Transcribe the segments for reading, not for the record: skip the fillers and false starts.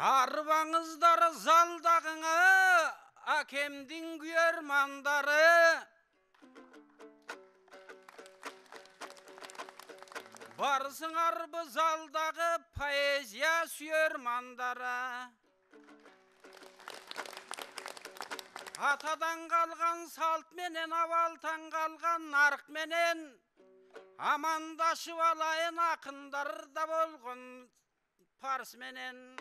Арбаңыздар залдагыңа акемдин күйөрмандары. Барсыңар бу залдагы поэзия сүйөрмандары. Атадан калган салт менен абалтан калган нарк менен амандашып алайын акындарда болгон парс менен.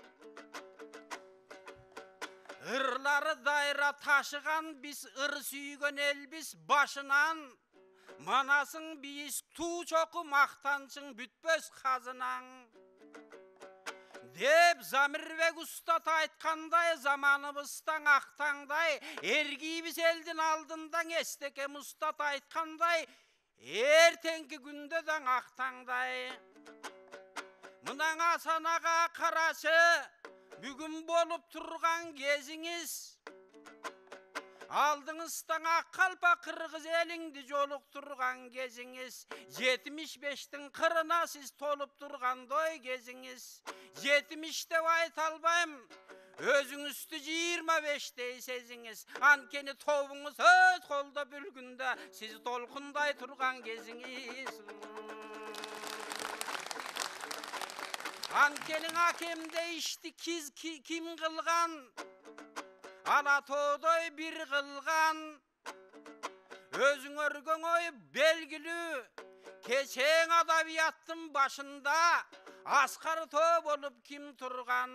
Ырлары дайра ташыган биз ыр сүйгөн элбиз башынан. Манасың биз туу чоку мактанчың бүтпөс казынаң. Деп Замирбек устат айткандай заманыбыздан актаңдай, эргийбиз элдин алдында эстекем устат айткандай, эртеңки күндө да актаңдай. Мынан Асан ага карачы, бүгүн болуп турган кезиңиз. Алдыңыздан ак калпак кыргыз элиңди жолуктурган кезиңиз. 75тин кырына сиз толуп тургандой кезиңиз. 70 деп айта албайм, өзүңүздү 25дей сезиңиз. Анткени тобуңуз өз колдо бүлгүндө сиз толкундай турган кезиңиз. Анткени акемде ишти ким кылган? Ала тоодой бир кылган. Өзүң өргөн ой белгилүү. Кечең адабияттын башында аскар тоо болуп ким турган?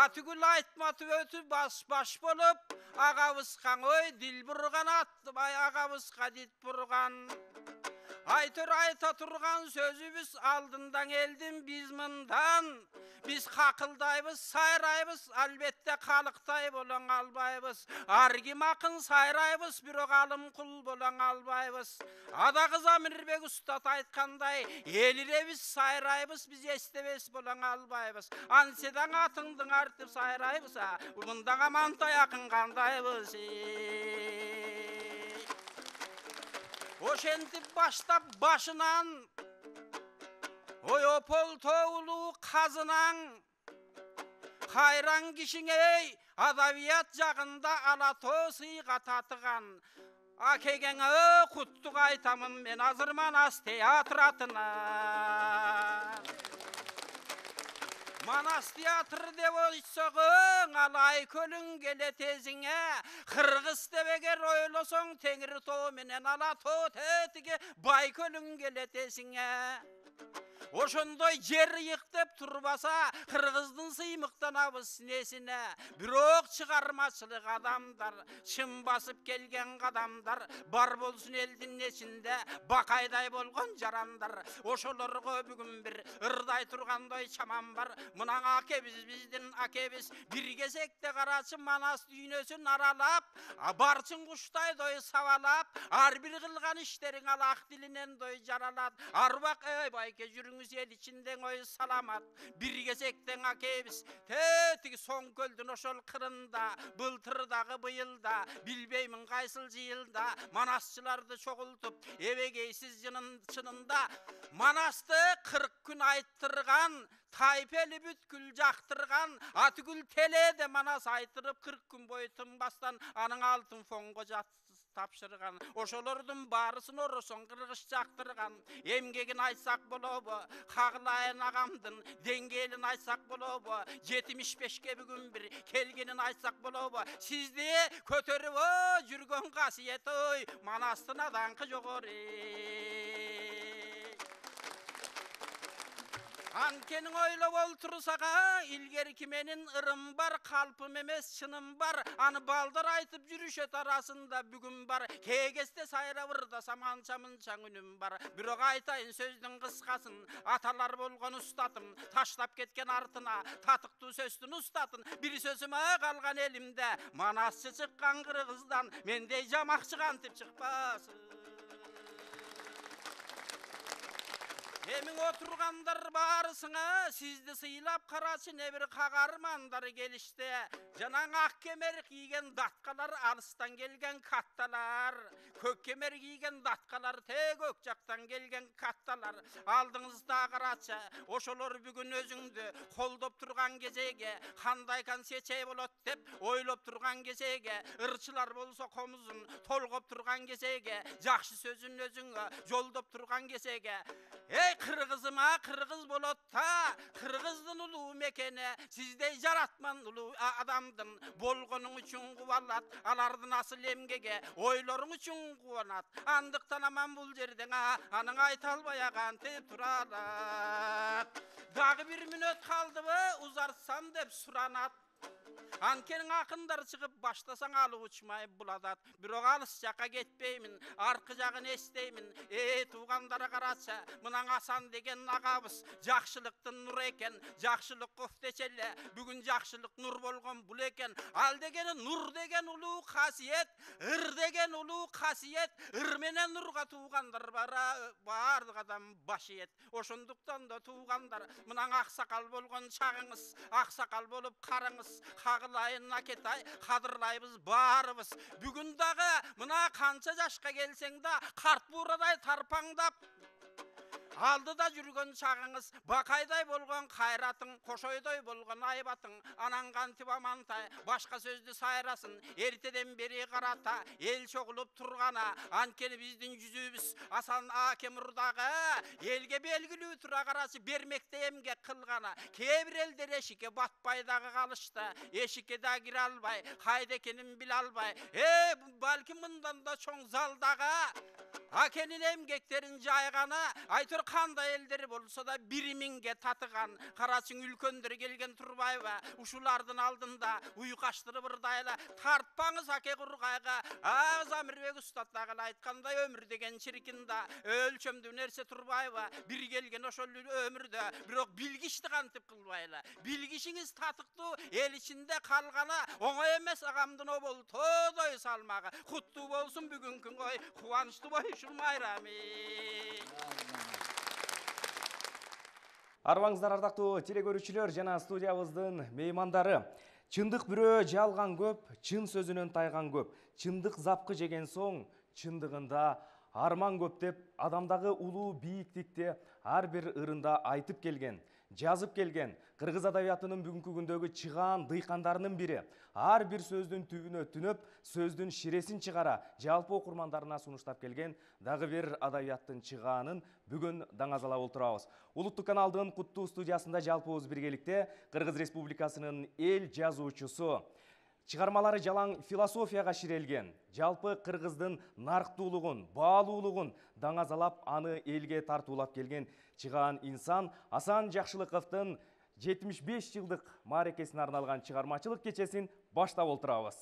Атүгүл айтматып өтүп баш болуп, агабызга ой дил бурган, агабызга дит бурган. Айтыр айта турган сөзүбүз алдындан элдин биз мындан. Биз какылдайбыз, сайрайбыз, албетте калыктай болоң албайбыз. Ар ким акын сайрайбыз, бирок алым кул болоң албайбыз. Адагы Замирбек устат айткандай, элиребиз, сайрайбыз, биз эстебес болоң албайбыз. Анседаң атыңдың артып сайрайбыз, мындан амантай акын кандайбыз. Ошентип баштап башынан ой опол тоолуу казынаң. Кайран кишиң эй, адабият жагында ала тоо сыйга татыган. Акегеңе куттук айтамын мен азыр Манас театр атынан. Манас театр деп ойсоң, алай көлүң келет эзиңе. Кыргыз деп эгер ойлосоң, Теңир тоо менен ала тоо тетиге бай көлүң келет эсиңе. Ошондой жер ыйык деп турбаса, кыргыздын сыймыктанабыз несине. Бирок чыгармачылык адамдар, чын басып келген кадамдар бар болсун элдин эчинде, бакайдай болгон жарандар. Ошолорго бүгүн бир ырдай тургандай чаман бар. Мына акебиз, биздин акебиз бир кезекте карачы Манас дүйнөсүн аралап, барчын куштайдой сабалап, ар бир кылган иштериң ал ак дилинен дой жаралат. Арбак эй байке жүрүңүз эл ичинде ой саламат. Бир кезектен акебиз тетиги соң көлдүн ошол кырында, былтырдагы быйылда, билбеймин кайсыл жыйылда манасчыларды чогултуп, эбегейсиз чынында Манасты 40 күн айттырган, тайпели бүткүл жактырган, атүгүл теледе Манас айтырып 40 күн бою тынбастан анын алтын фонго тапшырган. Ошолордун баарысын оросоң кыргыз жактырган. Эмгегин айтсак болобу? Кагылайын агамдын деңгээлин айтсак болобу? 75ке бүгүн бир келгенин айтсак болобу? Сизди көтөрүп жүргөн касиет ой Манастын адаңкы жогору. Анткени ойлоп олтурсага, илгерки менин ырым бар, калпым эмес чыным бар. Аны балдар айтып жүрүшөт арасында бүгүн бар. Кегесте сайрабырда саманча мынчаң үнүм бар. Бирок айтайын сөздүн кыскасын, аталар болгон устатым таштап кеткен артына татыктуу сөздүн устатын. Бир сөзүмө калган элимде Манасчы чыккан кыргыздан мендей жамакчы кантип чыкпасын. Эмиң отургандар барысыңа сизди сыйлап карачы не бир кагармандар келишти. Жанаң ак кемер кийген даткалар, алыстан келген катталар. Көк кемер кийген даткалар, көк жактан келген катталар. Алдыңызда карачы, ошолор бүгүн өзүңдү колдоп турган кезеге кандай концепция болот деп ойлоп турган кезеге, ырчылар болсо комузун толгоп турган кезеге, жакшы сөзүн өзүңө жолдоп турган кезеге, кыргызыма кыргыз болот та, кыргыздын улуу мекени сиздей жаратман улуу адамдын болгонуң үчүн кубалат, алардын асыл эмгеге ойлоруң үчүн кубанат. Андыктан аман бул жерден аның айта албай кантип туралат. Дагы бир мүнөт калдыбы узартсам деп суранат. Анткени акындар чыгып баштасаң алып учмай буладат. Бирок алыс жакка кетпеймин, аркы жагын эстеймин. Туугандары карачы, мынан Асан деген агабыз жакшылыктын нуру экен, жакшылык кофтечеле. Бүгүн жакшылык нур болгон бул экен. Ал деген нур деген улуу касиет, ыр деген улуу касиет, ыр менен нурга туугандар баардык адам баш ийет. Ошондуктан да туугандар, мынан аксакал болгон чагыңыз, аксакал болуп караңыз. Кагылайын акетай, кадырлайбыз баарыбыз. Бүгүн дагы мына канча жашка келсең да карт бурадай тарпаңдап алдыда жүргөн чагыңыз, бакайдай болгон кайратың, кошойдой болгон айбатың, анан кантип амантай башка сөздү сайрасын. Эртеден бери карата эл чогулуп тургана, анткени биздин жүзүбүз Асан Акемурдагы элге белгилүү тура карачы бермекте эмгек кылгана. Кээ бир элдер эшикке батпай дагы калышты, эшикке да кире албай, кайда экенин биле албай. Балким мындан да чоң залдагы акенин эмгектерин жайганы, айтор кандай элдер болсо да 1000ге татыган. Карачың үлкөндөр келген турбайбы? Ушулардын алдында уйкаштырып ырдайла. Тартпаңыз аке кургайга. Замирбек устат дагы айткандай, өмүр деген чиркин да өлчөмдүү нерсе турбайбы? Бир келген ошол өмүрдө, бирок билгичти кантип кылбайла. Билгишиңиз татыктуу, эл ичинде калганы оңой эмес. Агамдын обол тоодой салмагы куттуу болсун бүгүнкү кой, кубанычтуу болушун майрами. Арбаңыздар ардактуу теле көрүүчүлөр жана студиябыздын меймандары. Чындык бирөө жалган көп, чын сөзүнөн тайган көп. Чындык запкы жеген соң, чындыгында арман көп деп адамдагы улуу бийиктикти ар бир ырында айтып келген, жазып келген кыргыз адабиятынын бүгүнкү күндөгү чыгаан дыйкандарынын бири. Ар бир сөздүн түбүнө түнөп, сөздүн ширесин чыгара жалпы окурмандарына сунуштап келген дагы бир адабияттын чыгаанын бүгүн даңазалап отурабыз. Улуттук каналдын куттуу студиясында жалпыбыз биргеликте Кыргыз Республикасынын эл жазуучусу, чыгармалары жалаң философияга ширелген, жалпы кыргыздын нарктуулугун, баалуулугун даңазалап, аны элге тартуулап келген чыгаан инсан Асан Жакшылыковдун 75 жылдык мааракесине арналган чыгармачылык кечесин баштап отурабыз.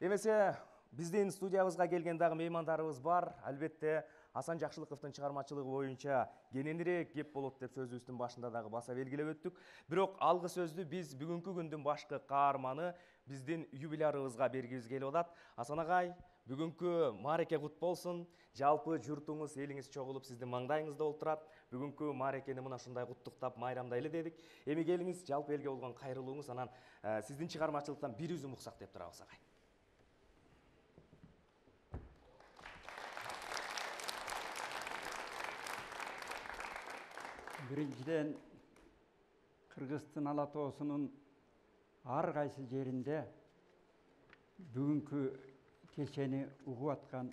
Эмесе биздин студиябызга келген дагы меймандарыбыз бар. Албетте Асан Жакшылыковдун чыгармачылыгы боюнча кененирээк кеп болот деп сөзүбүздүн башында дагы баса белгилеп өттүк. Бирок алгы сөздү биз бүгүнкү күндүн башкы каарманы биздин юбилярыбызга бергибиз келип атат. Асан агай, бүгүнкү маареке кут болсун. Жалпы журтуңуз, элиңиз чогулуп сиздин маңдайыңызда отурат. Бүгүнкү маарекени мына ушундай куттуктап майрамдайлы дедик. Эми келиңиз, жалпы элге болгон кайрылууңуз, анан сиздин чыгармачылыктан бир үзүм уксак деп турабыз агай. Биринчиден, Кыргыздын ала тоосунун ар кайсы жеринде бүгүнкү кечени угуп аткан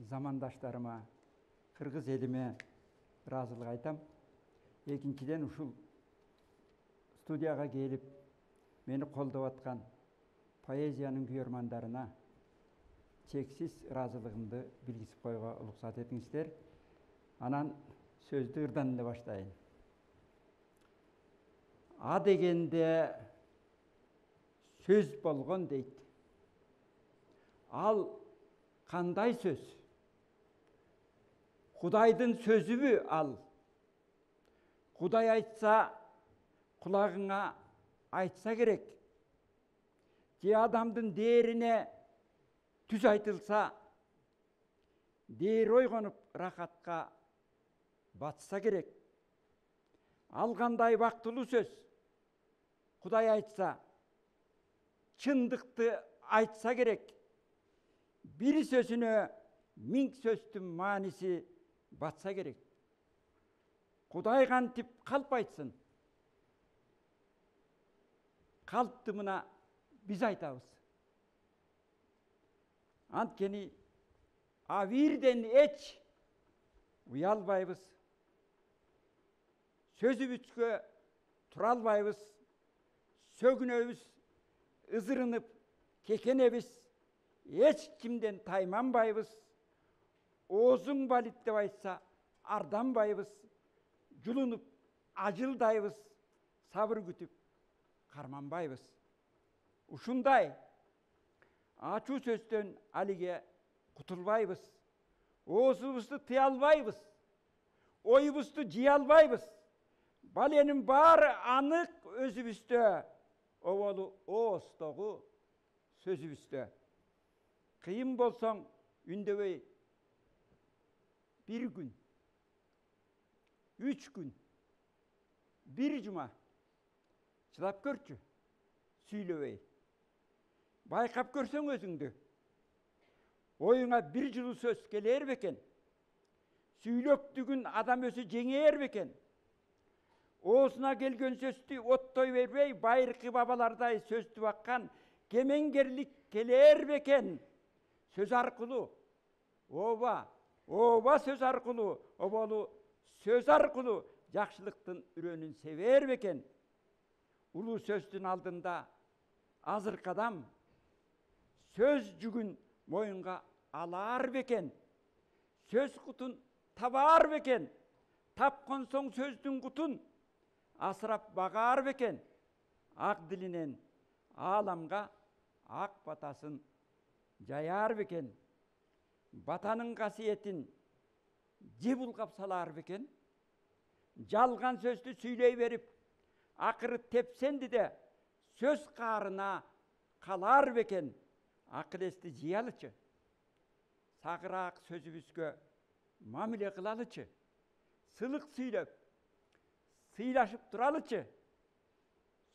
замандаштарыма, кыргыз элиме ыраазылык айтам. Экинчиден, ушул студияга келип мени колдоп аткан поэзиянын күйөрмандарына чексиз ыраазылыгымды билгизип коюуга уруксат этиңиздер. Анан сөздү ырдан эле баштайын. А дегенде сөз болгон дейт. Ал кандай сөз? Кудайдын сөзүбү ал? Кудай айтса, кулагыңа айтса керек. Же адамдын дээрине түз айтылса, дээр ойгонуп рахатка батса керек. Ал кандай бактылуу сөз. Кудай айтса, чындыкты айтса керек. Бир сөзүнө 1000 сөздүн мааниси батса керек. Кудай кантип калп айтсын? Калпты мына биз айтабыз. Анткени авирден эч уялбайбыз. Сөзүбүзгө тура албайбыз. Сөгүнөбүз, ызырынып кекенебиз. Эч кимден тайманбайбыз. Оозуң балит деп айтса, арданбайбыз. Жулунуп ажылдайбыз. Сабыр күтүп карманбайбыз. Ушундай ачуу сөздөн алиге кутулбайбыз. Оозубузду тыя албайбыз. Оюбузду жыя албайбыз. Баленин баары анык өзүбүздө, оболу оостогу сөзүбүздө. Кыйын болсоң үндөбөй 1 күн, 3 күн, 1 жума чыдап көрчү, сүйлөбөй. Байкап көрсөң өзүңдү, оюңа 1 жылуу сөз келер бекен? Сүйлөктүгүн адам өзү жеңер бекен? Оозуна келген сөздү оттой бербей, байыркы бабалардай сөздү баккан кемеңгерлик келер бекен? Сөз аркылуу, ооба сөз аркылуу, оболу сөз аркылуу жакшылыктын үрөнүн себер бекен? Улуу сөздүн алдында азыркы адам сөз жүгүн моюнга алар бекен? Сөз кутун табар бекен? Тапкан соң сөздүн кутун асырап багар бекен? Ак дилинен ааламга ак батасын жаяр бекен? Батанын касиетин же булгап салар бекен? Жалган сөздү сүйлөй берип, акыры тепсенди де сөз каарына калар бекен? Акыл-эсти жыялычы, сагыраак сөзүбүзгө мамиле кылалычы, сылык сүйлөп, сыйлашып туралычы,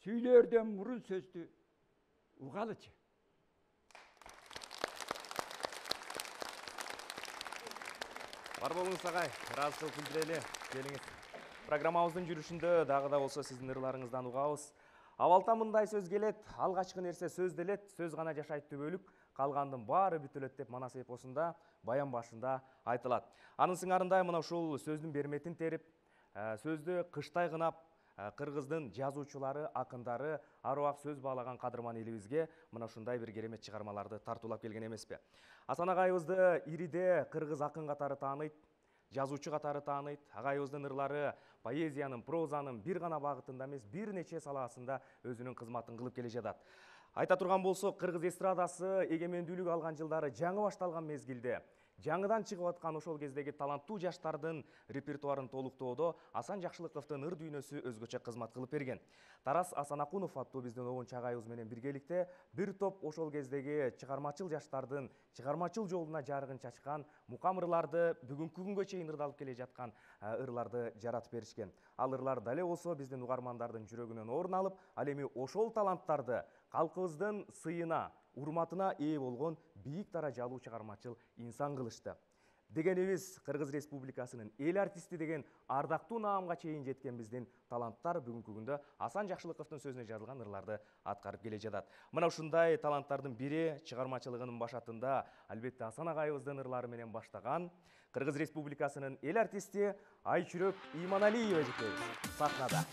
сүйлөөрдөн мурун сөздү угалычы. Бар болуңуз агай, ыраазы кылып билдирели. Келиңиз. Программабыздын жүрүшүндө дагы да болсо сиздин ырларыңыздан угабыз. Абалта мындай сөз келет, алгачкы нерсе сөз делет, сөз гана жашайт түбөлүк, калгандын баары бүтөлөт деп манас эпосунда баян башында айтылат. Анын сыңарындай мына ушул сөздүн берметин терип, сөздү кыштай кынап, кыргыздын жазуучулары, акындары, аруак сөз баалаган кадырман элибизге мына ушундай бир керемет чыгармаларды тартуулап келген эмеспи. Асан агайыбызды ириде кыргыз акын катары тааныйт, жазуучу катары тааныйт. Агайыбыздын ырлары поэзиянын, прозанын бир гана багытында эмес, бир нече саласында өзүнүн кызматын кылып келе жатат. Айта турган болсок, кыргыз эстрадасы эгемендүүлүк алган жылдары жаңы башталган мезгилде жаңыдан чыгып аткан ошол кездеги таланттуу жаштардын репертуарын толуктоодо Асан Жакшылыковдун ыр дүйнөсү өзгөчө кызмат кылып берген. Тарас Асанакунов аттуу биздин обончу агайыбыз менен биргеликте бир топ ошол кездеги чыгармачыл жаштардын чыгармачыл жолуна жарыгын чачкан мукам ырларды бүгүнкү күнгө чейин ырдалып келе жаткан ырларды жаратып беришкен. Ал ырлар дале болсо биздин угармандардын жүрөгүнөн орун алып, ал эми ошол таланттарды калкыбыздын сыйына, урматына ээ болгон бийик даражалуу чыгармачыл инсан кылышты. Дегенибиз, Кыргыз Республикасынын эл артисти деген ардактуу наамга чейин жеткен биздин таланттар бүгүнкү күндө Асан Жакшылыковдун сөзүнө жазылган ырларды аткарып келе жатат. Мына ушундай таланттардын бири чыгармачылыгынын башатында албетте Асан агайыбыздын ырлары менен баштаган Кыргыз Республикасынын эл артисти Айчүрөк Иманалиева эжекебиз сахнада.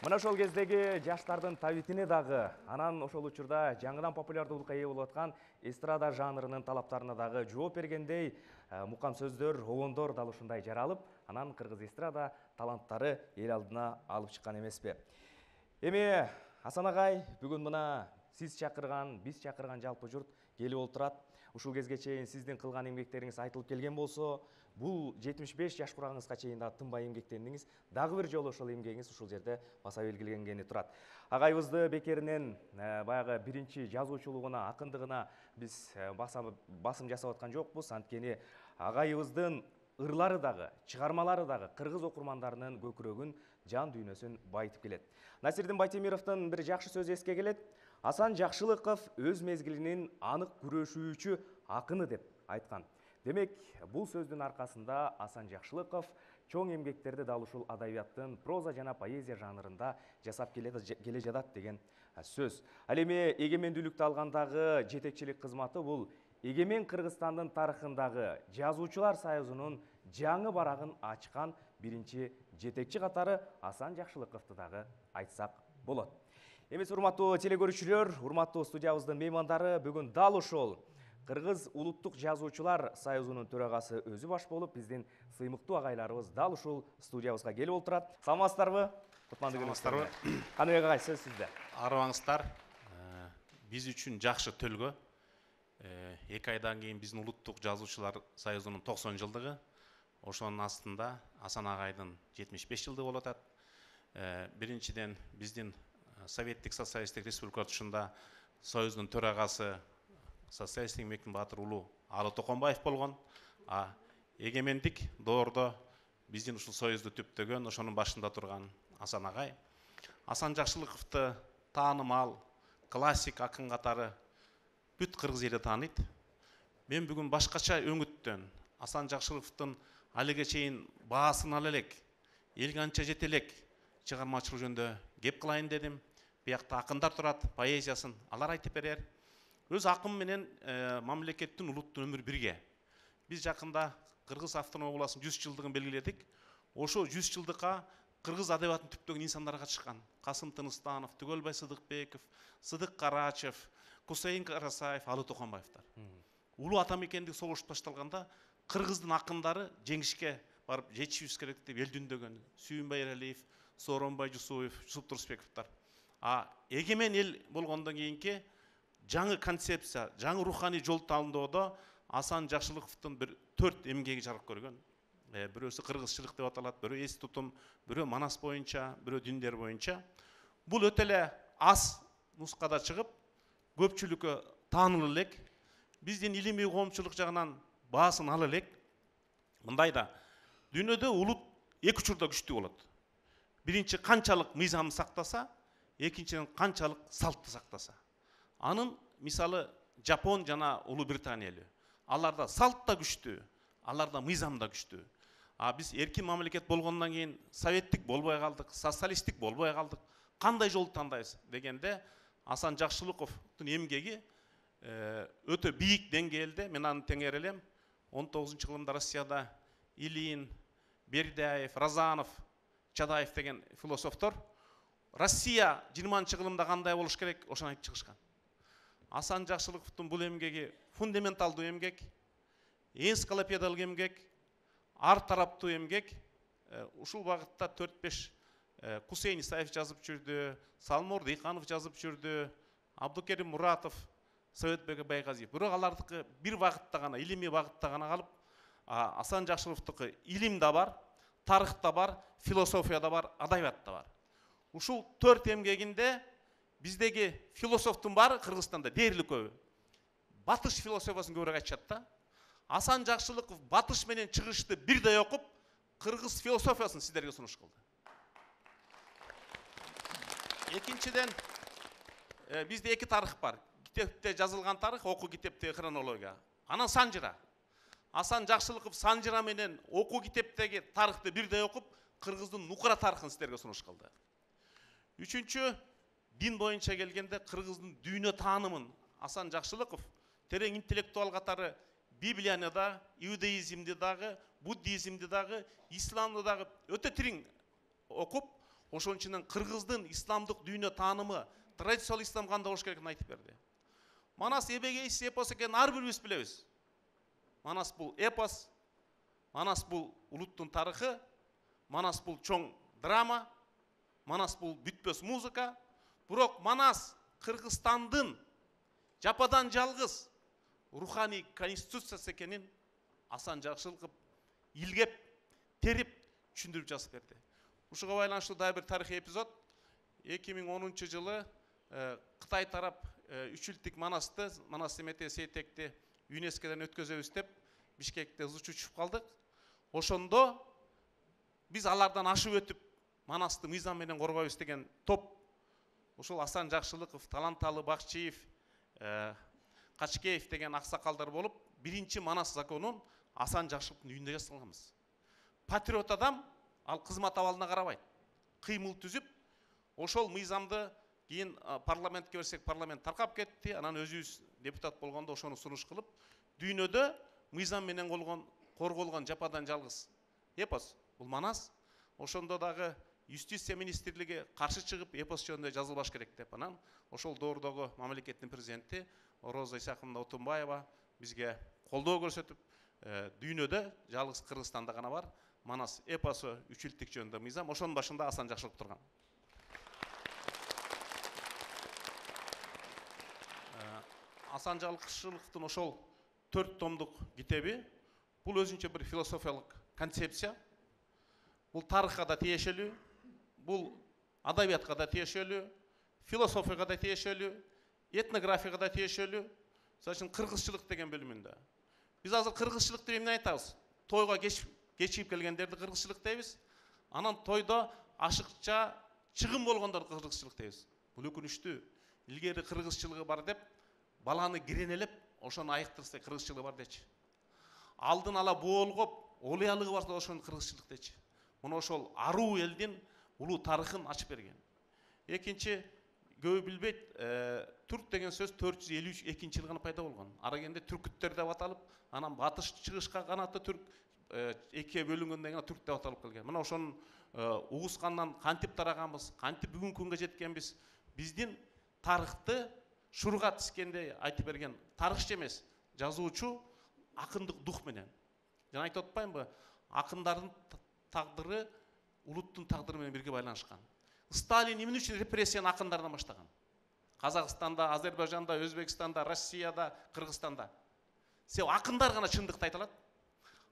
Мына ошол кездеги жаштардын табитине дагы, анан ошол учурда жаңыдан популярдуулукка ээ болуп аткан эстрада жанрынын талаптарына дагы жооп бергендей мукам сөздөр, обондор дал ушундай жаралып, анан кыргыз эстрада таланттары эл алдына алып чыккан эмеспи. Эми Асан агай, бүгүн мына сиз чакырган, биз чакырган жалпы журт келип отурат. Ушул кезге чейин сиздин кылган эмгектериңиз айтылып келген болсо, бул 75 жаш курагыңызга чейин да тынбай эмгектендиңиз. Дагы бир жолу ошол эмгегиңиз ушул жерде баса белгиленгени турат. Агайыбызды бекеринен баягы биринчи жазуучулугуна, акындыгына биз басым жасап аткан жокпуз. Анткени агайыбыздын ырлары дагы, чыгармалары дагы кыргыз окурмандарынын көкүрөгүн, жан дүйнөсүн байытып келет. Насирдин Байтемировдун бир жакшы сөзү эске келет. Асан Жакшылыков өз мезгилинин анык күрөшүүчү акыны деп айткан. Демек, бул сөздүн аркасында Асан Жакшылыков чоң эмгектерди дал ушул адабияттын проза жана поэзия жанрында жасап келе жатат деген сөз. Ал эми эгемендүүлүктү алгандагы жетекчилик кызматы бул эгемен Кыргызстандын тарыхындагы жазуучулар союзунун жаңы барагын ачкан биринчи жетекчи катары Асан Жакшылыковду дагы айтсак болот. Эмес урматтуу телекөрүүчүлөр, урматтуу студиябыздын меймандары, бүгүн дал ошол Кыргыз улуттук жазуучулар союзунун төрагасы өзү баш болуп, биздин сыймыктуу агайларыбыз дал ушул студиябызга келип отурат. Саламатсыздарбы? Кутмандуу күнүңүздөр. Каныбек агай, сөз сизде. Арыбаңыздар. Биз үчүн жакшы төлгө. 2 айдан кийин биздин улуттук жазуучулар союзунун 90 жылдыгы. Ошонун астында Асан агайдын 75 жылдыгы болуп атат. Биринчиден биздин Советтик социалисттик республика тушунда союздун төрагасы социалисттик эмгектин баатыры улуу Алы Токонбаев болгон. Эгемендик доордо биздин ушул союзду түптөгөн, ошонун башында турган Асан агай. Асан Жакшылыковду таанымал, классик акын катары бүт кыргыз эли тааныйт. Мен бүгүн башкача өңүттөн Асан Жакшылыковдун алиге чейин баасын ала элек, элге анча жете элек чыгармачылык жөнүндө кеп кылайын дедим. Биякта акындар турат, поэзиясын алар айтып берер. Өз акым менен мамлекеттин, улуттун өмүрү бирге. Биз жакында Кыргыз автономия областынын 100 жылдыгын белгиледик. Ошо 100 жылдыкка кыргыз адабиятын түптөгөн инсандар катышкан. Касым Тыныстанов, Түгөлбай Сыдыкбеков, Сыдык Карачев, Кусейин Карасаев, Алы Токонбаевдар. Улуу атамекендик согуш башталганда кыргыздын акындары жеңишке барып жетишибиз керек деп эл дүндөгөн. Сүйүнбай Эралиев, Сооронбай Жусуев, Жусуп Турсбековдор. Эгемен эл болгондон кийинки жаңы концепция, жаңы руханий жол тандоодо Асан Жакшылыковдун бир 4 эмгеги жарык көргөн. Бирөөсү кыргызчылык деп аталат, бирөө эс тутум, бирөө манас боюнча, бирөө диндер боюнча. Бул өтө эле аз нускада чыгып, көпчүлүккө таанылып элек, биздин илимий коомчулук жагынан баасын ала элек. Мындайда дүйнөдө улут эки учурда күчтүү болот. Биринчи канчалык мыйзамды сактаса, экинчиден канчалык салтты сактаса. Анын мисалы Жапон жана Улуу Британия эли. Аларда салт да күчтүү, аларда мыйзам да күчтүү. Биз эркин мамлекет болгондон кийин советтик болбой калдык, социалисттик болбой калдык. Кандай жолду тандайбыз дегенде Асан Жакшылыковдун эмгеги өтө бийик деңгээлде, мен аны теңер элем. 19-жылымда Россияда Илин, Бердяев, Разанов, Чадаев деген философтор Россия 20-жылымда кандай болуш керек, ошону айтып чыгышкан. Асан Жакшылыковдун бул эмгеги фундаменталдуу эмгек, энциклопедиялык эмгек, ар тараптуу эмгек. Ушул багытта 4-5 Кусейин Исаев жазып жүрдү, Салмур Дыйканов жазып жүрдү, Абдукерим Муратов, Советбек Байгазиев. Бирок алардыкы бир багытта гана, илимий багытта гана калып, Асан Жакшылыковдуку илим да бар, тарых да бар, философия да бар, адабият да бар. Ушул 4 эмгегинде биздеги философтун баары Кыргызстанда дээрлик көбү. Батыш философиясын көбүрөөк айтышат да. Асан Жакшылыков батыш менен чыгышты бирдей окуп, кыргыз философиясын сиздерге сунуш кылды. Экинчиден, бизде 2 тарых бар. Китепте жазылган тарых, окуу китептеги хронология. Анан санжыра. Асан Жакшылыков санжыра менен окуу китептеги тарыхты бирдей окуп, кыргыздын нукура тарыхын сиздерге сунуш кылды. Үчүнчү, дин боюнча келгенде кыргыздын дүйнө таанымын Асан Жакшылыков терең интеллектуал катары Библияны да, иудаизмди дагы, буддизмди дагы, исламды дагы өтө терең окуп, ошон үчүн кыргыздын исламдык дүйнө таанымы, традициялык ислам кандай болуш керектигин айтып берди. Манас эбегейсиз эпос экенин ар бирибиз билебиз. Манас бул эпос, Манас бул улуттун тарыхы, Манас бул чоң драма, Манас бул бүтпөс музыка. Бирок Манас Кыргызстандын жападан жалгыз руханий конституциясы экенин Асан Жакшылыков илгеп, терип, түшүндүрүп жазып берди. Ушуга байланыштуу дагы бир тарыхый эпизод. 2010 жылы Кытай тарап 3 жылдык Манасты, Манас Семете Сейтекти ЮНЕСКОдон өткөзөбүз деп Бишкекте ызы чучуп калдык. Ошондо биз алардан ашып өтүп Манасты мыйзам менен коргойбуз деген топ, ошол Асан Жакшылыков, Таланталы Бакчиев, Качкеев деген аксакалдар болуп, биринчи Манас законун Асан Жакшылыктын үйүндө жасалганбыз. Патриот адам ал кызмат абалына карабайт. Кыймыл түзүп, ошол мыйзамды кийин парламентке берсек, парламент таркап кетти. Анан өзүбүз депутат болгондо ошону сунуш кылып, дүйнөдө мыйзам менен корголгон жападан жалгыз эпос бул Манас. Ошондо дагы юстиция министрлиги каршы чыгып, эпос жөнүндө жазылбаш керек деп. Анан ошол доордогу мамлекеттин президенти Роза Исаховна Отунбаева бизге колдоо көрсөтүп, дүйнөдө жалгыз Кыргызстанда гана бар Манас эпосу 3 жылдык жөнүндө мыйзам. Ошонун башында Асан Жакшылыков турган. Асан Жакшылыковдун ошол 4 томдук китеби бул өзүнчө бир философиялык концепция. Бул тарыхка да тиешелүү, бул адабиятка да тиешелүү, философияга да тиешелүү, этнографияга да тиешелүү. Мисалы үчүн кыргызчылык деген бөлүмүндө. Биз азыр кыргызчылык деп эмне айтабыз? Тойго кечип келгендерди кыргызчылык дейбиз. Анан тойдо ашыкча чыгым болгондорду кыргызчылык дейбиз. Бул өкүнүчтүү. Илгери кыргызчылыгы бар деп баланы киренелеп, ошону айыктырса кыргызчылыгы бар дечи. Алдын ала боолгоп, олуялыгы барса ошону кыргызчылык дечи. Муну ошол аруу элдин улуу тарыхын ачып берген. Экинчи, көбү билбейт, түрк деген сөз 452 жылы гана пайда болгон. Ара кенде түркүттөр деп аталып, анан батыш чыгышка канаты түрк экиге бөлүнгөндөн кийин түрк деп аталып келген. Мына ошонун угускандан кантип тараганбыз, кантип бүгүнкү күнгө жеткенбиз. Биздин тарыхты шурга тискендей айтып берген тарыхчы эмес, жазуучу акындык дух менен. Жана айтып атпаймынбы? Акындардын тагдыры улуттун тагдыры менен бирге байланышкан. Сталин эмне үчүн репрессияны акындардан баштаган? Казакстанда, Азербайжанда, Өзбекстанда, Россияда, Кыргызстанда. Себеби акындар гана чындыкты айта алат.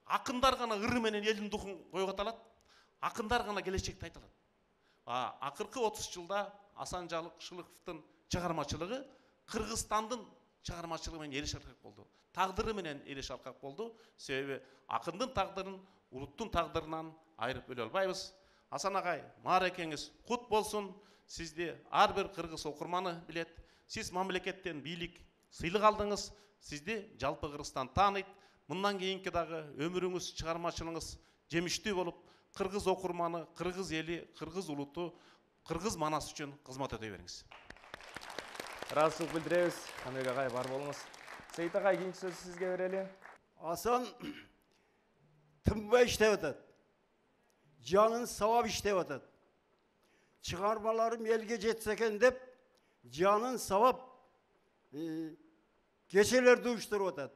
Акындар гана ыры менен элдин духун койгота алат. Акындар гана келечекти айта алат. Акыркы 30 жылда Асан Жакшылыковдун чыгармачылыгы Кыргызстандын чыгармачылыгы менен эли шаркак болду. Тагдыры менен эли шаркак болду. Себеби акындын тагдырын улуттун тагдырынан айырып бөлө албайбыз. Асан агай, мааракеңиз кут болсун. Сизди ар бир кыргыз окурманы билет. Сиз мамлекеттен бийлик сыйлык алдыңыз. Сизди жалпы Кыргызстан тааныйт. Мындан кийинки дагы өмүрүңүз, чыгармачылыгыңыз жемиштүү болуп, кыргыз окурманы, кыргыз эли, кыргыз улуту, кыргыз Манас үчүн кызмат өтөй бериңиз. Ыраазычылык билдиребиз. Каныбек агай, бар болуңуз. Сейит агай, кийинки сөз сизге берели. Асан тынбай иштеп атат. Жанын сабап иштеп атат. Чыгармаларым элге жетсе экен деп, жанын сабап кечелерди уюштуруп атат.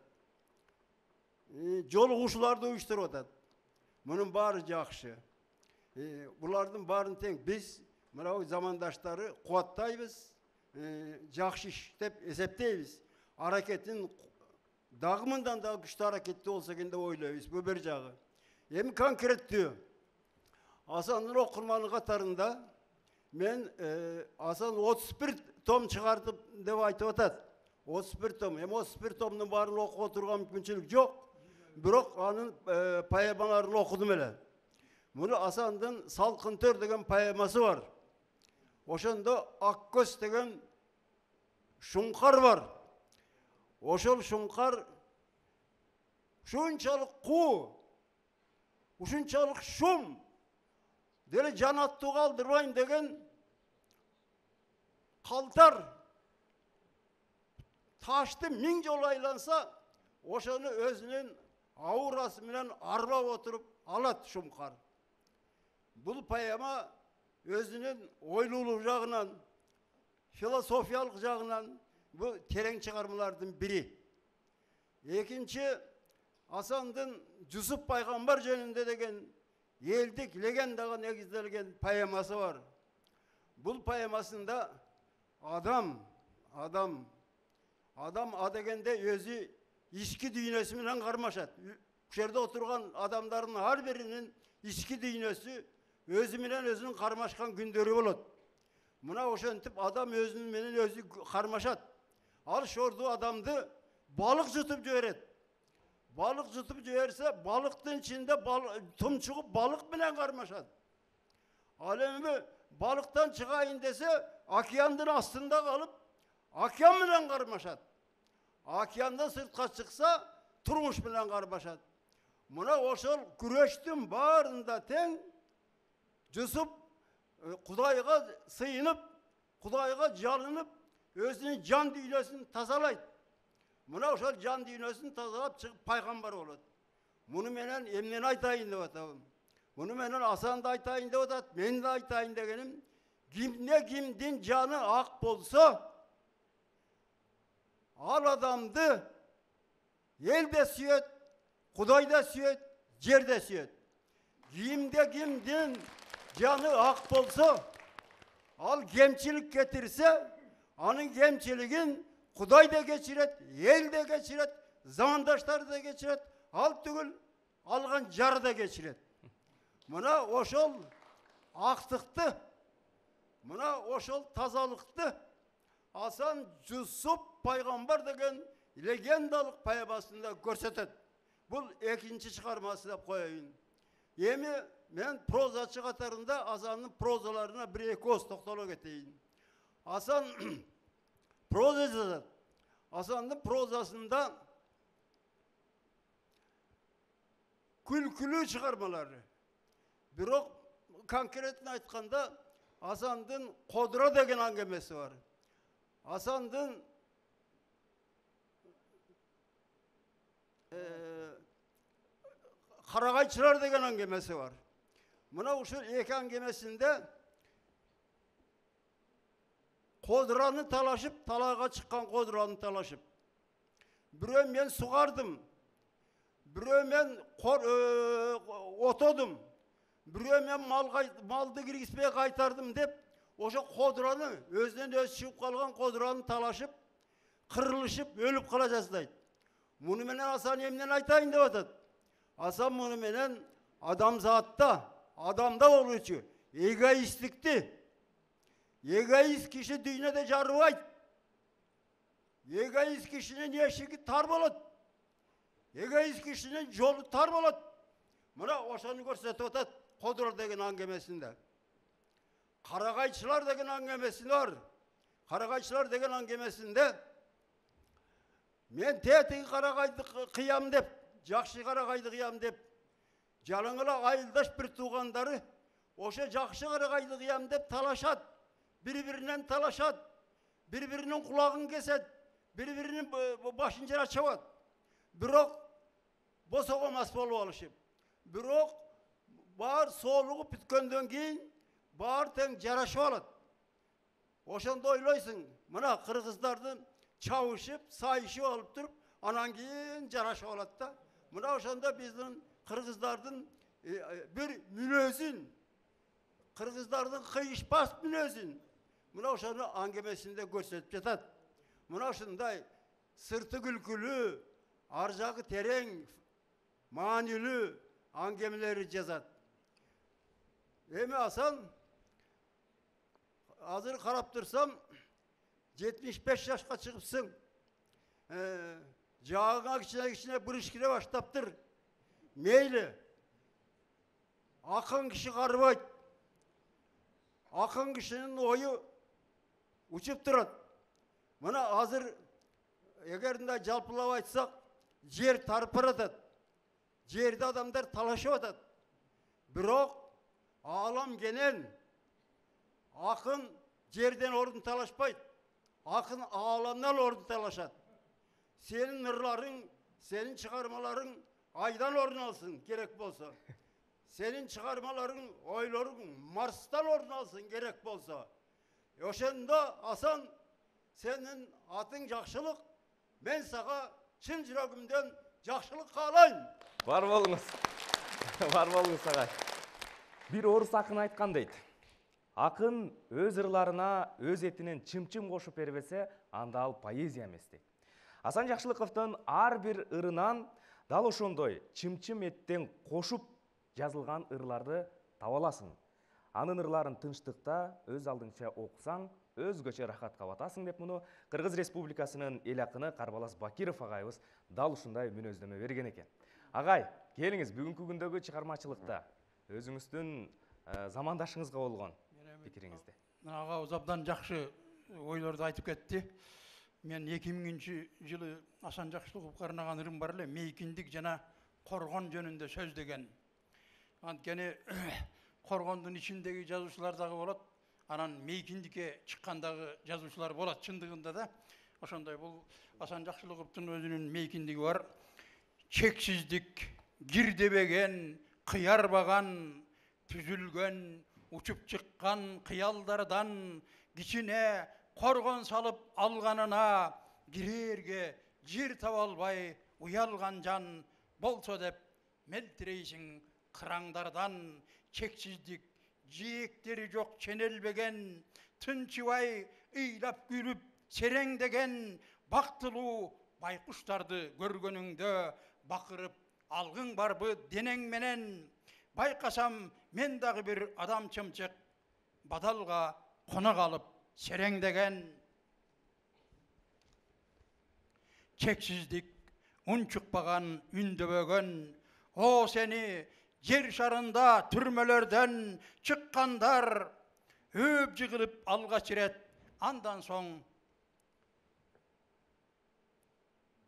Жолугушууларды уюштуруп атат. Мунун баары жакшы. Булардын баарын тең биз мына замандаштары кубаттайбыз, жакшы иш деп эсептейбиз. Аракетин дагы мындан да күчтүү аракетти болсо экен деп ойлойбуз. Бул бир жагы. Эми конкреттүү Асандын окурманы катарында мен Асан 31 том чыгардып деп айтып атат. 31 том. Эми 31 томдун баарын окуга турган мүмкүнчүлүк жок. Бирок анын поэмаларын окудум эле. Муну Асандын Салкын төр деген поэмасы бар. Ошондо Ак көз деген шуңкар бар. Ошол шуңкар ушунчалык куу, ушунчалык шум, деле жанаттуу калдырбайм деген калтар ташты 1000 жолу айланса, ошону өзүнүн аурасы менен арбап отуруп алат шуңкар. Бул поэма өзүнүн ойлуулук жагынан, философиялык жагынан бул терең чыгармалардын бири. Экинчи, Асандын Жусуп пайгамбар жөнүндө деген элдик легендага негизделген поэмасы бар. Бул поэмасында адам дегенде өзү ички дүйнөсү менен кармашат. Ушул жерде отурган адамдардын ар биринин ички дүйнөсү өзү менен өзүнүн кармашкан күндөрү болот. Мына ошентип адам өзүнүн менен өзү кармашат. Ал шорду адамды балык жутуп жиберет. Balık tutup жиберсе, balıktın içinde tumçuğup balık bilen karmaşat. Alemi balıktan çıkayın dese, okyanın aslında kalıp, okyan bilen karmaşat. Okyandan sırtka çıksa, turmuş bilen karmaşat. Buna oşol güreştin bağrında ten, Jusup, Kudayga sıyınıp, Kudayga jalınıp, özünün can dünyasını tazalayt. Buna oşol can dünyasını tazalap çıkıp paygambar olur. Bunu menen emnen aytayın dep atabım. Bunu menen Hasan da aytayın dep atat, men de aytayın degenim. Kimdin canı ak bolsa, al adamdı, el de süyet, Kuday da süyet, cer de süyet. Kimdin canı ak bolsa, al gemçilik getirse, anın gemçiliğin Kuday da geçiret, el de geçiret, zamandaşları da geçiret, al tügül, algan jarı da geçiret. Buna oşol aktıktı, buna oşol tazalıktı. Hasan Jusup paygambar degen legendalık payabasında görsetet. Bu ikinci çıkarması da koyayım. Yemi men prozaçı katarında Hasan'ın prozalarına bir ekoz toktolog eteyim. Hasan proza yazar. Hasan'ın prozasında külkülü çıkarmaları. Birok konkretini aytkanda Hasan'ın Kodra degen angemesi var. Hasan'ın Karagayçılar degen angemesi var. Buna uşul iki angemesinde Kodra'nı talaşıp, talağa çıkan Kodra'nı talaşıp. Biröö men sugardım. Biröö men otodum. Biröö men maldı kirgizbey kaytardım dep, oşo Kodra'nı, özünden öz çıkıp kalgan Kodra'nı talaşıp, kırılışıp, ölüp kala jazdayt. Bunu menen Hasan emnen aytayın dep atat. Hasan bunu menen adamzatta, adamda oluşu, egoistlikti. Egoist kişi dünyada jarыбайт. Egoist kişinin eşigi tar bolat. Egoist kişinin jolu tar bolat. Mına oşonu görsetip atat Kodra degen angemesinde. Karagayçılar degen angemesinde var. Karagayçılar degen angemesinde men tetigi Karagaydı kıyam dep, jakşı Karagaydı kıyam dep, jalыңıla ayıldaş bir tuğandarı oşa jakşı Karagaydı kıyam dep talaşat. Birbirinden talaşat, birbirinin kulağını keset, birbirinin başınca açavat. Birok bosoğamaz bolup alışıp. Birok bağır soğuluğu pütköndön keyin bağır teң jaraşıp alat. Oşonda oyloysun, mına Kırgızdardın çavuşup, sayışıp alıp durup, anan keyin jaraşıp alat da. Mına oşonda bizden Kırgızdardın bir münözün, Kırgızdardın kıyışbas münözün. Mına oşonu angemesinde görsetip jatat. Mına oşunday sırtı külkülü, arjagı tereң, manilü angemeleri жазат. Emi Hasan, hazır karap tursam, 75 yaşka çıkıpsın. Jağına kişine bırışkire baştaptır. Meyli. Akın kişi karıbayt. Akın kişinin oyu uçup durat. Buna hazır egerinde jalpılap aytsak, jer tarpıratat. Jerde adamlar talaşıp atat. Birok alam genel. Akın jerden orun talaşpayt. Akın alamdan orun talaşat. Senin nırların, senin çıkarmaların aydan orun alsın gerek bolsa. senin çıkarmaların, oyların Mars'tan orun alsın gerek bolsa. Ошондо Hasan senin atın jakşılık, ben sana çın yüreğimden jakşılık kaalayım. Бар болуңуз. Бар болуңуз агай. Бир орус акын айткан дейт. Акын өз ырларына өз этинен чым-чым кошуп бербесе, анда ал поэзия эмес дейт. Асан Жакшылыковдун ар бир ырынан дал ошондой чым-чым эттен кошуп жазылган ырларды таба аласың. Анын ырларын тынчтыкта өз алдыңча окусаң, өзгөчө рахатка батасың деп муну Кыргыз Республикасынын эл акыны Карбалас Бакиров агайыбыз дал ушундай мүнөздөмө берген экен. Агай, келиңиз бүгүнкү күндөгү чыгармачылыкта өзүңүздүн замандашыңызга болгон пикириңизди. Агабыз абдан жакшы ойлорду айтып кетти. Мен 2000-жылы Асан Жакшылыковго арнаган ырым бар эле, мейкиндик жана коргон жөнүндө сөз деген. Анткени коргондун ичиндеги жазуучулар дагы болот, анан мейкиндикке чыккандагы жазуучулар болот чындыгында да. Ошондой бул Асан Жакшылыковдун өзүнүн мейкиндиги бар. Чексиздик, кирдебеген, кыярбаган, түзүлгөн, учуп чыккан кыялдардан кичине коргон салып алганына кирерге жер таба албай уялган жан болсо деп мелтирейсиң кыраңдардан. Чексиздик, жээктери жок ченелбеген, тынчыбай ыйлап күлүп сереңдеген бактылуу байкуштарды көргөнүңдө бакырып алгың барбы денең менен. Байкасам мен дагы бир адам чымчык бадалга кона калып сереңдеген. Чексиздик, унчукпаган, үндөбөгөн, о сени жер шарында түрмөлөрдөн чыккандар өп жыгылып алгач ирет. Андан соң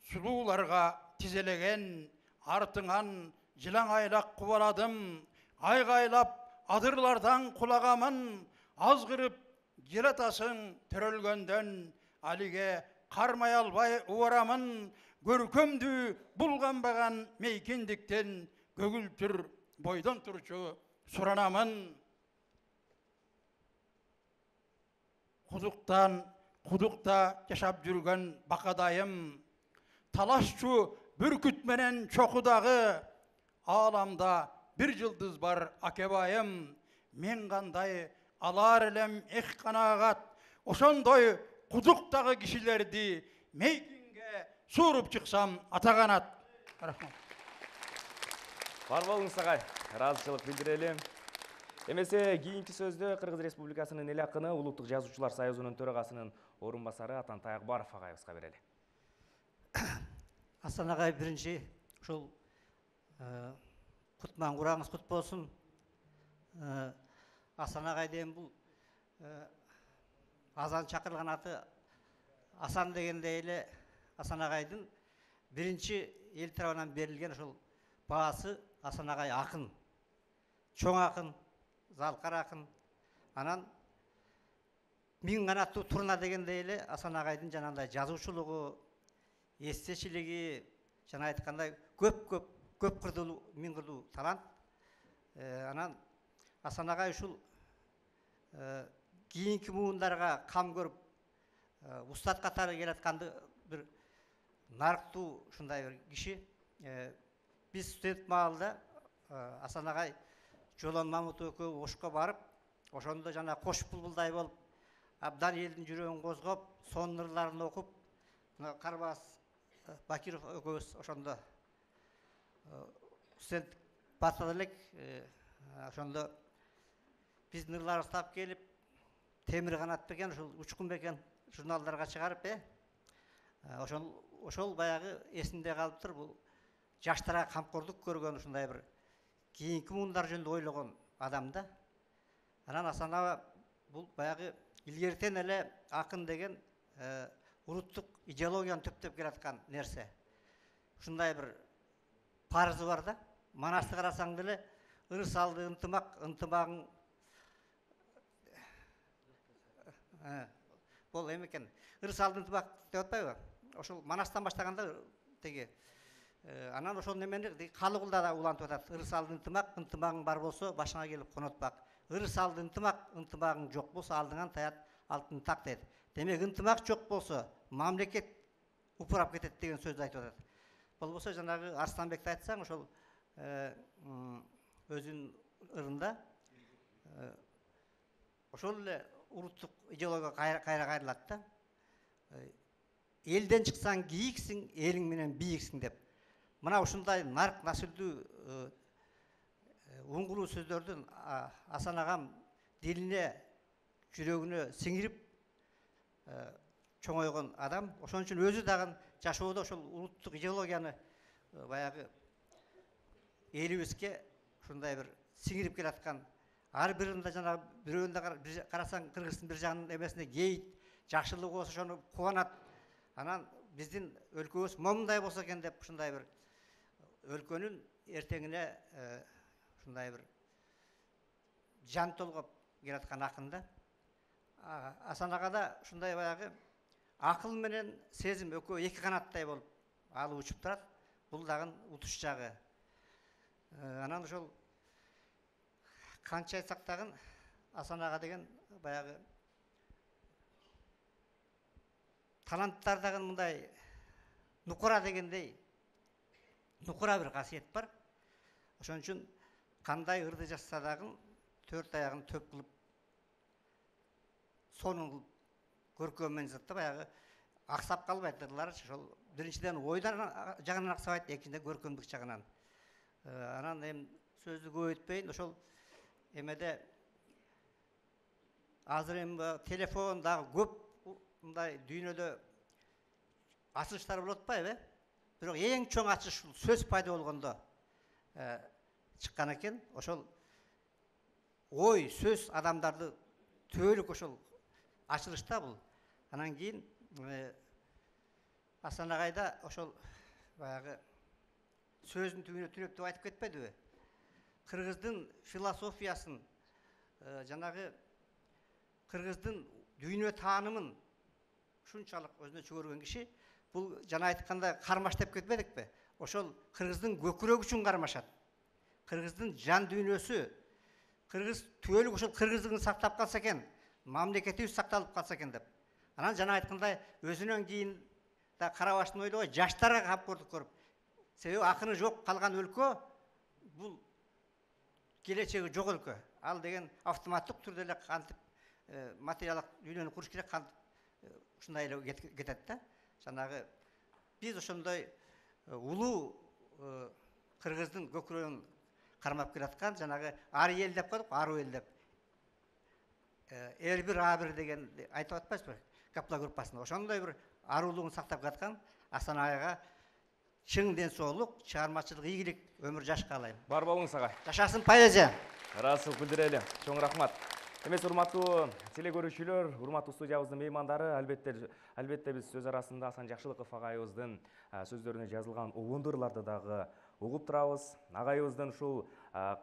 сулууларга тизелеген, артыңан жылаңайлак кубаладым, айгайлап адырлардан кулагамын, азгырып желатасың төрөлгөндөн, алиге кармай албай убарамын, көркөмдү булганбаган мейкиндиктен көгүлтүр бойдон турчу суранамын. Кудукта жашап жүргөн бакадайым, талашчу бүркүт менен чокудагы, ааламда бир жылдыз бар акебайым. Мен кандай алар элем эк канагат, ошондой кудуктагы кишилерди мейкинге сууруп чыксам атаганат. Рахмат. Бар болуңуз агай, ыраазычылык билдирели. Эмесе кийинки сөздү Кыргыз Республикасынын эл акыны Улуттук Жазуучулар Союзунун төрагасынын орун басары Атантай Акбаров агайыбызга берели. Асан агай биринчи ушул кутман кураңыз кут болсун. Асан агай деген бул азан чакырылган аты Асан дегенде эле Асан агайдын биринчи эл тарабынан берилген ушул баасы Асан агай акын, чоң акын, залкар акын. Анан миң канаттуу турна дегенде эле Асан агайдын жанагындай жазуучулугу, эстечилиги, жана айткандай көп кырдылуу, миң кырдуу талант. Анан Асан агай ушул кийинки муундарга кам көрүп устат катары келатканды бир нарыктуу ушундай бир киши. Биз студент маалда Асан агай Жолон Мамутов экөө Ошко барып, ошондо жана кош булбулдай болуп, абдан элдин жүрөгүн козгоп, сонун ырларын окуп, Карбалас Бакиров экөөбүз ошондо студент батал элек. Ошондо биздин ырларыбызды тап келип, Темир канат бекен, ушул Учкун бекен журналдарга чыгарып, ошол баягы эсимде калыптыр. Бул жаштарга камкордук көргөн ушундай бир кийинки муундар жөнүндө ойлогон адам да. Анан Асан агай бул баягы илгертен эле акын деген улуттук идеологияны төптөп келаткан нерсе. Ушундай бир парызы бар да. Манасты карасаң деле ыр салды ынтымагың бул эме экен. Ыр салды ынтымак деп атпайбы? Ошол Манастан баштаганда теги Анан ошол немени Калыгулда да улантып атат. Ыр салды ынтымак, ынтымагың бар болсо башыңа келип конотпак. Ыр салды ынтымак, ынтымагың жок болсо алдыңан таят алтын так дейт. Демек ынтымак жок болсо мамлекет упурап кетет деген сөздү айтып атат. Болбосо жанагы Арсланбекти айтсаң, ошол өзүнүн ырында ошол эле улуттук идеологияга кайрылат да. Элден чыксаң кийиксиң, элиң менен бийиксиң деп. Мына ушундай нарк насилдүү уңгулуу сөздөрдүн Асан агам дилине, жүрөгүнө сиңирип чоңойгон адам. Ошон үчүн өзү дагы жашоодо ошол улуттук идеологияны баягы элибизге ушундай бир сиңирип келаткан. Ар биринде жанагы бирөөнүндө карасаң кыргыздын бир жагынын эмесине кейит, жакшылык болсо ошону кубанат. Анан биздин өлкөбүз момундай болсо экен деп ушундай бир өлкөнүн эртеңине ушундай бир жан толгоп келаткан акын да. Асан агада ушундай баягы акыл менен сезим экөө эки канаттай болуп алып учуп турат. Бул дагы утуш жагы. Анан ошол канча айтсак дагы Асан ага деген баягы таланттар дагы мындай нукура дегендей нукура бир касиет бар. Ошон үчүн кандай ырды жазса дагы төрт аягын төп кылып сонун көркөммен жазат да, баягы аксап калбайт ырлары. Ошол биринчиден ойдан жагынан аксабайт, экинчиден көркөмдүк жагынан. Анан эми сөздү көбөйтпөйүн, ошол эмеде азыр эми телефон дагы көп мындай дүйнөдө ачылыштар болуп атпайбы? Бирок эң чоң ачыш сөз пайда болгондо чыккан экен. Ошол ой, сөз адамдарды түбөлүк ошол ачылышта бул. Анан кийин Асан агайда ошол баягы сөздүн түбүнө түнөп деп айтып кетпедиби? Кыргыздын философиясын, жанагы кыргыздын дүйнө таанымын ушунчалык өзүнө чөгөргөн киши, бул жана айткандай кармаш деп кетпедикпи? Ошол кыргыздын көкүрөгү үчүн кармашат. Кыргыздын жан дүйнөсү, кыргыз түбөлүк ошол кыргыздыгын сактап калса экен, мамлекетибиз сакталып калса экен деп. Анан жана айткандай өзүнөн кийин да карабаштын ойлогой жаштарга камкордук көрүп. Себеби акыны жок калган өлкө бул келечеги жок өлкө. Ал деген автоматтык түрдө эле кантип материалдык дүйнөнү куруш керек, кантип ушундай эле кетет да. Жанагы биз ошондой улуу кыргыздын көкүрөгүн кармап келаткан жанагы ар эл деп коydук, ару эл деп. Эр бир, а бир деген айтып атпайсызбы? Капла группасында ошондой бир арулугун сактап келаткан Асан агайга чың ден соолук, чыгармачылык ийгилик, өмүр жаш каалайм. Бар болуңуз агай. Жашасын поэзия. Расыл күлдүреле. Чоң рахмат. Эмес урматтуу телекөрүүчүлөр, урматтуу студиябыздын меймандары, албетте биз сөз арасында Асан Жакшылыков агайыбыздын сөздөрүнө жазылган угундурларды дагы угуп турабыз. Агайыбыздын ушул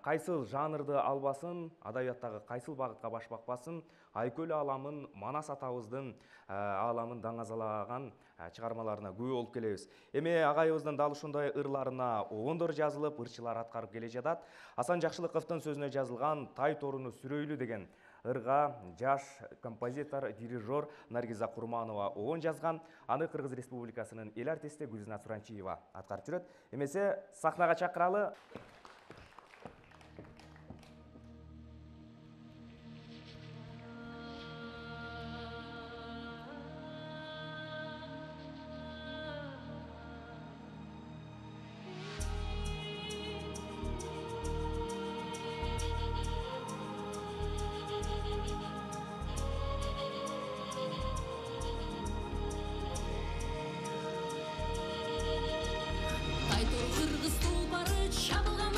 кайсыл жанрды албасын, адабияттагы кайсыл багытка баш бакпасын, Айкөл ааламын, Манас атабыздын ааламын даңазалаган чыгармаларына күбө болуп келебиз. Эми агайыбыздын дал ушундай ырларына угундур жазылып, ырчылар аткарып келе жатат. Асан Жакшылыковдун сөзүнө жазылган Тай торуну сүрөйлү деген ырга жаш композитор, дирижер Наргиза Курманова угун жазган. Аны Кыргыз Республикасынын эл артисти Гүлзина Суранчиева аткарып жүрөт. Эмесе сахнага чакыралы. Кыргыз тулпары чабылган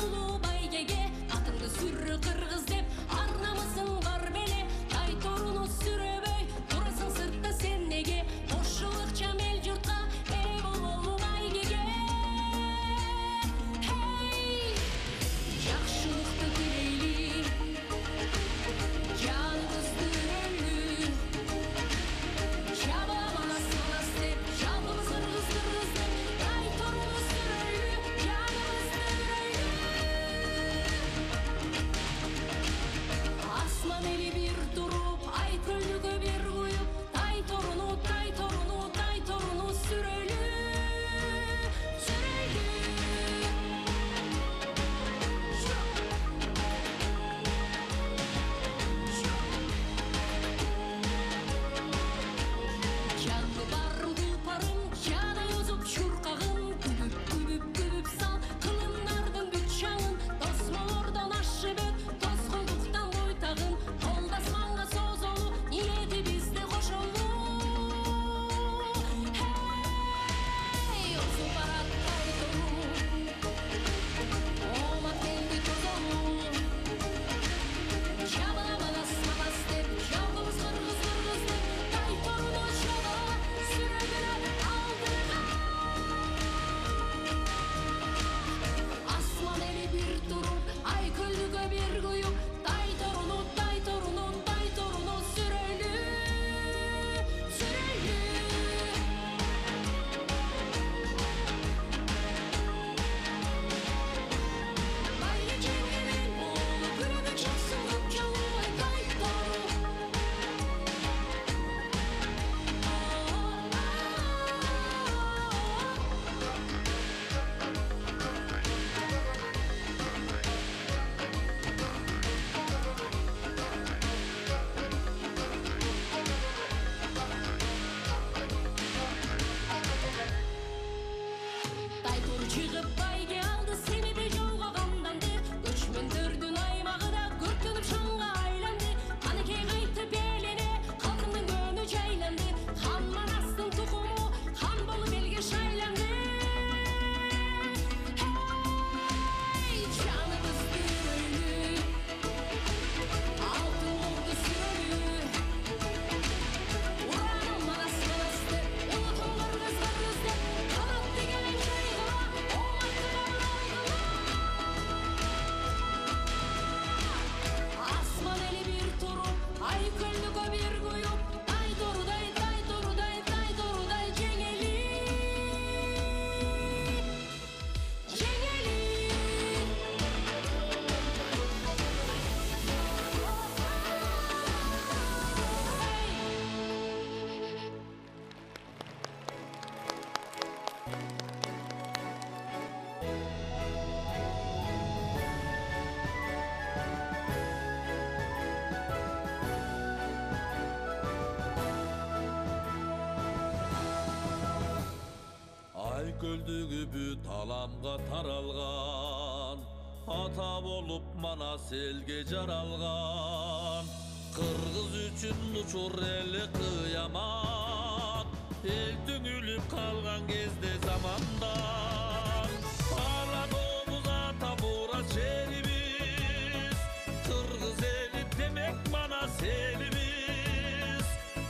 көлдүгү бүт аламга таралган, ата болуп Манас элге жаралган. Кыргыз үчүн учур эле кыямат, эл түңүлүп калган кезде замандан. Ааладобуз ата Мурат жерибиз, кыргыз эли демек Манас элибиз.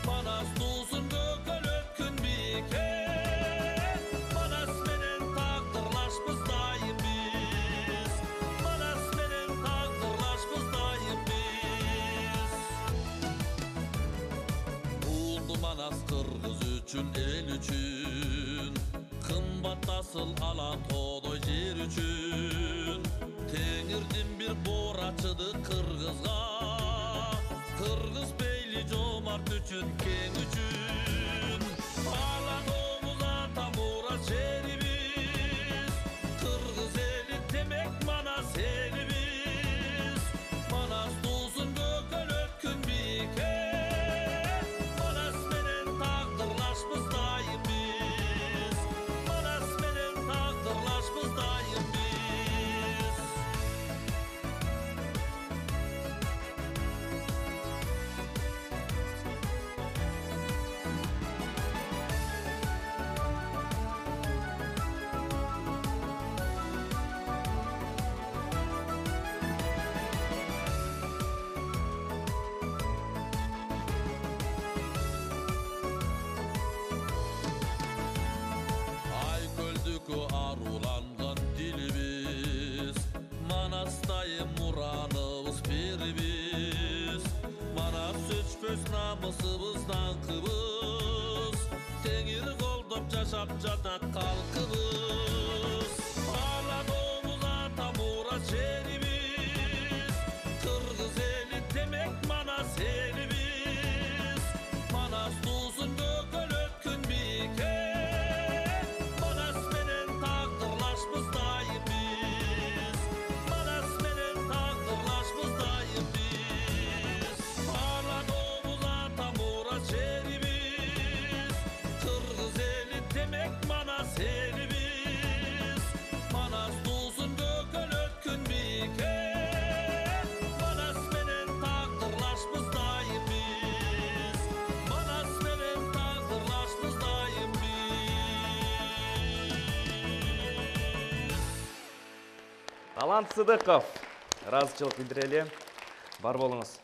Манас туусун көкөлөп күн бийикке, Манас менен тагдырлашпыз дайым биз. Манас менен тагдырлашпыз дайым биз. Улду Манас кыргыз үчүн, эл үчүн, кымбат асыл ала тоодой жер үчүн. Теңирдин бир боорачыды кыргызга, кыргыз бейли жомарт үчүн, кең үчүн. Ааладобуз ата Мурат жерибиз, кыргыз эли демек Манас элибиз. Манас туусун көкөлөп күн бийикке, Манас менен тагдырлашпыз дайым биз. Манас менен тагдырлашпыз дайым биз. Ай көлдүккө аруланган дилибиз, Манастайым ураныбыз берибиз. Манас өчпөс намысыбыз, даңкыбыз, теңир колдоп жашап жатат калкыбыз. Ааладобуз ата Мурат жерибиз, кыргыз эли демек Манас элибиз. Манас туусун көкөлөп күн бийикке, Манас менен тагдырлашпыз дайым биз. Манас менен тагдырлашпыз дайым биз. Ааладобуз ата Мурат жерибиз, кыргыз эли демек Манас элибиз. Манас туусун көкөлөп күн бийикке, Манас менен тагдырлашпыз дайым биз. Манас менен тагдырлашпыз дайым биз. Талант Сыдыков ыраазычылык билдирели. Бар болуңуз.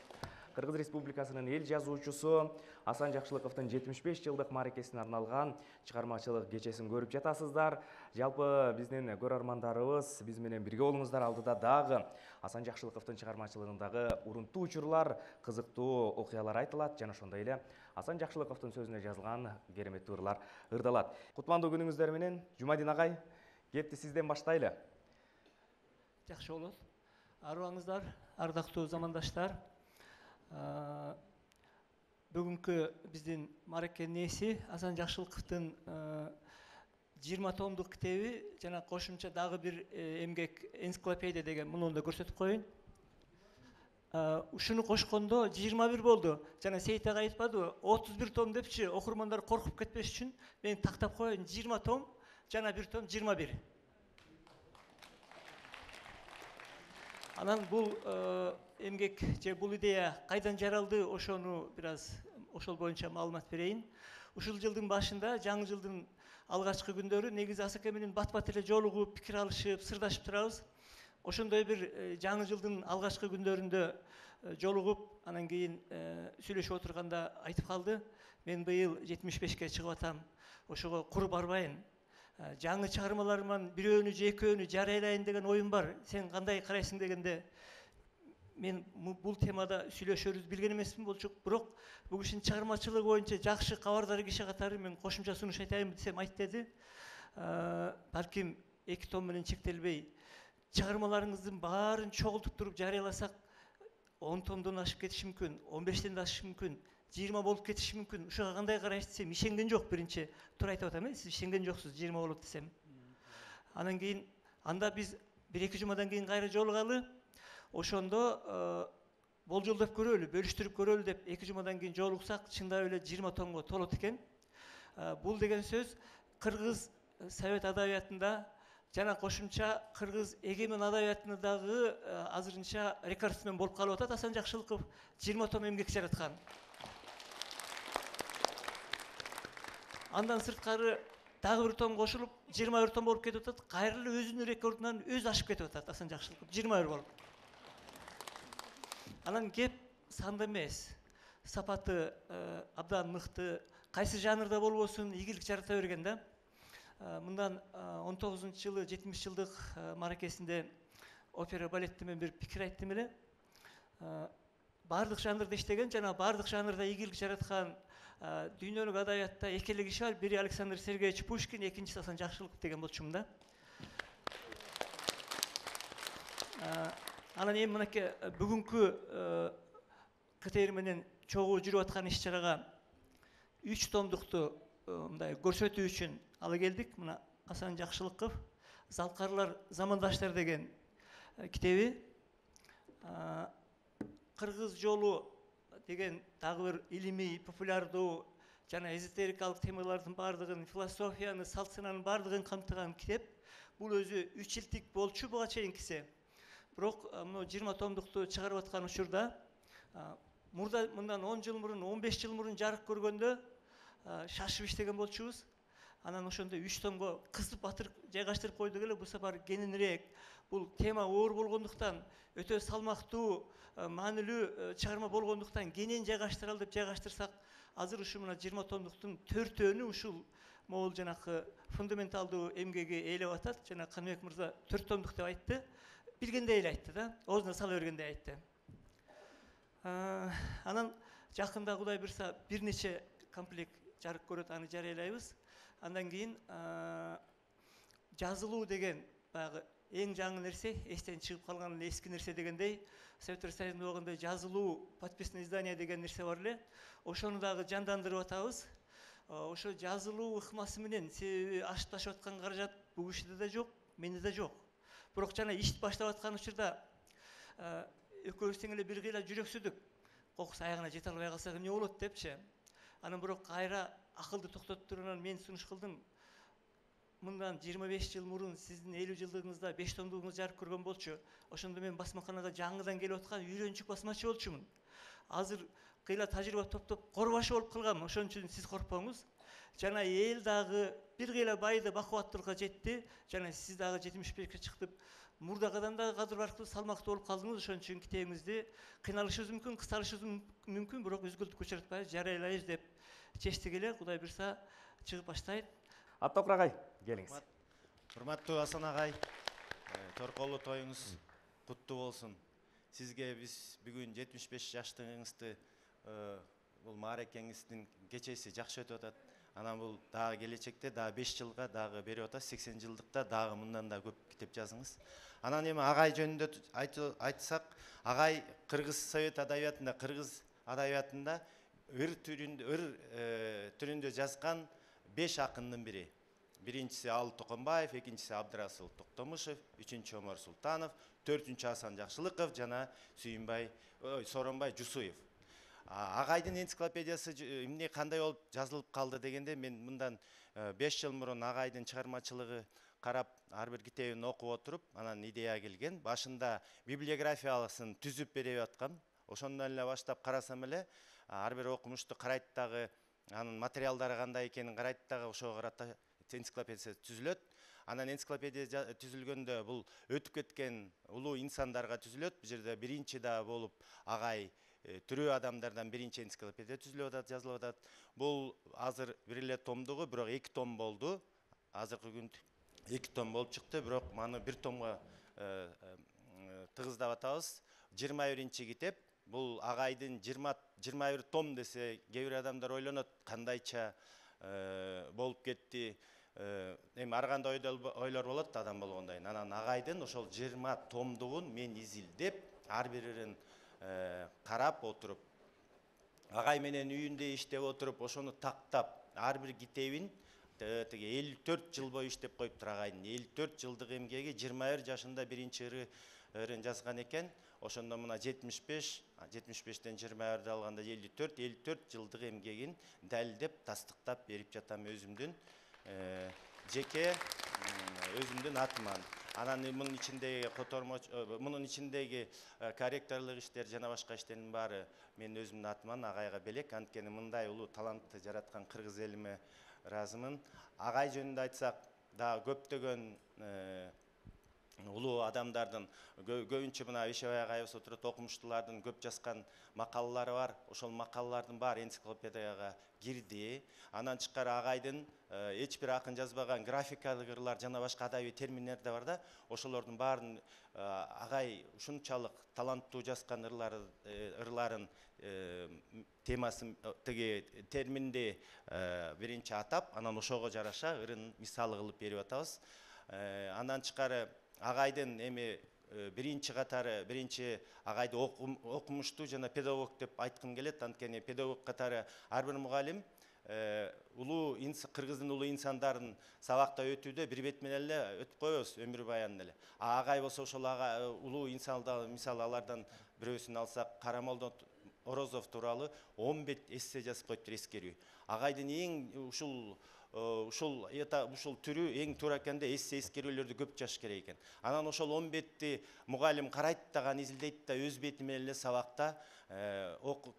Кыргыз Республикасынын эл жазуучусу Асан Жакшылыковдун 75 жылдык мааракесине арналган чыгармачылык кечесин көрүп жатасыздар. Жалпы биздин көрөрмандарыбыз биз менен бирге болуңуздар. Алдыда дагы Асан Жакшылыковдун чыгармачылыгындагы урунтуу учурлар, кызыктуу окуялар айтылат жана ошондой эле Асан Жакшылыковдун сөзүнө жазылган кереметтүү ырлар ырдалат. Кутмандуу күнүңүздөр менен Жумадин агай, кепти сизден баштайлы. Жакшы болот. Арыбаңыздар, ардактуу замандаштар. Бүгүнкү биздин мааракенин ээси Асан Жакшылыковдун 20 томдук китеби жана кошумча дагы бир эмгек энциклопедия деген муну да көрсөтүп коеюн. Ушуну кошкондо 21 болду. Жана Сейит ага айтпадыбы? 31 том депчи, окурмандар коркуп кетпеш үчүн мен тактап коеюн. 20 том жана 1 том 21. Анан бул эмгек же бул идея кайдан жаралды, ошону бир аз ошол боюнча маалымат берейин. Ушул жылдын башында, жаңы жылдын алгачкы күндөрү негизи Асаке менен бат-бат эле жолугуп, пикир алышып, сырдашып турабыз. Ошондой бир жаңы жылдын алгачкы күндөрүндө жолугуп, анан кийин сүйлөшүп отурганда айтып калды: "Мен быйыл 75ке чыгып атам. Ошого кур барбайын. Жаңы чыгармаларыман бирөөнү же экөөнү жарыялайын деген оюм бар. Сен кандай карайсың?" дегенде мен бул темада сүйлөшөрүз билген эмесмин болчу, бирок бул кишинин чыгармачылыгы боюнча жакшы кабардар киши катары мен кошумча сунуш айтайын десем айт деди. Балким 2 том менен чектелбей, чыгармаларыңыздын баарын чогултуп туруп жарыяласак 10 томдон ашып кетиши мүмкүн, 15тен да ашышы мүмкүн, 20 болуп кетиши мүмкүн. Ушуга кандай карайсыз десем, ишенген жок биринчи. Туура айтып атам, сиз ишенген жоксуз 20 болот десем. Анан кийин анда биз 1-2 жумадан кийин кайра жолугалы. Ошондо болжолдоп көрөлү, бөлүштүрүп көрөлү деп 2 жумадан кийин жолуксак, чындап эле 20 томго толот экен. Бул деген сөз кыргыз совет адабиятында жана кошумча кыргыз эгемен адабиятында дагы азырынча рекордсмен болуп калып атат. Асан Жакшылыков 20 том эмгек жараткан. Андан сырткары дагы бир том кошулуп 21 том болуп кетип атат. Кайра эле өзүнүн рекордунан өзү ашып кетип атат Асан Жакшылыков 21 болуп. Анан кеп санда эмес, сапаты абдан мыкты, кайсы жанрда болбосун ийгилик жарата берген да. Мындан 19-жылы 70-жылдык маракесинде опера балетте мен бир пикир айттым эле. Бардык жанрда иштеген жана бардык жанрда ийгилик жараткан дүйнөлүк адабиятта эки эле киши бар. Бири Александр Сергеевич Пушкин, экинчиси Асан Жакшылыков деген болчумун да. Анан эми мынакей бүгүнкү КТР менен чогуу жүрүп аткан иш-чарага 3 томдукту мындай көрсөтүү үчүн ала келдик. Мына Асан Жакшылыков Залкарлар замандаштар деген китеби, Кыргыз жолу деген дагы бир илимий, популярдуу жана эзотерикалык темалардын бардыгын, философияны, салт сананын бардыгын камтыган китеп. Бул өзү 3 жылдык болчу буга чейинкиси. Бирок мына 20 томдукту чыгарып аткан учурда мурда мындан 10 жыл мурун, 15 жыл мурун жарык көргөндө шашып иштеген болчубуз. Анан ошондо 3 томго кысып батырып жайгаштырып койдук эле. Бул сапар кененирээк, бул тема оор болгондуктан, өтө салмактуу, маанилүү чыгарма болгондуктан кенен жайгаштыралы деп жайгаштырсак, азыр ушу мына 20 томдуктун 4-өөнү ушул могул жанакы фундаменталдуу эмгеги ээлеп атат. Жана Каныбек мырза 4 томдук деп айтты. Билгендей эле айтты да, оозуна сала бергендей айтты. Анан жакында Кудай буйрса бир нече комплект жарык көрөт, аны жарыялайбыз. Андан кийин жазылуу деген баягы эң жаңы нерсе, эстен чыгып калган эски нерсе дегендей, Советтер Союзунда болгондой жазылуу подписное издание деген нерсе бар эле. Ошону дагы жандандырып атабыз. Ошо жазылуу ыкмасы менен себеби ашып ташып аткан каражат бул кишиде да жок, менде да жок. Бирок жана иш баштап аткан учурда экөөбүз тең эле бир кыйла жүрөксүдүк. Кокус аягына жете албай калсак эмне болот депчи. Анан бирок кайра акылды токтотуп туруп мен сунуш кылдым. Мындан 25 жыл мурун сиздин 50 жылдыгыңызда 5 томдугуңуз жарык көргөн болчу. Ошондо мен басмаканага жаңыдан келип аткан үйрөнчүк басмачы болчумун. Азыр кыйла тажрыйба топтоп корбашы болуп калгам. Ошон үчүн сиз коркпоңуз. Жана эл дагы бир кыйла байды бакубаттуулукка жетти. Жана сиз дагы 75-ке чыктып, мурдагыдан дагы кадыр барктуу салмактуу болуп калдыңыз. Ошон үчүн китебиңизди кыйналышыбыз мүмкүн, кыскартышыбыз мүмкүн, бирок үзгүлтүккө учуртпай жарыялайбыз деп чечтик эле. Кудай буйрса чыгып баштайт. Аттокур агай, келиңиз. Урматтуу Асан агай, торколуу тоюңуз куттуу болсун. Сизге биз бүгүн 75 жаштыгыңызды бул мааракеңиздин кечеси жакшы өтүп атат. Анан бул дагы келечекте дагы 5 жылга дагы берип атат. 80 жылдыкта дагы мындан да көп китеп жазыңыз. Анан эми агай жөнүндө айтсак, агай Кыргыз совет адабиятында, Кыргыз адабиятында ыр түрүндө жазган 5 акындын бири. Биринчиси Алы Токонбаев, экинчиси Абдырасыл Токтомушев, үчүнчү Омар Султанов, төртүнчү Асан Жакшылыков жана Сооронбай Жусуев. Агайдын энциклопедиясы эмне кандай болуп жазылып калды дегенде, мен мындан 5 жыл мурун агайдын чыгармачылыгы карап, ар бир китебин окуп отуруп, анан идея келген. Башында библиографиясын түзүп берип аткам. Ошондон эле баштап карасам эле, ар бир окумушту карайт дагы, анын материалдары кандай экенин карайт дагы, ошого карата энциклопедия түзүлөт. Анан энциклопедия түзүлгөндө бул өтүп кеткен улуу инсандарга түзүлөт. Бул жерде биринчи да болуп агай тирүү адамдардан биринчи энциклопедия түзүлүп атат, жазылып атат. Бул азыр бир эле томдугу, бирок 2 том болду. Азыркы күндө 2 том болуп чыкты, бирок маны 1 томго тыгыздап атабыз. 21-чи китеп. Бул агайдын 21 том десе, кээ бир адамдар ойлонот, кандайча болуп кетти. Эми ар кандай ойлор болот адам болгондон. Анан агайдын ошол 20 томдугун мен изилдеп, ар бирин карап отуруп, агай менен үйүндө иштеп отуруп, ошону тактап, ар бир китебин тиги 54 жыл бою иштеп коюптур агайдын. 54 жылдык эмгеги 21 жашында биринчи ырын жазган экен. Ошондо мына 75-тен 21 алганда 54 жылдык эмгегин далилдеп, тастыктап берип жатам өзүмдүн жеке өзүмдүн атыман. Анан мунун ичиндеги мунун ичиндеги корректорлук иштер жана башка иштердин баары мен өзүмдүн атыман агайга белек. Анткени мындай улуу талантты жараткан кыргыз элиме ыраазымын. Агай жөнүндө айтсак, да көптөгөн улуу адамдардын көбүнчө мына Ишебай агайыбыз отурат, окумуштуулардын көп жазган макалалары бар. Ошол макалалардын баары энциклопедияга кирди. Анан тышкары агайдын эч бир акын жазбаган графикалык ырлар жана башка адабий терминдер да бар да. Ошолордун баарын агай ушунчалык таланттуу жазган ырларын темасын тиги терминди биринчи атап, анан ошого жараша ырын мисалы кылып берип атабыз. Андан тышкары агайдын эми биринчи катары агайды окумуштуу жана педагог деп айткым келет. Анткени педагог катары ар бир мугалим кыргыздын улуу инсандарын сабакта өтүүдө бир бет менен эле өтүп коебуз, өмүр баянын эле. Агай болсо ошол улуу инсандар, мисалы алардан бирөөсүн алсак, Карамолдо Орозов тууралуу 10 бет эссе жазып коюптур, эскерүү. Агайдын эң ушул түрү эң туура экенде эссе эскерүүлөрдү көп жазыш керек экен. Анан ошол 10 бетти мугалим карайт дагы, изилдейт да, өз бети менен эле сабакта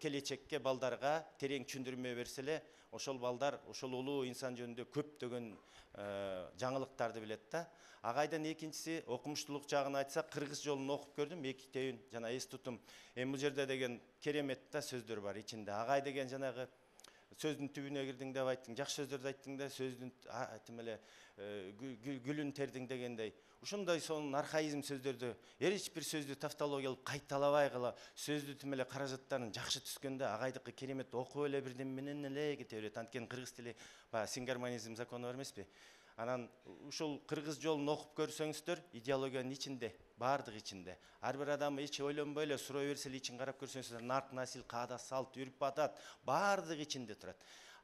келечекке балдарга терең түшүндүрмө берсе эле, ошол балдар ошол улуу инсан жөнүндө көптөгөн жаңылыктарды билет да. Агайдын экинчиси окумуштуулук жагын айтсак, кыргыз жолун окуп көрдүм, 2 тейин жана эс тутум. Эми бул жерде деген керемет да сөздөр бар ичинде. Агай деген жанагы сөздүн түбүнө кирдиң деп айттың, жакшы сөздөрдү айттың да, сөздүн тим эле гүлүн тердиң дегендей. Ушундай сонун архаизм сөздөрдү, эч бир сөздү тавтологиялык кайталабай кала, сөздү тим эле каражаттарын жакшы түскөндө агайдыкы керемет окуп эле бирден менен эле кете берет. Анткени кыргыз тили сингармонизм закону бар эмеспи? Анан ушул кыргыз жолун окуп көрсөңүздөр, идеологиянын ичинде, баардык ичинде. Ар бир адам эч ойлонбой эле суроо берсе эле ичин карап көрсөңүздөр, нарт насил, каада салт, үрп адат баардык ичинде турат.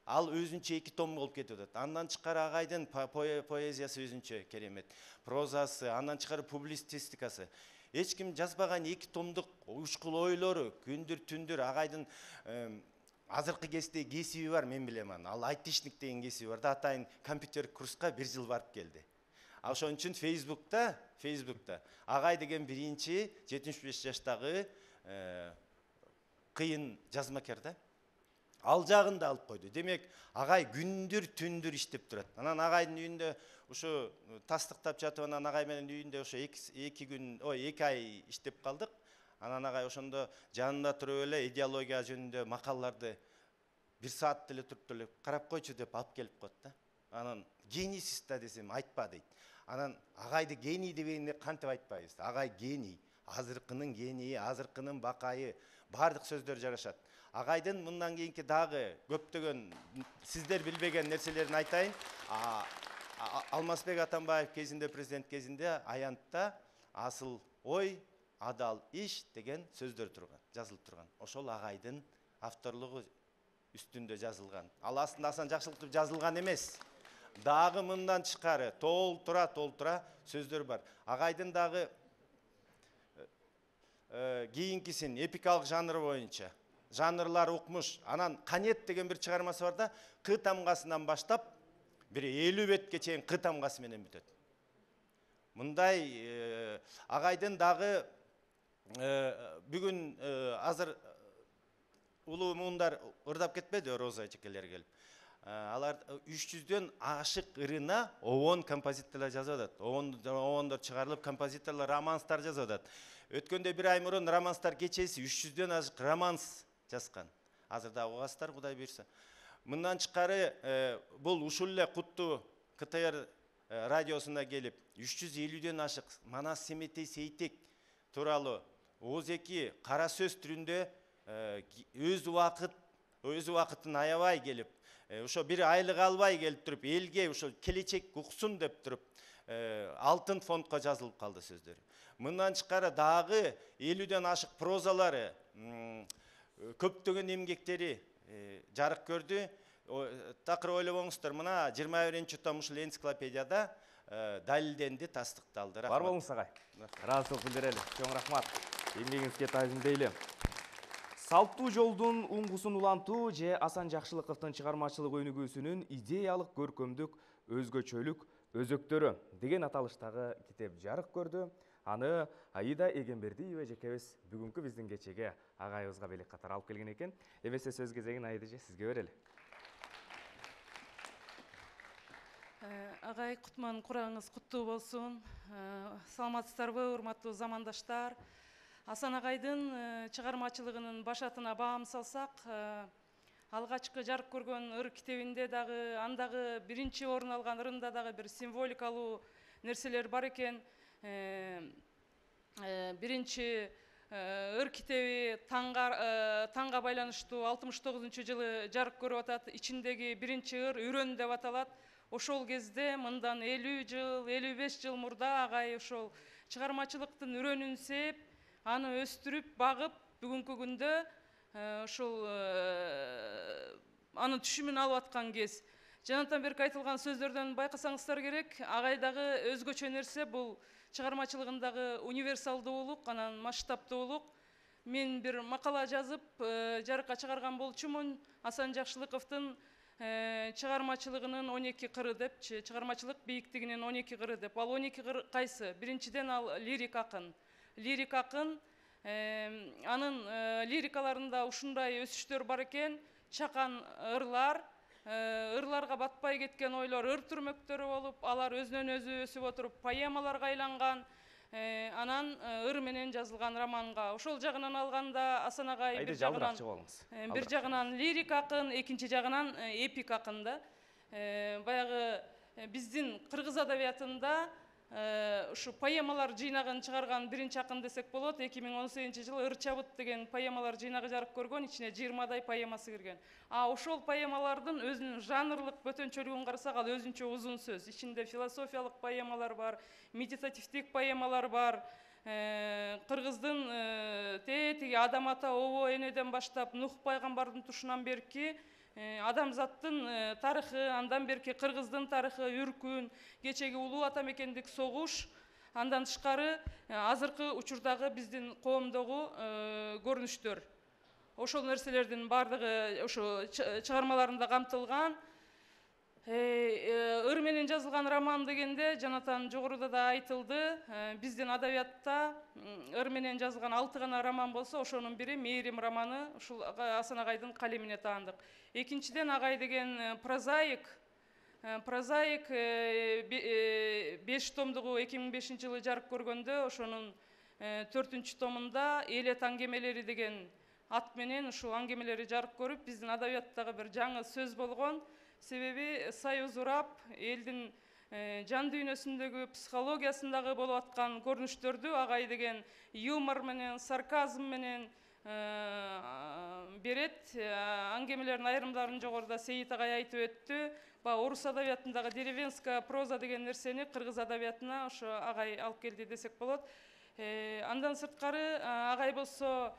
Ал өзүнчө 2 том болуп кетип атат. Андан тышкары агайдын поэзиясы өзүнчө керемет, прозасы, андан тышкары публицистикасы. Эч ким жазбаган 2 томдук учкул ойлору, күндүр түндүр агайдын азыркы кезде кесиби бар, мен билем аны. Ал айтишник деген кесиби бар да, атайын компьютер курска 1 жыл барып келди. Ошон үчүн Facebook'та агай деген биринчи 75 жаштагы кыйын жазмакер да. Ал жагын да алып койду. Демек, агай күндүр түндүр иштеп турат. Анан агайдын үйүндө ушу тастыктап жатып, анан агай менен үйүндө ошо 2 ай иштеп калдык. Анан агай ошондо жанында туруп эле идеология жөнүндө макалаларды 1 саат деле туруп эле карап койчу деп алып келип коет да. Анан генийсиз да десем айтпа дейт. Анан агайды гений дегенде кантип айтпайбыз? Агай гений, азыркынын генийи, азыркынын бакайы, баардык сөздөр жарашат. Агайдын мындан кийинки дагы көптөгөн сиздер билбеген нерселерин айтайын. Алмазбек Атамбаев кезинде, президент кезинде аянтта асыл ой, адал иш деген сөздөр турган, жазылып турган. Ошол агайдын авторлугу үстүндө жазылган. Ал астында Асан Жакшылыктып жазылган эмес. Дагы мындан тышкары толтура сөздөр бар. Агайдын дагы кийинкисин эпикалык жанр боюнча жанрлар укмуш. Анан Канет деген бир чыгармасы бар да, Кы тамгасынан баштап бир 50 бетке чейин Кы тамгасы менен бүтөт. Мындай агайдын дагы бүгүн азыр улуу муундар ырдап кетпеди, Роза эчекелер келип. Алар 300дөн ашык ырына овон композиторлор жазып атат. Овондор чыгарылып, композиторлор романстар жазып атат. Өткөндө 1 ай мурун романстар кечеси 300дөн ашык романс жазган. Азыр да угасыздар, Кудай буйрса. Мындан тышкары бул ушул эле куттуу КТР радиосуна келип 350дөн ашык Манас Семетей Сейтек тууралуу Ооз-2 кара сөз түрүндө өз убакытын аябай келип, ошо бир айлык албай келип туруп, элге ошо келечек уксун деп туруп, алтын фондко жазылып калды сөздөрү. Мындан тышкары дагы 50дөн ашык прозалары, көптөгөн эмгектери жарык көрдү. Такыр ойлобоңуздар, мына 21 том ушул энциклопедияда далилденди, тастыкталды. Бар болуңуз агай. Ыраазычылык билдирели. Чоң рахмат. Эмгегиңизге таазимдейли. Салттуу жолдун уңгусун улантуу же Асан Жакшылыковдун чыгармачылык өнүгүүсүнүн идеялык, көркөмдүк, өзгөчөлүк өзөктөрү деген аталыштагы китеп жарык көрдү. Аны Аида Эгембердиева жекебиз бүгүнкү биздин кечеге агайыбызга белек катары алып келген экен. Эмесе сөз кезегин Аида эже сизге берели. Агай, кутман курагыңыз куттуу болсун. Саламатсыздарбы, урматтуу замандаштар. Асан агайдын чыгармачылыгынын башатына баам салсак, алгачкы жарык көргөн ыр китебинде дагы, андагы биринчи орун алган ырында дагы бир символикалуу нерселер бар экен. Биринчи ыр китеби таңга байланыштуу 69-жылы жарык көрүп атат. Ичиндеги биринчи ыр Үрөн деп аталат. Ошол кезде мындан 50 жыл, 55 жыл мурда агай ошол чыгармачылыктын үрөнүн сээп, аны өстүрүп, багып, бүгүнкү күндө ошол анын түшүмүн алып аткан кез. Жанатан берки айтылган сөздөрдөн байкасаңыздар керек, агайдагы өзгөчө нерсе бул чыгармачылыгындагы универсалдуулук, анан масштабтуулук. Мен бир макала жазып, жарыкка чыгарган болчумун. Асан Жакшылыковдун чыгармачылыгынын 12 кыры деп, чыгармачылык бийиктигинин 12 кыры деп. Ал 12 кыр кайсы? Биринчиден ал лирик акын. Лирик акын, анын лирикаларында ушундай өсүштөр бар экен, чакан ырлар, ырларга батпай кеткен ойлор ыр түрмөктөрү болуп, алар өзүнөн өзү өсүп отуруп поэмаларга айланган. Анан ыр менен жазылган романга. Ошол жагынан алганда Асан агай бир жагынан лирик акын, экинчи жагынан эпик акын да. Баягы биздин кыргыз адабиятында ушу поэмалар жыйнагын чыгарган биринчи акын десек болот. 2018-жылы Ыр чабыт деген поэмалар жыйнагы жарык көргөн, ичине 20дай поэмасы кирген. Ошол поэмалардын өзүнүн жанрлык бөтөнчөлүгүн карасак, ал өзүнчө узун сөз. Ичинде философиялык поэмалар бар, медитативдик поэмалар бар. Кыргыздын тетиги Адам ата обо энеден баштап Нух пайгамбардын тушунан берки адамзаттын тарыхы, андан берки кыргыздын тарыхы, үркүн, кечеги улуу ата мекендик согуш, андан тышкары азыркы учурдагы биздин коомдогу көрүнүштөр. Ошол нерселердин бардыгы ошо чыгармаларында камтылган. Ыр менен жазылган роман дегенде Жанатан жогоруда да айтылды. Биздин адабиятта ыр менен жазылган 6 гана роман болсо, ошонун бири Мээрим романы, ушул Асан агайдын калемине таандык. Экинчиден агай деген прозаик. Прозаик 5 томдугу 2005-жылы жарык көргөндө, ошонун 4-чү томунда Элет аңгемелери деген ат менен ушул аңгемелери жарык көрүп, биздин адабияттагы бир жаңы сөз болгон. Себеби союз урап, элдин жан дүйнөсүндөгү психологиясындагы болуп аткан көрүнүштөрдү агай деген юмор менен, сарказм менен берет. Аңгемелердин айрымдарын жогоруда Сейит агай айтып өттү. Орус адабиятындагы деревенская проза деген нерсени кыргыз адабиятына ошо агай алып келди десек болот. Андан сырткары агай болсо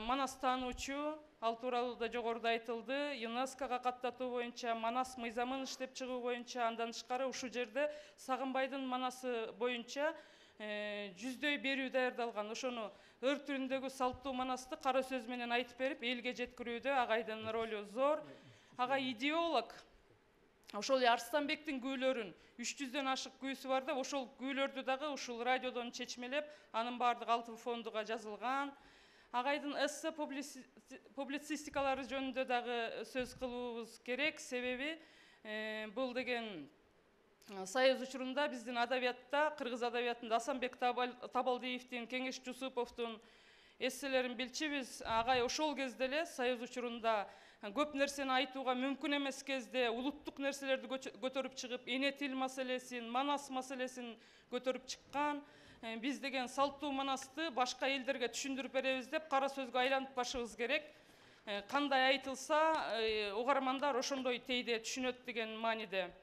Манас таануучу, ал тууралуу да жогоруда айтылды. ЮНЕСКОга каттатуу боюнча, Манас мыйзамын иштеп чыгуу боюнча, андан тышкары ушул жерде Сагынбайдын Манасы боюнча 100дөй берүү даярдалган. Ошону ыр түрүндөгү салттуу манасты кара сөз менен айтып берип, элге жеткирүүдө агайдын ролу зор. Агай идеолог. Ошол Арстанбектин күүлөрүн 300дөн ашык күүсү бар да, ошол күүлөрдү дагы ушул радиодон чечмелеп, анын баардыгы алтын фондуга жазылган. Агайдын эссе публицистикалары жөнүндө дагы сөз кылуубуз керек. Себеби бул деген союз учурунда биздин адабиятта, кыргыз адабиятында Асанбек Табалдиевдин, Кеңеш Жусуповдун эсселерин билчүбүз. Агай ошол кезде эле союз учурунда көп нерсени айтууга мүмкүн эмес кезде улуттук нерселерди көтөрүп чыгып, эне тил маселесин, Манас маселесин көтөрүп чыккан. Биз деген салттуу манасты башка элдерге түшүндүрүп беребиз деп кара сөзгө айлантпашыбыз керек. Кандай айтылса, угармандар ошондой тейде түшүнөт деген мааниде.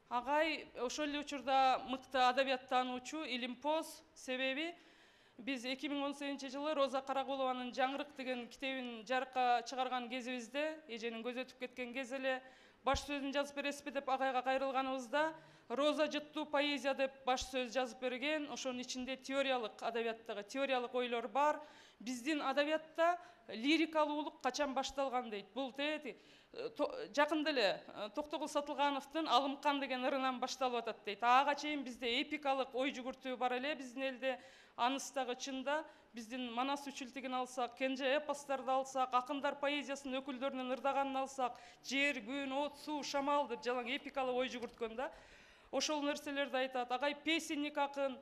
Агай ошол эле учурда мыкты адабият таануучу, илимпоз. Себеби биз 2018-жылы Роза Карагулованын Жаңырык деген китебин жарыкка чыгарган кезибизде, эженин көзү өтүп кеткен кез эле баш сөзүн жазып бересизби деп агайга кайрылганыбызда, роза жыттуу поэзия деп баш сөз жазып берген. Ошонун ичинде теориялык адабияттагы теориялык ойлор бар. Биздин адабиятта лирикалуулук качан башталган дейт. Бул жакында эле Токтогул Сатылгановдун Алымкан деген ырынан башталып атат дейт. Ага чейин бизде эпикалык ой жүгүртүү бар эле биздин элде. Аныстагы чында биздин Манас үчүлтигин алсак, Кенже эпостарды алсак, акындар поэзиясынын өкүлдөрүнүн ырдаганын алсак, жер, күн, от, суу, шамал деп жалаң эпикалык ой жүгүрткөн да. Ошол нерселерди айтат. Агай песенник акын,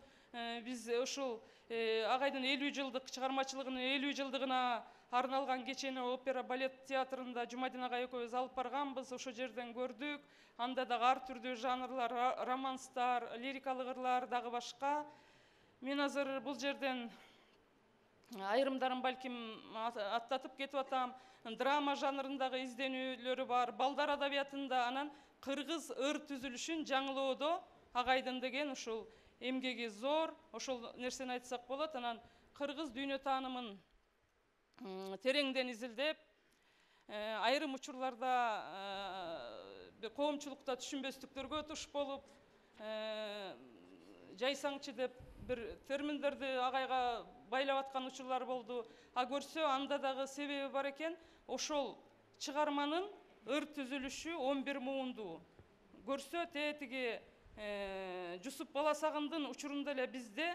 биз ушул агайдын 50 жылдык чыгармачылыгынын 50 жылдыгына арналган кечени опера балет театрында Жумадин агай экөөбүз алып барганбыз. Ошол жерден көрдүк. Анда дагы ар түрдүү жанрлар, романстар, лирикалык ырлар дагы башка. Мен азыр бул жерден айрымдарын балким аттатып кетип атам. Драма жанрындагы изденүүлөрү бар. Балдар адабиятында анан кыргыз ыр түзүлүшүн жаңылоодо агайдын деген ушул эмгеги зор. Ошол нерсени айтсак болот. Анан кыргыз дүйнө таанымын тереңден изилдеп, айрым учурларда коомчулукта түшүнбөстүктөргө туш болуп, жайсаңчы деп бир терминдерди агайга байлап аткан учурлар болду. А көрсө анда дагы себеби бар экен. Ошол чыгарманын ыр түзүлүшү 11 муундуу. Көрсө тетиги Жусуп Баласагындын учурунда эле бизде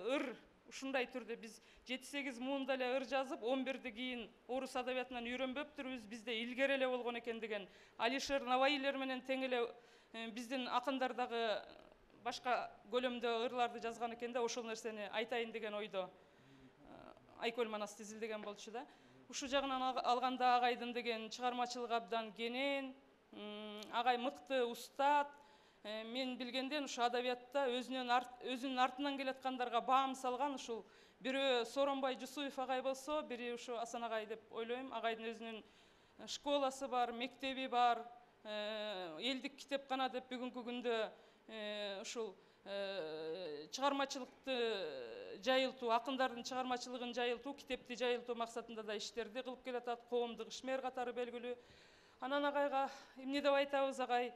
ыр ушундай түрдө биз 7-8 муунда эле ыр жазып, 11-ди кийин орус адабиятынан үйрөнбөптүрбүз. Бизде илгери эле болгон экен деген Алишер Наваилер менен тең эле биздин акындар дагы башка көлөмдө ырларды жазган экен да. Ошол нерсени айтайын деген ойдо Айкөл Манасты изилдеген болчу да. Ушул жагынан алганда агайдын деген чыгармачылыгы абдан кенен, агай мыкты устат. Мен билгенден ушу адабиятта өзүнүн артынан келаткандарга баам салган. Ушул бирөө Сооронбай Жусуев агай болсо, бири ушу Асан агай деп ойлойм. Агайдын өзүнүн школасы бар, мектеби бар, элдик китепкана деп бүгүнкү күндө ушул чыгармачылыкты жайылтуу, акындардын чыгармачылыгын жайылтуу, китепти жайылтуу максатында да иштерди кылып келатат. Коомдук ишмер катары белгилүү. Анан агайга эмне деп айтабыз, агай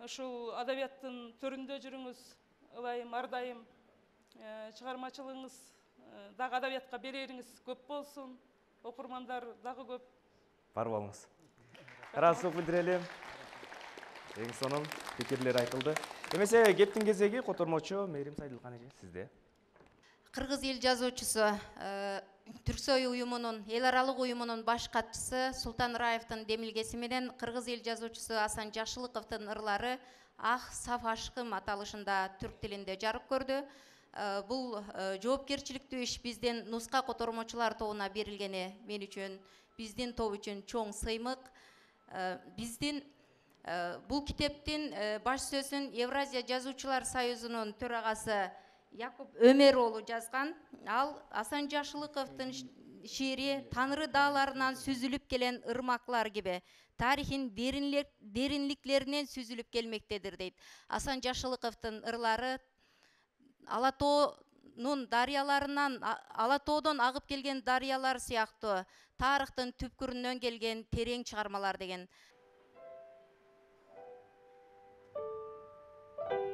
ушул адабияттын төрүндө жүрүңүз, ылайым, ардайым. Чыгармачылыгыңыз дагы адабиятка берериңиз көп болсун. Окурмандар дагы көп. Бар болуңуз. Ыраазычылык билдирелим. Эң сонун пикирлер айтылды. Эмесе кептин кезеги котормочу Мээрим Сайдылкан эже сизде. Кыргыз эл жазуучусу, Түрксой уюмунун, эл аралык уюмунун баш катчысы Султан Раевдин демилгеси менен кыргыз эл жазуучусу Асан Жашылыковдун ырлары Ах, саф ашкым аталышында түрк тилинде жарык көрдү. Бул жоопкерчиликтүү иш биздин нуска котормочулар тобуна берилгени мен үчүн, биздин топ үчүн чоң сыймык. Биздин бул китептин баш сөзүн Евразия жазуучулар союзунун төрагасы Якуб Өмер уулу жазган. Ал Асан Жашылыковдун шиири Таңры дааларынан сүзүлүп келен ырмаклар gibi тарихин деринликлеринен сүзүлүп келмектедир дейт. Асан Жашылыковдун ырлары Алатоонун дарыяларынан, Алатоодон агып келген дарыялар сыяктуу тарыхтын түпкүрүнөн келген терең чыгармалар деген. Arzu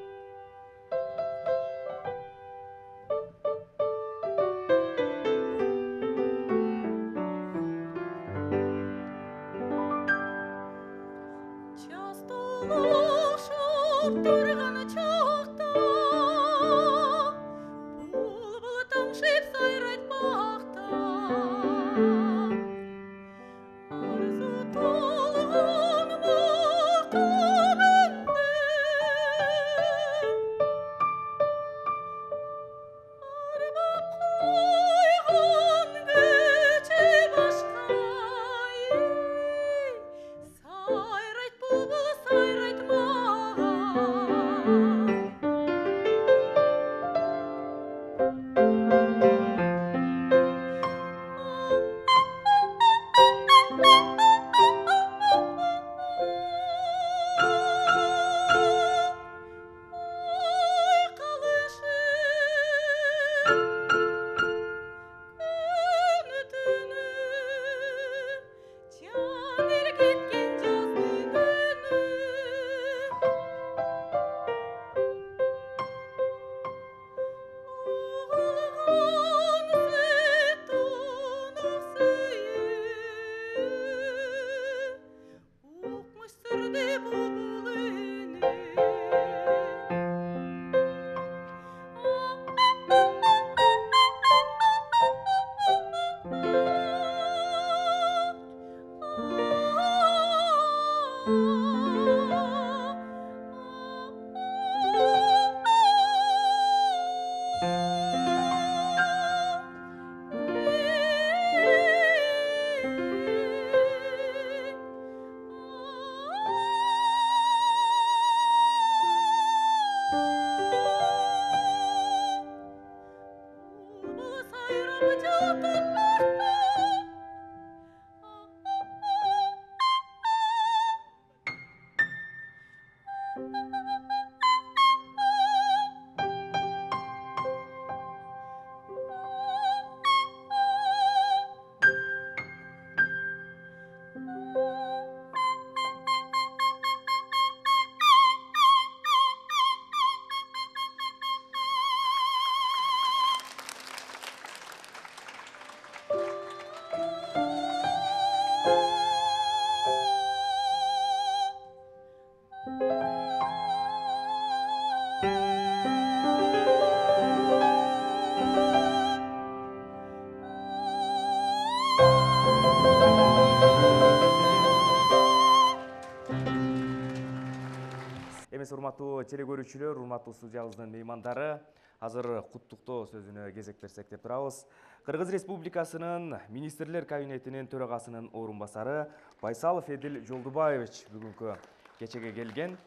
Эмес урматтуу телекөрүүчүлөр, урматтуу студиябыздын меймандары, азыр куттуктоо сөзүнө кезек берсек деп турабыз. Кыргыз Республикасынын Министрлер Кабинетинин төрагасынын орун басары Байсалов Эдил Жолдубаевич бүгүнкү кечеге келген.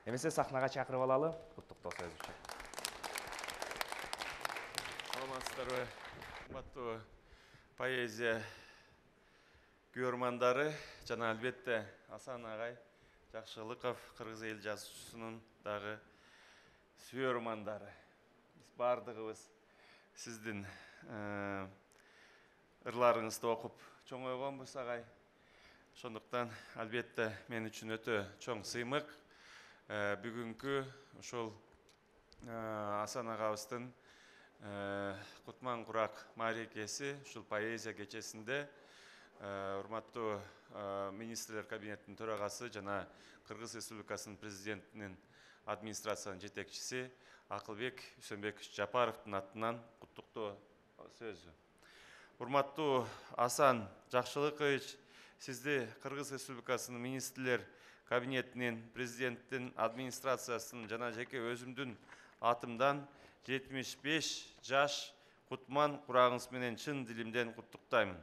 Эмесе сахнага чакырып алалы куттуктоо сөз үчүн. Саламатсыздарбы, урматтуу поэзия көрөрмандары жана албетте Асан агай Жакшылыков, кыргыз эл жазуучусунун дагы сүйөрмандары. Биз бардыгыбыз сиздин ырларыңызды окуп чоңойгонбуз агай. Ошондуктан албетте мен үчүн өтө чоң сыймык бүгүнкү ушул Асан агабыздын Кутман Курак маарекеси ушул поэзия кечесинде урматтуу Министрлер Кабинетинин төрагасы жана Кыргыз Республикасынын президентинин администрациянын жетекчиси Акылбек Үсөнбекович Жапаровдун атынан куттуктоо сөзү. Урматтуу Асан Жакшылыкович, сизди Кыргыз Республикасынын Министрлер Кабинетинин, президенттин администрациясынын жана жеке өзүмдүн атымдан 75 жаш Кутман Курагыңыз менен чын дилимден куттуктаймын.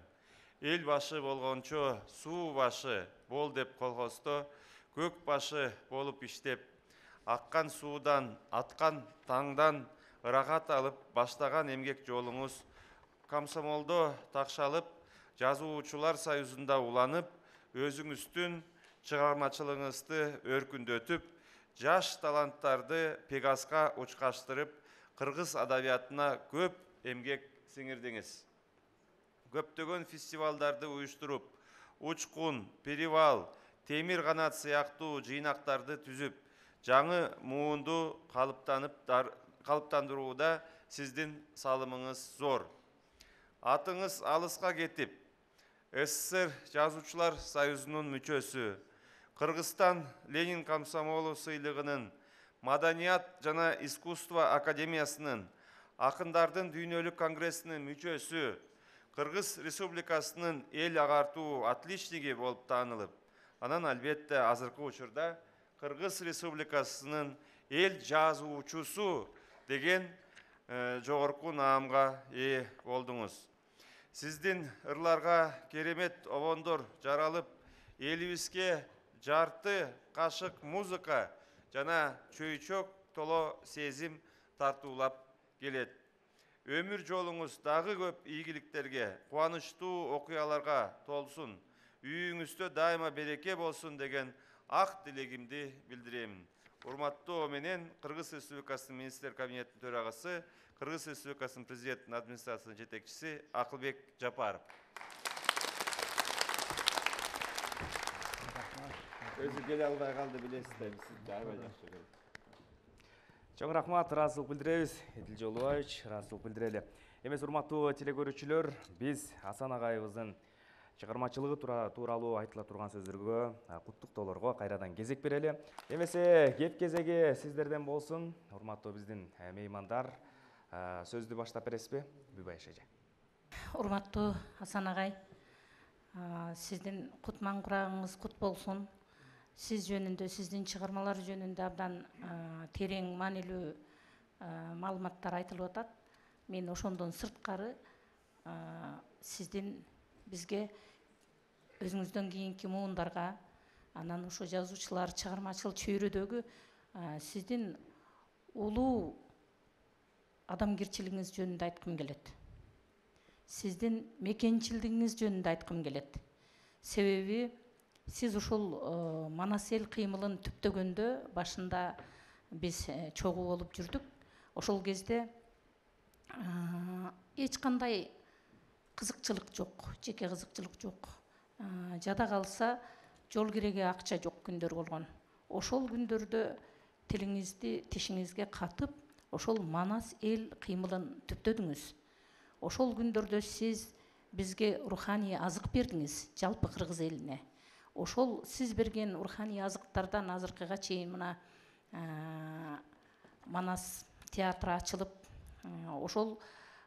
Эл башы болгончо суу башы бол деп колхоздо көк башы болуп иштеп, аккан суудан, аткан таңдан ырахат алып баштаган эмгек жолуңуз комсомолдо такшалып, жазуучулар союзунда уланып, өзүңүздүн чыгармачылыгыңызды өркүндөтүп, жаш таланттарды Пегаска учкаштырып, кыргыз адабиятына көп эмгек сиңирдиңиз. Көптөгөн фестивалдарды уюштуруп, Учкун, Перевал, Темир канат сыяктуу жыйнактарды түзүп, жаңы муунду калыптандырууда сиздин салымыңыз зор. Атыңыз алыска кетип, СССР Жазуучулар союзунун мүчөсү, Кыргызстан Ленин комсомолу сыйлыгынын, Маданият жана искусство академиясынын, Акындардын дүйнөлүк конгрессинин мүчөсү, Кыргыз Республикасынын эл агартуу отличниги болуп таанылып, анан албетте азыркы учурда Кыргыз Республикасынын эл жазуучусу деген жогорку наамга ээ болдуңуз. Сиздин ырларга керемет обондор жаралып, элибизге жарты кашык музыка жана чөйчөк толо сезим тартуулап келет. Өмүр жолуңуз дагы көп ийгиликтерге, кубанычтуу окуяларга толсун, үйүңүздө дайыма береке болсун деген ак тилегимди билдирем. Урматтоо менен Кыргыз Республикасынын Министрлер Кабинетинин төрагасы, Кыргыз Республикасынын президенттин администрациясынын жетекчиси Акылбек Жапаров. Өзү келе албай калды, билесиздер, сизди аябай жакшы көрөм. Чоң рахмат, ыраазычылык билдиребиз. Эдил Жолдубаевич, ыраазычылык билдирели. Эмес урматтуу телекөрүүчүлөр, биз Асан агайыбыздын чыгармачылыгы тууралуу айтыла турган сөздөргө, куттуктоолорго кайрадан кезек берели. Эмесе кеп кезеги сиздерден болсун. Урматтуу биздин меймандар, сөздү баштап бересизби? Бүбай эже. Урматтуу Асан агай, сиздин Кутман Курагыңыз кут болсун. Сиз жөнүндө, сиздин чыгармалар жөнүндө абдан терең маанилүү маалыматтар айтылып атат. Мен ошондон сырткары сиздин бизге өзүңүздөн кийинки муундарга, анан ошо жазуучулар чыгармачыл чөйрөдөгү сиздин улуу адамгерчилигиңиз жөнүндө айткым келет. сиздин мекенчилдигиңиз жөнүндө айткым келет. Себеби сиз ушул Манас эл кыймылын түптөгөндө башында биз чогуу болуп жүрдүк. Ошол кезде эч кандай кызыкчылык жок, жеке кызыкчылык жок. Жада калса жол киреге акча жок күндөр болгон. Ошол күндөрдө тилиңизди тишиңизге катып, ошол Манас эл кыймылын түптөдүңүз. Ошол күндөрдө сиз бизге руханий азык бердиңиз, жалпы кыргыз элине. Ошол сиз берген руханий азыктардан азыркыга чейин мына Манас театры ачылып, ошол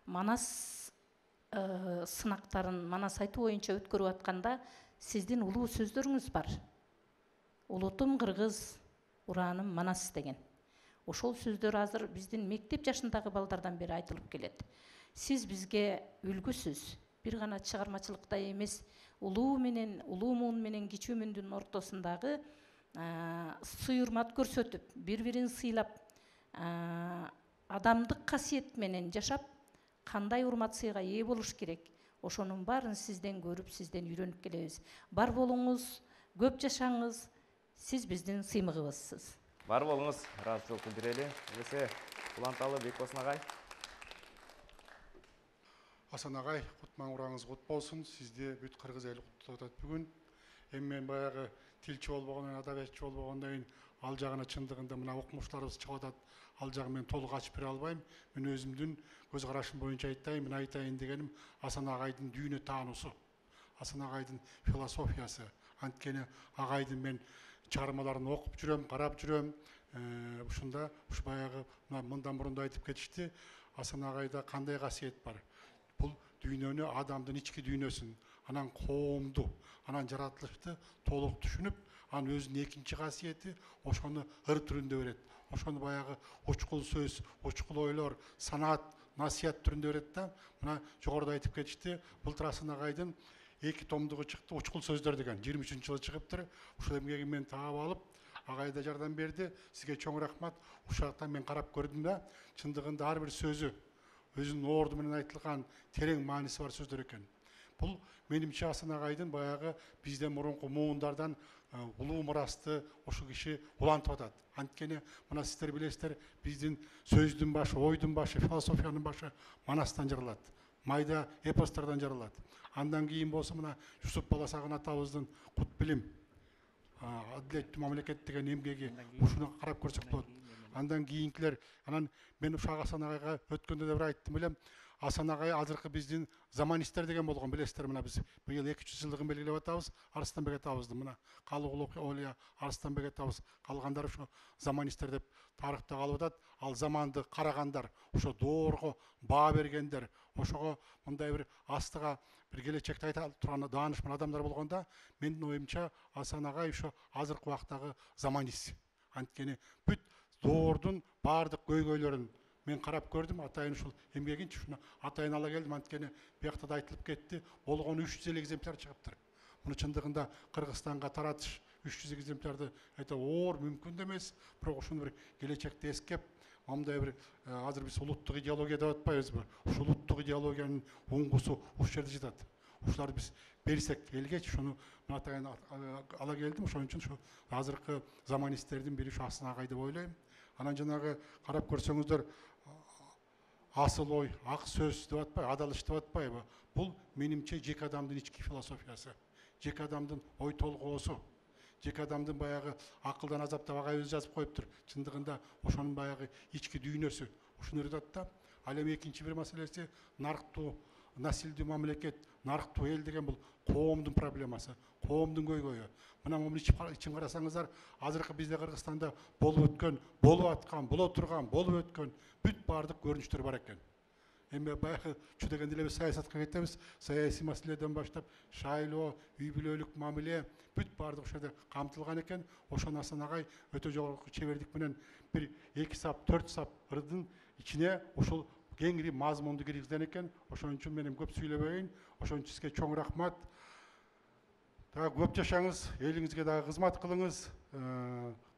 Манас сынактарын Манас айтуу боюнча өткөрүп атканда сиздин улуу сөздөрүңүз бар. Улутум кыргыз, урааным Манас деген. Ошол сөздөр азыр биздин мектеп жашындагы балдардан бери айтылып келет. Сиз бизге үлгүсүз. Бир гана чыгармачылыкта эмес, улуу муун менен кичүү муундун ортосундагы сый-урмат көрсөтүп, бири-бирин сыйлап, адамдык касиет менен жашап, кандай урмат сыйга ээ болуш керек. Ошонун баарын сизден көрүп, сизден үйрөнүп келебиз. Бар болуңуз, көп жашаңыз, сиз биздин сыймыгыбызсыз. Бар болуңуз, ыраазычылык билдирели. Элесе Уланталы Бекбосын агай. Асан агай, кутман ураңыз кут болсун. Сизди бүт кыргыз эли куттуктап атат бүгүн. Эми мен баягы тилчи болбогондон, адабиятчы болбогондон кийин ал жагына чындыгында мына окумуштарыбыз чыгып атат. Ал жагын мен толук ачып бере албайм. Мен өзүмдүн көз карашым боюнча айтайын. Мен айтайын дегеним Асан агайдын дүйнө таануусу, Асан агайдын философиясы. Анткени агайдын мен чыгармаларын окуп жүрөм, карап жүрөм. Ушунда ушу баягы мындан мурун да айтып кетишти. Асан агайда кандай касиет бар? Бул дүйнөнү, адамдын ички дүйнөсүн, анан коомду, анан жаратылышты толук түшүнүп, анын өзүнүн экинчи касиети ошону ыр түрүндө берет. Ошону баягы учкул сөз, учкул ойлор, санаат, насият түрүндө берет да. Мына жогоруда айтып кетишти, былтыр Асан агайдын 2 томдугу чыкты, учкул сөздөр деген. 23-жылы чыгыптыр. Ушул эмгегин мен таап алып, агай да жардам берди. Сизге чоң рахмат. Ушул жактан мен карап көрдүм да, чындыгында ар бир сөзү өзүнүн орду менен айтылган терең мааниси бар сөздөр экен. Бул менимче Асан агайдын баягы бизден мурунку муундардан улуу мурасты ошол киши улантып атат. Анткени мына сиздер билесиздер, биздин сөздүн башы, ойдун башы, философиянын башы Манастан жаралат. Майда эпостардан жаралат. Андан кийин болсо мына Жусуп Баласагын атабыздын кут билим, адилеттүү мамлекет деген эмгеги, ушуну карап көрсөк болот. Андан кийинкилер, анан мен ушак Асан агайга өткөндө да бир айттым элем. Асан агай азыркы биздин заманисттер деген болгон, билесиздер, мына биз быйыл 200 жылдыгын белгилеп атабыз. Арыстанбек атабыздын мына Калыгул Олия, Арыстанбек атабыз, калгандар ушу заманисттер деп тарыхта калып атат. Ал заманды карагандар, ошо доорго баа бергендер, ошого мындай бир астыга бир келечекти айта турган даанышман адамдар болгондо, менин оюмча Асан агай ошо азыркы убактагы заманист. Анткени бүт доордун баардык көйгөйлөрүн мен карап көрдүм. Атайын ушул эмгегинчи ушуну атайын ала келдим. Анткени биякта да айтылып кетти, болгону 350 экземпляр чыгыптыр. Муну чындыгында Кыргызстанга таратыш 300 экземплярды айта оор мүмкүн эмес, бирок ушуну бир келечекте эскеп, мындай бир азыр биз улуттук идеология деп атпайбызбы? Ушул улуттук идеологиянын уңгусу ушул жерде жатат. Ушуларды биз берсек элге, ушуну мен атайын ала келдим. Ошон үчүн ушу азыркы заманисттердин бири ушу Асан агай деп ойлойм. Анан жанагы карап көрсөңүздөр, асыл ой, ак сөз деп атпайбы, адалыш деп атпайбы? Бул менимче жеке адамдын ички философиясы, жеке адамдын ой толгоосу, жеке адамдын баягы акылдан азаптап агай өзү жазып коюптур. Чындыгында ошонун баягы ички дүйнөсү ушуну өйрөтөт да. Ал эми экинчи бир маселеси нарыктуу, насилдүү мамлекет, нарыктуу эл деген бул коомдун проблемасы, коомдун көйгөйү. Мына муну ичип карасаңыздар, азыркы бизде Кыргызстанда болуп өткөн, болуп аткан, боло турган, болуп өткөн бүт баардык көрүнүштөр бар экен. Эми баягы чу дегенде эле саясатка кетебиз. Саясий маселеден баштап шайлоо, үй бүлөлүк мамиле бүт баардык ошол жерде камтылган экен. Ошону Асан агай өтө жогорку чебердик менен бир 2 сап, 4 сап ырдын ичине ушул кеңири мазмунду киргизген экен. Ошон үчүн мен көп сүйлөбөйүн. Ошон үчүн сизге чоң рахмат. Дагы көп жашаңыз, элиңизге дагы кызмат кылыңыз.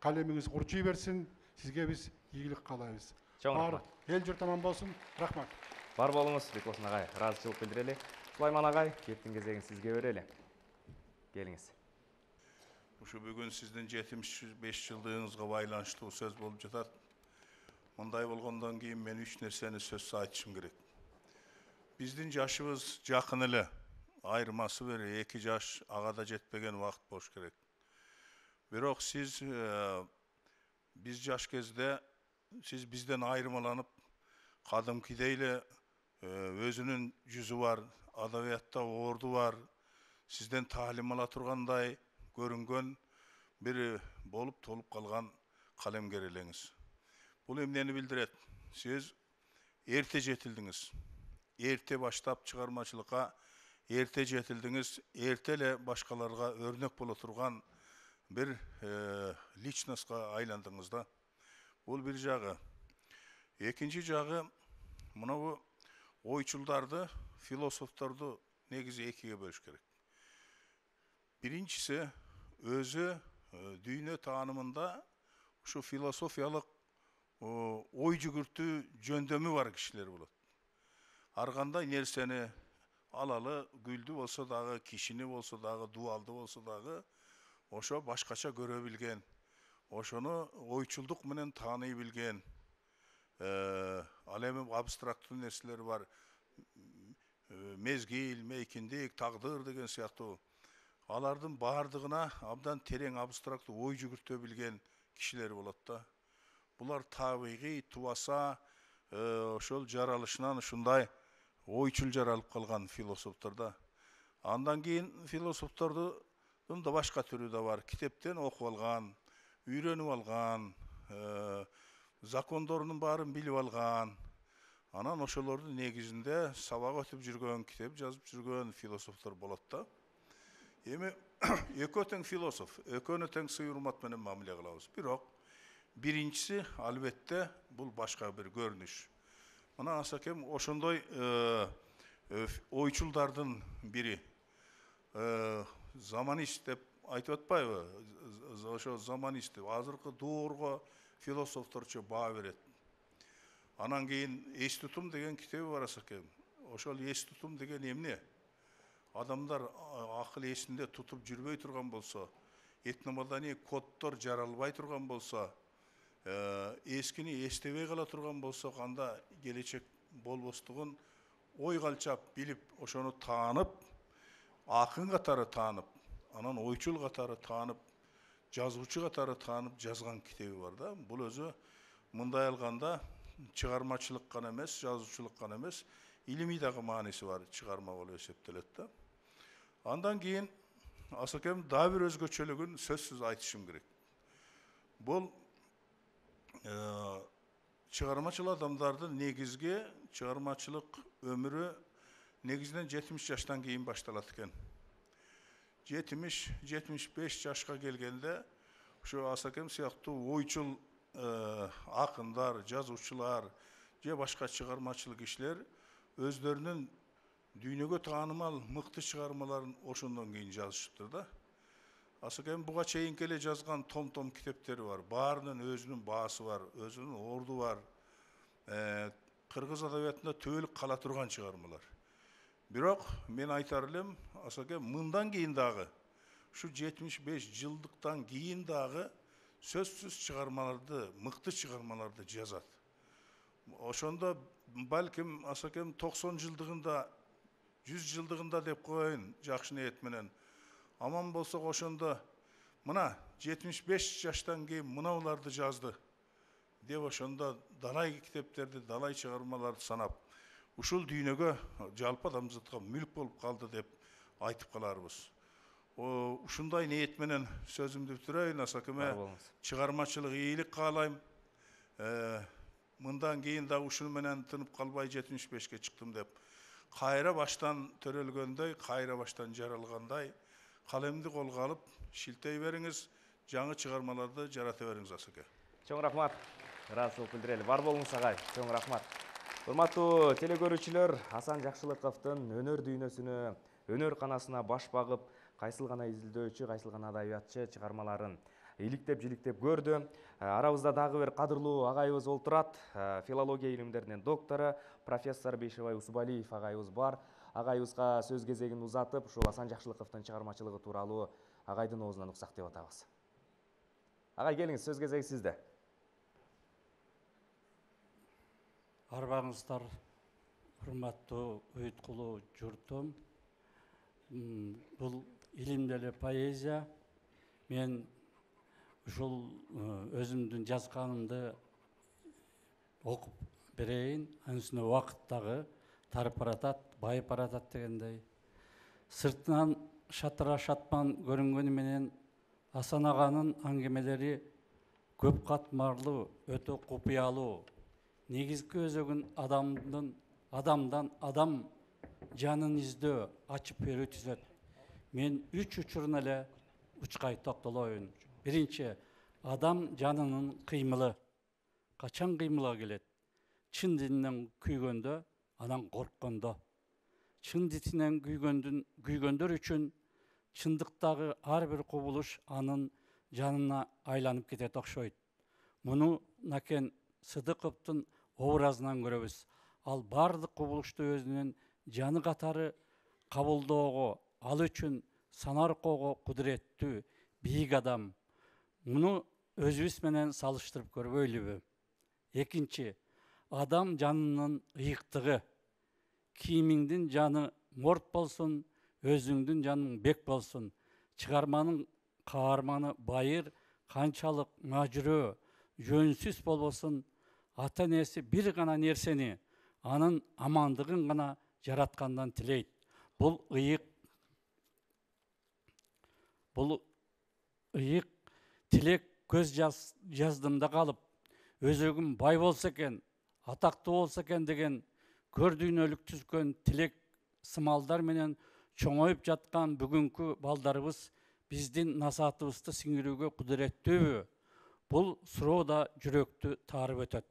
Калемиңиз курчуй берсин. Сизге биз ийгилик каалайбыз. Эл журт аман болсун. Рахмат. Бар болуңуз Бекболсун агай, ыраазычылык билдирели. Сулайман агай, кеттин кезегин сизге берели. Келиңиз. Ушу бүгүн сиздин 75 жылдыгыңызга байланыштуу сөз болуп жатат. Мындай болгондон кийин мен 3 нерсени сөз айтышым керек. Биздин жашыбыз жакын эле. Айырмасы бир 2 жаш ага да жетпеген убакыт болуш керек. Бирок сиз биз жаш кезде сиз бизден айырмаланып, кадымкидей эле өзүнүн жүзү бар, адабиятта орду бар, сизден таалим ала тургандай көрүнгөн бир болуп толуп калган калемгер элеңиз. Бул эмнени билдирет? Сиз эрте жетилдиңиз. Эрте баштап чыгармачылыкка эрте жетилдиңиз, эрте эле башкаларга өрнөк боло турган бир личностька айландыңыз да. Бул бир жагы. Экинчи жагы, мына ойчулдарды, философторду негизи экиге бөлүш керек. Биринчиси өзү дүйнө таанымында ушу философиялык ой жүгүртүү жөндөмү бар кишилер болот. Ар кандай нерсени алалы, гүлдү болсо дагы, кишини болсо дагы, дуалды болсо дагы, ошо башкача көрө билген, ошону ойчулдук менен тааный билген, ал эми абстрактуу нерселер бар, мезгил, мейкиндик, тагдыр деген сыяктуу. Алардын баардыгына абдан терең абстрактуу ой жүгүртө билген кишилер болот да. Булар табигый, тубаса, ошол жаралышынан ушундай ойчул жаралып калган философтор да. Андан кийин философтордун да башка түрү да бар. Китептен окуп алган, үйрөнүп алган, закондорунун баарын билип алган. Анан ошолордун негизинде сабак өтүп жүргөн, китеп жазып жүргөн философтор болот да. Эми экөө тең философ, экөөнү тең сый урмат менен мамиле кылабыз. Бирок биринчиси албетте бул башка бир көрүнүш. Мына Асакем ошондой ойчулдардын бири. Заманист деп айтып атпайбы? Ошо заманист деп азыркы доорго философторчо баа берет. Анан кийин эс тутум деген китеби бар Асакем. Ошол эс тутум деген эмне? Адамдар акыл эсинде тутуп жүрбөй турган болсо, этномаданий коддор жаралбай турган болсо, эскини эстебей кала турган болсо, канда келечек болбостугун ой калчап билип, ошону таанып, акын катары таанып, анан ойчул катары таанып, жазуучу катары таанып жазган китеби бар да. Бул өзү мындай алганда чыгармачылык гана эмес, жазуучулук гана эмес, илимий дагы мааниси бар чыгарма болуп эсептелет да. Андан кийин Асакем дагы бир өзгөчөлүгүн сөзсүз айтышым керек. Бул чыгармачыл адамдардын негизги чыгармачылык өмүрү негизинен 70 жаштан кийин башталат экен. 70-75 жашка келгенде ушу Асакем сыяктуу ойчул акындар, жазуучулар же башка чыгармачыл кишилер өздөрүнүн дүйнөгө таанымал мыкты чыгармаларын ошондон кийин жазышыптыр да. Асакем буга чейинки эле жазган том китептери бар. Баарынын өзүнүн баасы бар, өзүнүн орду бар. Кыргыз адабиятында төөлүк кала турган чыгармалар. Бирок мен айтар элем, Асакем мындан кийин дагы, ушу 75 жылдыктан кийин дагы сөзсүз чыгармаларды, мыкты чыгармаларды жазат. Ошондо балким Асакем 90 жылдыгында, 100 жылдыгында деп коеюн, жакшы ниет менен. Аман болсок ошондо мына 75 жаштан кийин мынауларды жазды деп ошондо далай китептерди, далай чыгармаларды санап, ушул дүйнөгө жалпы адамзатка мүлк болуп калды деп айтып каларбыз. Ушундай ниет менен сөзүмдү бүтүрөйүн. Асакеме чыгармачылык ийгилик каалайм. Мындан кийин да ушуну менен тынып калбай 75ке чыктым деп, кайра баштан төрөлгөндөй, кайра баштан жаралгандай калемди колго алып шилтей бериңиз, жаңы чыгармаларды жарата бериңиз Асаке. Чоң рахмат. Ыраазычылык билдирели. Бар болуңуз агай. Чоң рахмат. Урматтуу телекөрүүчүлөр, Асан Жакшылыковдун өнөр дүйнөсүнө, өнөр канасына баш багып, кайсыл гана изилдөөчү, кайсыл гана адабиятчы чыгармаларын иликтеп жиликтеп көрдү. Арабызда дагы бир кадырлуу агайыбыз олтурат. Филология илимдеринин доктору профессор Бейшебай Усубалиев агайыбыз бар. Агайыбызга сөз кезегин узатып, ушул Асан Жакшылыковдун чыгармачылыгы тууралуу агайдын оозунан уксак деп атабыз. Агай, келиңиз, сөз кезеги сизде. Арбаңыздар, урматтуу уйуткулуу журтум. Бул илимдүү поэзия. Мен ушул өзүмдүн жазганымды окуп берейин. Анын үстүнө убакыт дагы тарып баратат, байып баратат дегендей. Сыртынан шатыра шатман көрүнгөнү менен Асан аганын аңгемелери көп катмарлуу, өтө купуялуу. Негизги өзөгүн адамдан адам жанын издөө, ачып берүү түзөт. Мен 3 учуруна эле учкай токтолоюн. Биринчи, адам жанынын кыймылы. Качан кыймылга келет? Чын дининен күйгөндө, анан корккондо. Чын дининен күйгөндөр үчүн чындыктагы ар бир кубулуш анын жанына айланып кетет окшойт. Муну Накен Сыдыковдун образынан көрөбүз. Ал бардык кубулушту өзүнүн жаны катары кабылдоого, ал үчүн санаркоого кудуреттүү, бийик адам. Муну өзүбүз менен салыштырып көрбөйлүбү? Экинчи, адам жанынын ыйыктыгы. Кийимиңдин жаны морт болсун, өзүңдүн жаның бек болсун. Чыгарманын каарманы байыр, канчалык мажүрөө, жөнсүз болбосун, ата-энеси бир гана нерсени, анын амандыгын гана жараткандан тилейт. Бул ыйык тилек көз жаздымда калып, өзөгүм бай болсо экен, атактуу болсо экен деген көрдүйнөлүк түзгөн тилек сымалдар менен чоңоюп жаткан бүгүнкү балдарыбыз биздин насаатыбызды сиңирүүгө кудуреттүүбү? Бул суроо да жүрөктү таарып өтөт.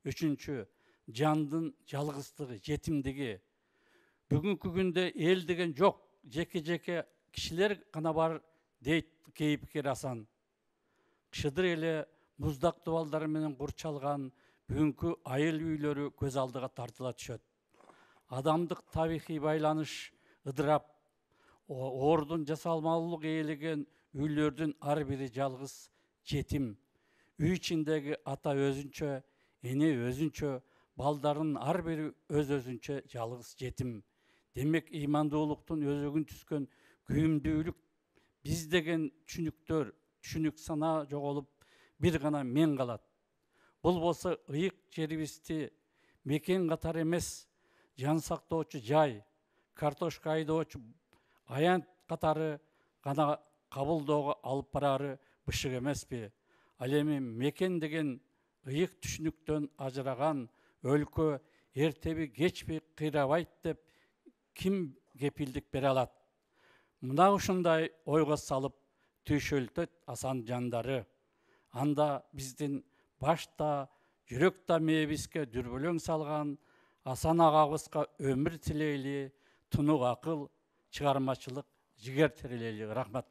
Үчүнчү, жандын жалгыздыгы, жетимдиги. Бүгүнкү күндө эл деген жок, жеке кишилер гана бар дейт кейипкер Асан. Шыдыр эле муздак дубалдар менен курчалган бүгүнкү айыл үйлөрү көз алдыга тартыла түшөт. Адамдык табигый байланыш ыдырап, ордун жасалмалуулук ээлеген үйлөрдүн ар бири жалгыз жетим. Үй ичиндеги ата өзүнчө, эне өзүнчө, балдарын ар бири өзүнчө жалгыз жетим. Демек, ыймандуулуктун өзөгүн түзгөн күйүмдүүлүк биз деген түшүнүк санаа жоголуп, бир гана мен калат. Бул болсо ыйык жерибизди мекен катары эмес, жан сактоочу жай, картошка айдоочу аянт катары гана кабылдоого алып барары бышык эмеспи? Ал эми мекен деген ыйык түшүнүктөн ажыраган өлкө эртеби кечпи кыйрабайт деп ким кепилдик бере алат? Мына ушундай ойго салып түйшөлтөт Асан жандары. Анда биздин башта, жүрөк мээбизге дүрбөлөң салган Асан агабызга өмүр тилейли, тунук акыл, чыгармачылык, жигер терелейли. Рахмат.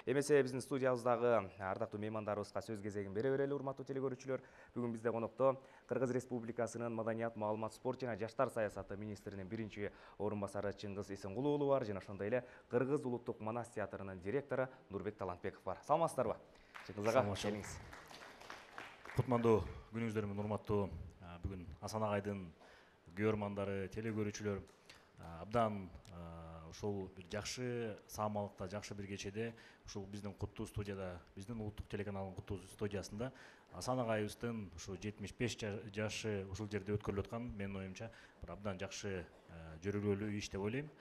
Эмесе биздин студиябыздагы ардактуу меймандарыбызга сөз кезегин бере берели, урматтуу телекөрүүчүлөр. Бүгүн бизде конокто Кыргыз Республикасынын маданият, маалымат, спорт жана жаштар саясаты министринин биринчи орун басары Чыңгыз Эсенгул уулу бар, жана ошондой эле Кыргыз улуттук манас театрынын директору Нурбек Талантбеков бар. Саламатсыздарбы? Чыңгыз ага, келиңиз. Кутмандуу күнүңүздөр менен урматтуу бүгүн Асан агайдын көрөрмандары, телекөрүүчүлөр, абдан ушул бир жакшы саамалыкта, жакшы бир кечеде ушул биздин куттуу студияда, биздин улуттук телеканалдын куттуу студиясында Асан агайыбыздын ушу 75 жашы ушул жерде өткөрүлүп аткан, менин оюмча бир абдан жакшы жөрөлгөлүү иш деп ойлойм.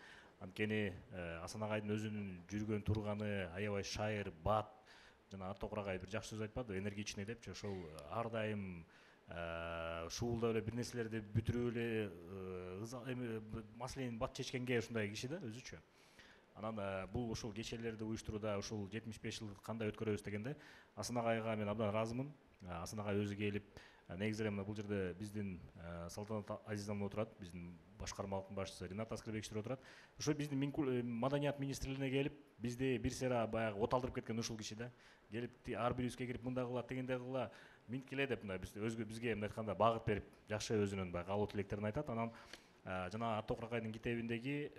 Анткени Асан агайдын өзүнүн жүргөн турганы аябай шайыр, бат, жана Аттокур агай бир жакшы сөз айтпады, энергичный депчи, ошол ар дайым шуулдап эле бир нерселерди бүтүрүп эле маселени бат чечкенге ушундай киши да өзүчө. Анан бул ушул кечелерди уюштурууда ушул 75 жылды кандай өткөрөбүз дегенде Асан агайга мен абдан ыраазымын. Асан агай өзү келип, негизи эле бул жерде биздин Салтанат Азизовна отурат, биздин башкармалыктын башчысы Ринат Аскербековичтер отурат. Ошо биздин маданият министрлигине келип, бизди бир сыйра баягы оталдырып кеткен ушул киши да. Келип ар бирибизге кирип мындай кыла, тегендей кыла, минткиле деп мындай бизге мындай айтканда багыт берип, жакшы өзүнүн баягы каалоо тилектерин айтат. Анан жана Аттокур агайдын китебиндеги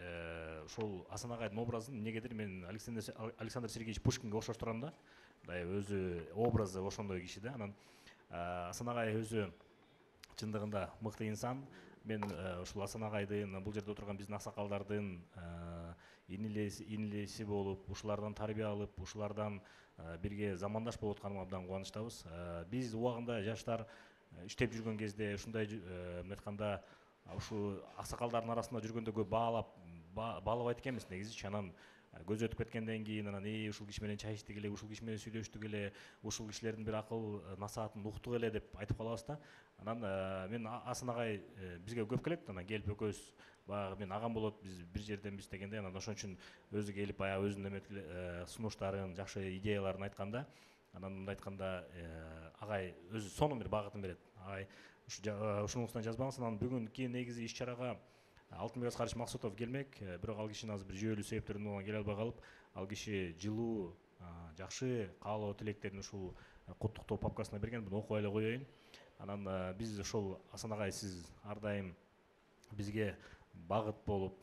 ошол Асан агайдын образын эмнегедир мен Александр Сергеевич Пушкинге окшоштурам да. Мындай өзү образы ошондой киши да. Анан Асан агай өзү чындыгында мыкты инсан. Мен ушул Асан агайдын, бул жерде отурган биздин аксакалдардын инилеси болуп, ушулардан тарбия алып, ушулардан бирге замандаш болуп атканыма абдан кубанычтабыз. Биз убагында жаштар иштеп жүргөн кезде ушундай айтканда ушу аксакалдардын арасында жүргөндө көп баалабайт экенбиз негизичи. Анан көз өтүп кеткенден кийин анан ушул киши менен чай ичтик эле, ушул киши менен сүйлөштүк эле, ушул кишилердин бир акыл насаатын уктук эле деп айтып калабыз да. Анан мен Асан агай бизге көп келет, анан келип экөөбүз баягы мен агам болот, биз бир жерденбиз дегенде, анан ошон үчүн өзү келип баягы өзүнүн сунуштарын, жакшы идеяларын айтканда, анан мындай айтканда агай өзү сонун бир багытын берет. Агай ушунусунан жазбаңыз. Анан бүгүнкү негизи иш чарага Алтынбек Аскарович Максутов келмек, бирок ал кишинин азыр бир жүйөлүү себептерден улам келе албай калып, ал киши жылуу, жакшы каалоо тилектерин ушул куттуктоо папкасына берген, буну окуп эле коеюн. Анан биз ошол Асан агай, сиз ар дайым бизге багыт болуп,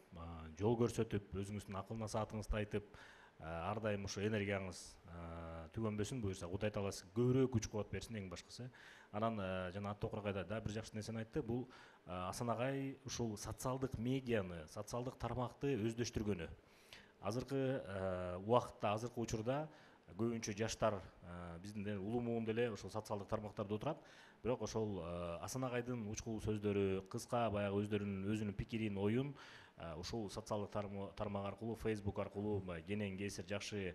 жол көрсөтүп, өзүңүздүн акыл насаатыңызды айтып, ар дайым ошо энергияңыз түгөнбөсүн, буюрса Кудай таала сизге көбүрөөк күч кубат берсин эң башкысы. Анан жана Аттокур агай да бир жакшы нерсени айтты. Бул Асан агай ушул социалдык медианы, социалдык тармакты өздөштүргөнү. Азыркы убакытта, азыркы учурда көбүнчө жаштар биздин улуу муун деле ошол социалдык тармактарда отурат. Бирок ошол Асан агайдын учкул сөздөрү, кыска баягы өзүнүн пикирин, оюн ушул социалдык тармак аркылуу, Facebook аркылуу кенен кесир жакшы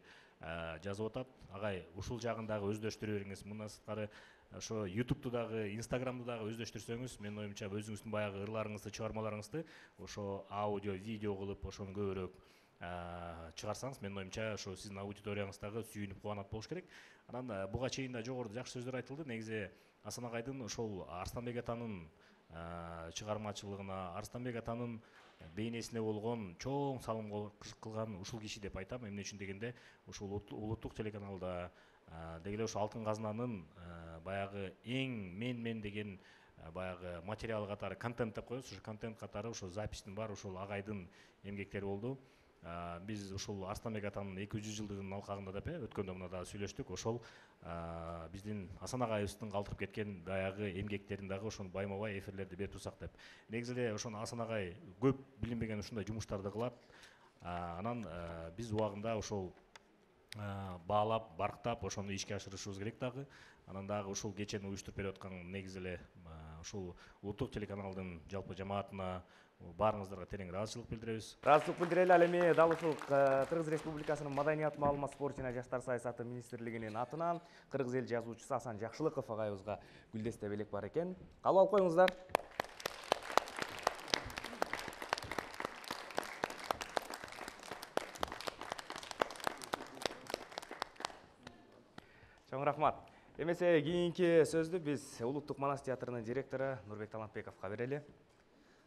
жазып атат. Агай ушул жагын дагы өздөштүрө бериңиз. Мындан сырткары ошо YouTube'ду дагы, Instagram'ду дагы өздөштүрсөңүз, менин оюмча өзүңүздүн баягы ырларыңызды, чыгармаларыңызды ошо аудио, видео кылып, ошону көбүрөөк чыгарсаңыз, менин оюмча ошо сиздин аудиторияңыз дагы сүйүнүп кубанат болуш керек. Анан буга чейин да жогоруда жакшы сөздөр айтылды. Негизи Асан агайдын ошол Арстанбек атанын чыгармачылыгына, Арстанбек атанын бейнесине болгон чоң салым кылган ушул киши деп айтам. Эмне үчүн дегенде, ушул улуттук телеканалда деги эле ошо Алтын казнанын баягы эң мен деген баягы материал катары, контент деп коебуз, ошо контент катары ошо запистин баары ошол агайдын эмгектери болду. Биз ушул Арстанбек атанын 200 жылдыгынын алкагында деп өткөндө мына дагы сүйлөштүк. Ошол биздин Асан агайыбыздын калтырып кеткен баягы эмгектерин дагы ошону байма-бай эфирлерди берип турсак деп. Негизи эле ошону Асан агай көп билинбеген ушундай жумуштарды кылат. Анан биз убагында ошол баалап, барктап, ошону ишке ашырышыбыз керек дагы. Анан дагы ушул кечени уюштуруп берип аткан негизи эле ушул улуттук телеканалдын жалпы жамаатына, баарыңыздарга терең ыраазычылык билдиребиз. Ыраазычылык билдирели. Ал эми дал ушул Кыргыз Республикасынын маданият, маалымат, спорт жана жаштар саясаты министрлигинин атынан кыргыз эл жазуучусу Асан Жакшылыков агайыбызга гүлдесте белек бар экен. Кабыл алып коюңуздар. Чоң рахмат. Эмесе кийинки сөздү биз улуттук манас театрынын директору Нурбек Талантбековго берели.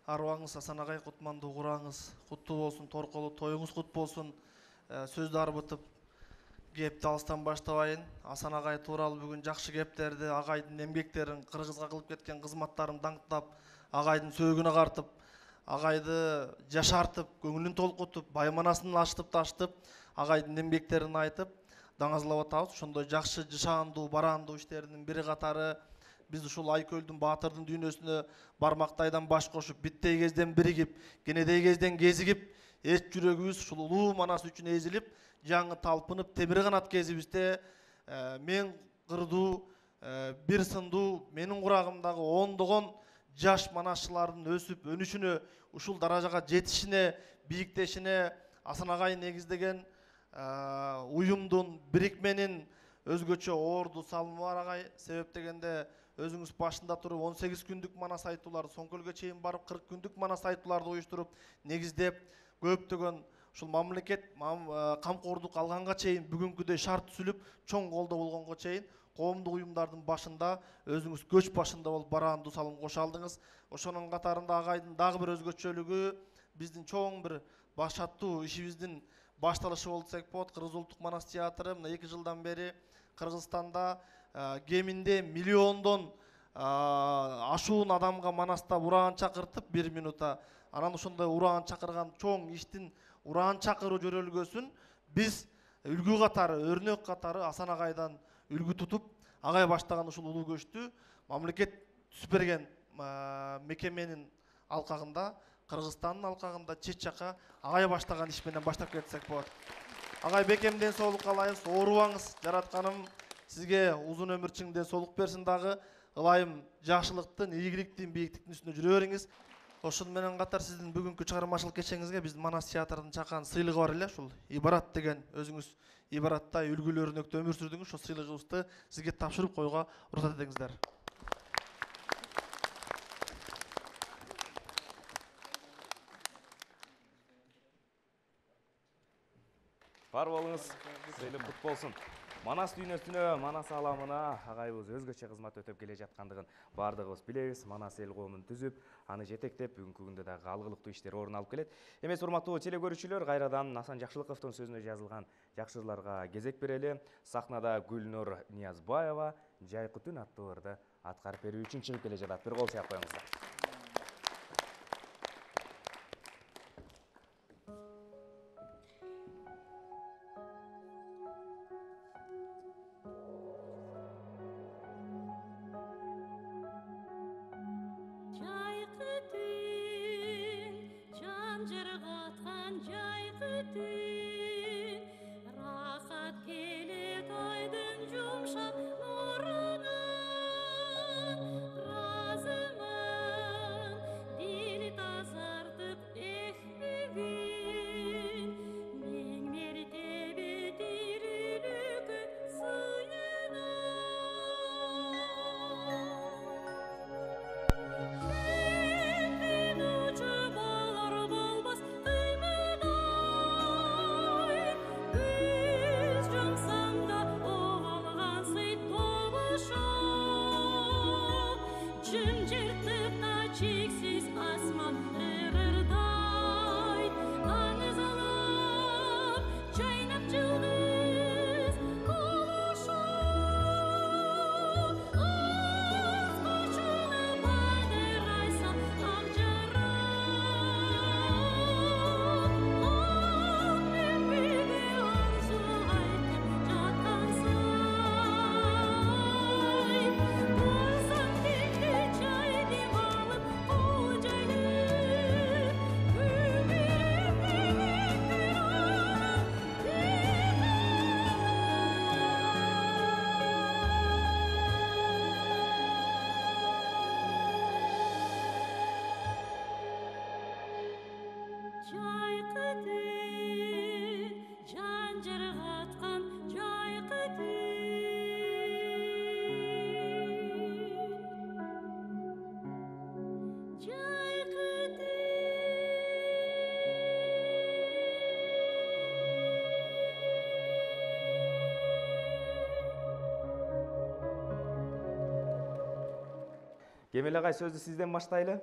Аруаңыз Асан агай, кутмандуу кураңыз куттуу болсун, торколу тоюңуз кут болсун. Сөздү арбытып кепти алыстан баштабайын. Асан агай тууралуу бүгүн жакшы кептерди, агайдын эмгектерин, Кыргызга кылып кеткен кызматтарын даңктап, агайдын сөөгүнө картып, агайды жашартып, көңүлүн толкутуп, байманасын ачтып таштып, агайдын эмгектерин айтып, даңазлап атабыз. Ошондой жакшы жышаандуу, бараандуу иштеринин бири катары биз ушул Айкөлдүн Баатырдын дүйнөсүнө бармактайдан баш кошуп, биттей кезден биригип, кенедей кезден кезигип, эч жүрөгүбүз ушул улуу Манас үчүн эзилип, жаңы талпынып, темир канат кезибизде мен кырдуу, бир сындуу, менин курагымдагы ондогон жаш манасчылардын өсүп, өнүшүнө, ушул даражага жетишине, бийиктешине Асан агай негиздеген уюмдун, бирикменин өзгөчө орду салымы бар агай. Себеп дегенде өзүңүз башында туруп 18 күндүк манас айтууларды, Соңкөлгө чейин барып 40 күндүк манас айтууларды уюштуруп, негиздеп, көптөгөн ушул мамлекет камкордук алганга чейин бүгүнкүдөй шарт түзүлүп, чоң колдоо болгонго чейин коомдук уюмдардын башында өзүңүз көч башында болуп бараандуу салым кошо алдыңыз. Ошонун катарында агайдын дагы бир өзгөчөлүгү биздин чоң бир баш аттуу ишибиздин башталышы болду десек болот. Кыргыз улуттук манас театры мына 2 жылдан бери Кыргызстанда кеминде миллиондон ашуун адамга манаста ураан чакыртып 1 минутта, анан ошондой ураан чакырган чоң иштин ураан чакыруу жөрөлгөсүн биз үлгү катары, өрнөк катары Асан агайдан үлгү тутуп, агай баштаган ушул улуу көчтү мамлекет түзүп берген мекеменин алкагында, Кыргызстандын алкагында чет жака агай баштаган иш менен баштап кетсек болот. Агай бекемден соолук каалайбыз, оорубаңыз, жаратканым сизге узун өмүр чыңден соолук берсин дагы. Ылайым жакшылыктын, ийгиликтин, бийиктиктин үстүнө жүрө бериңиз. Ошону менен катар сиздин бүгүнкү чыгармачылык кечеңизге биздин Манас театрынын чакан сыйлыгы бар эле, ушул Ибарат деген өзүңүз Ибаратта үлгүлүү өрнөктө өмүр сүрдүңүз. Ошол сыйлыгыбызды сизге тапшырып коюуга уруксат этиңиздер. Бар болуңуз, сыйлык кут болсун. Манас дүйнөсүнө, Манас ааламына агайыбыз өзгөчө кызмат өтөп келе жаткандыгын бардыгыбыз билебиз. Манас эл коомун түзүп, аны жетектеп, бүгүнкү күндө дагы алгылыктуу иштер орун алып келет. Эмес, урматтуу теле көрүүчүлөр, кайрадан Асан Жакшылыковдун сөзүнө жазылган жакшы жырларга кезек берели. Сахнада Гүлнур Ниязбаева Жайкы түн аттуу ырды аткарып берүү үчүн чыгып келе жатат. Бир кол сыяп коюңуздар. Кемел агай, сөздү сизден баштайлы.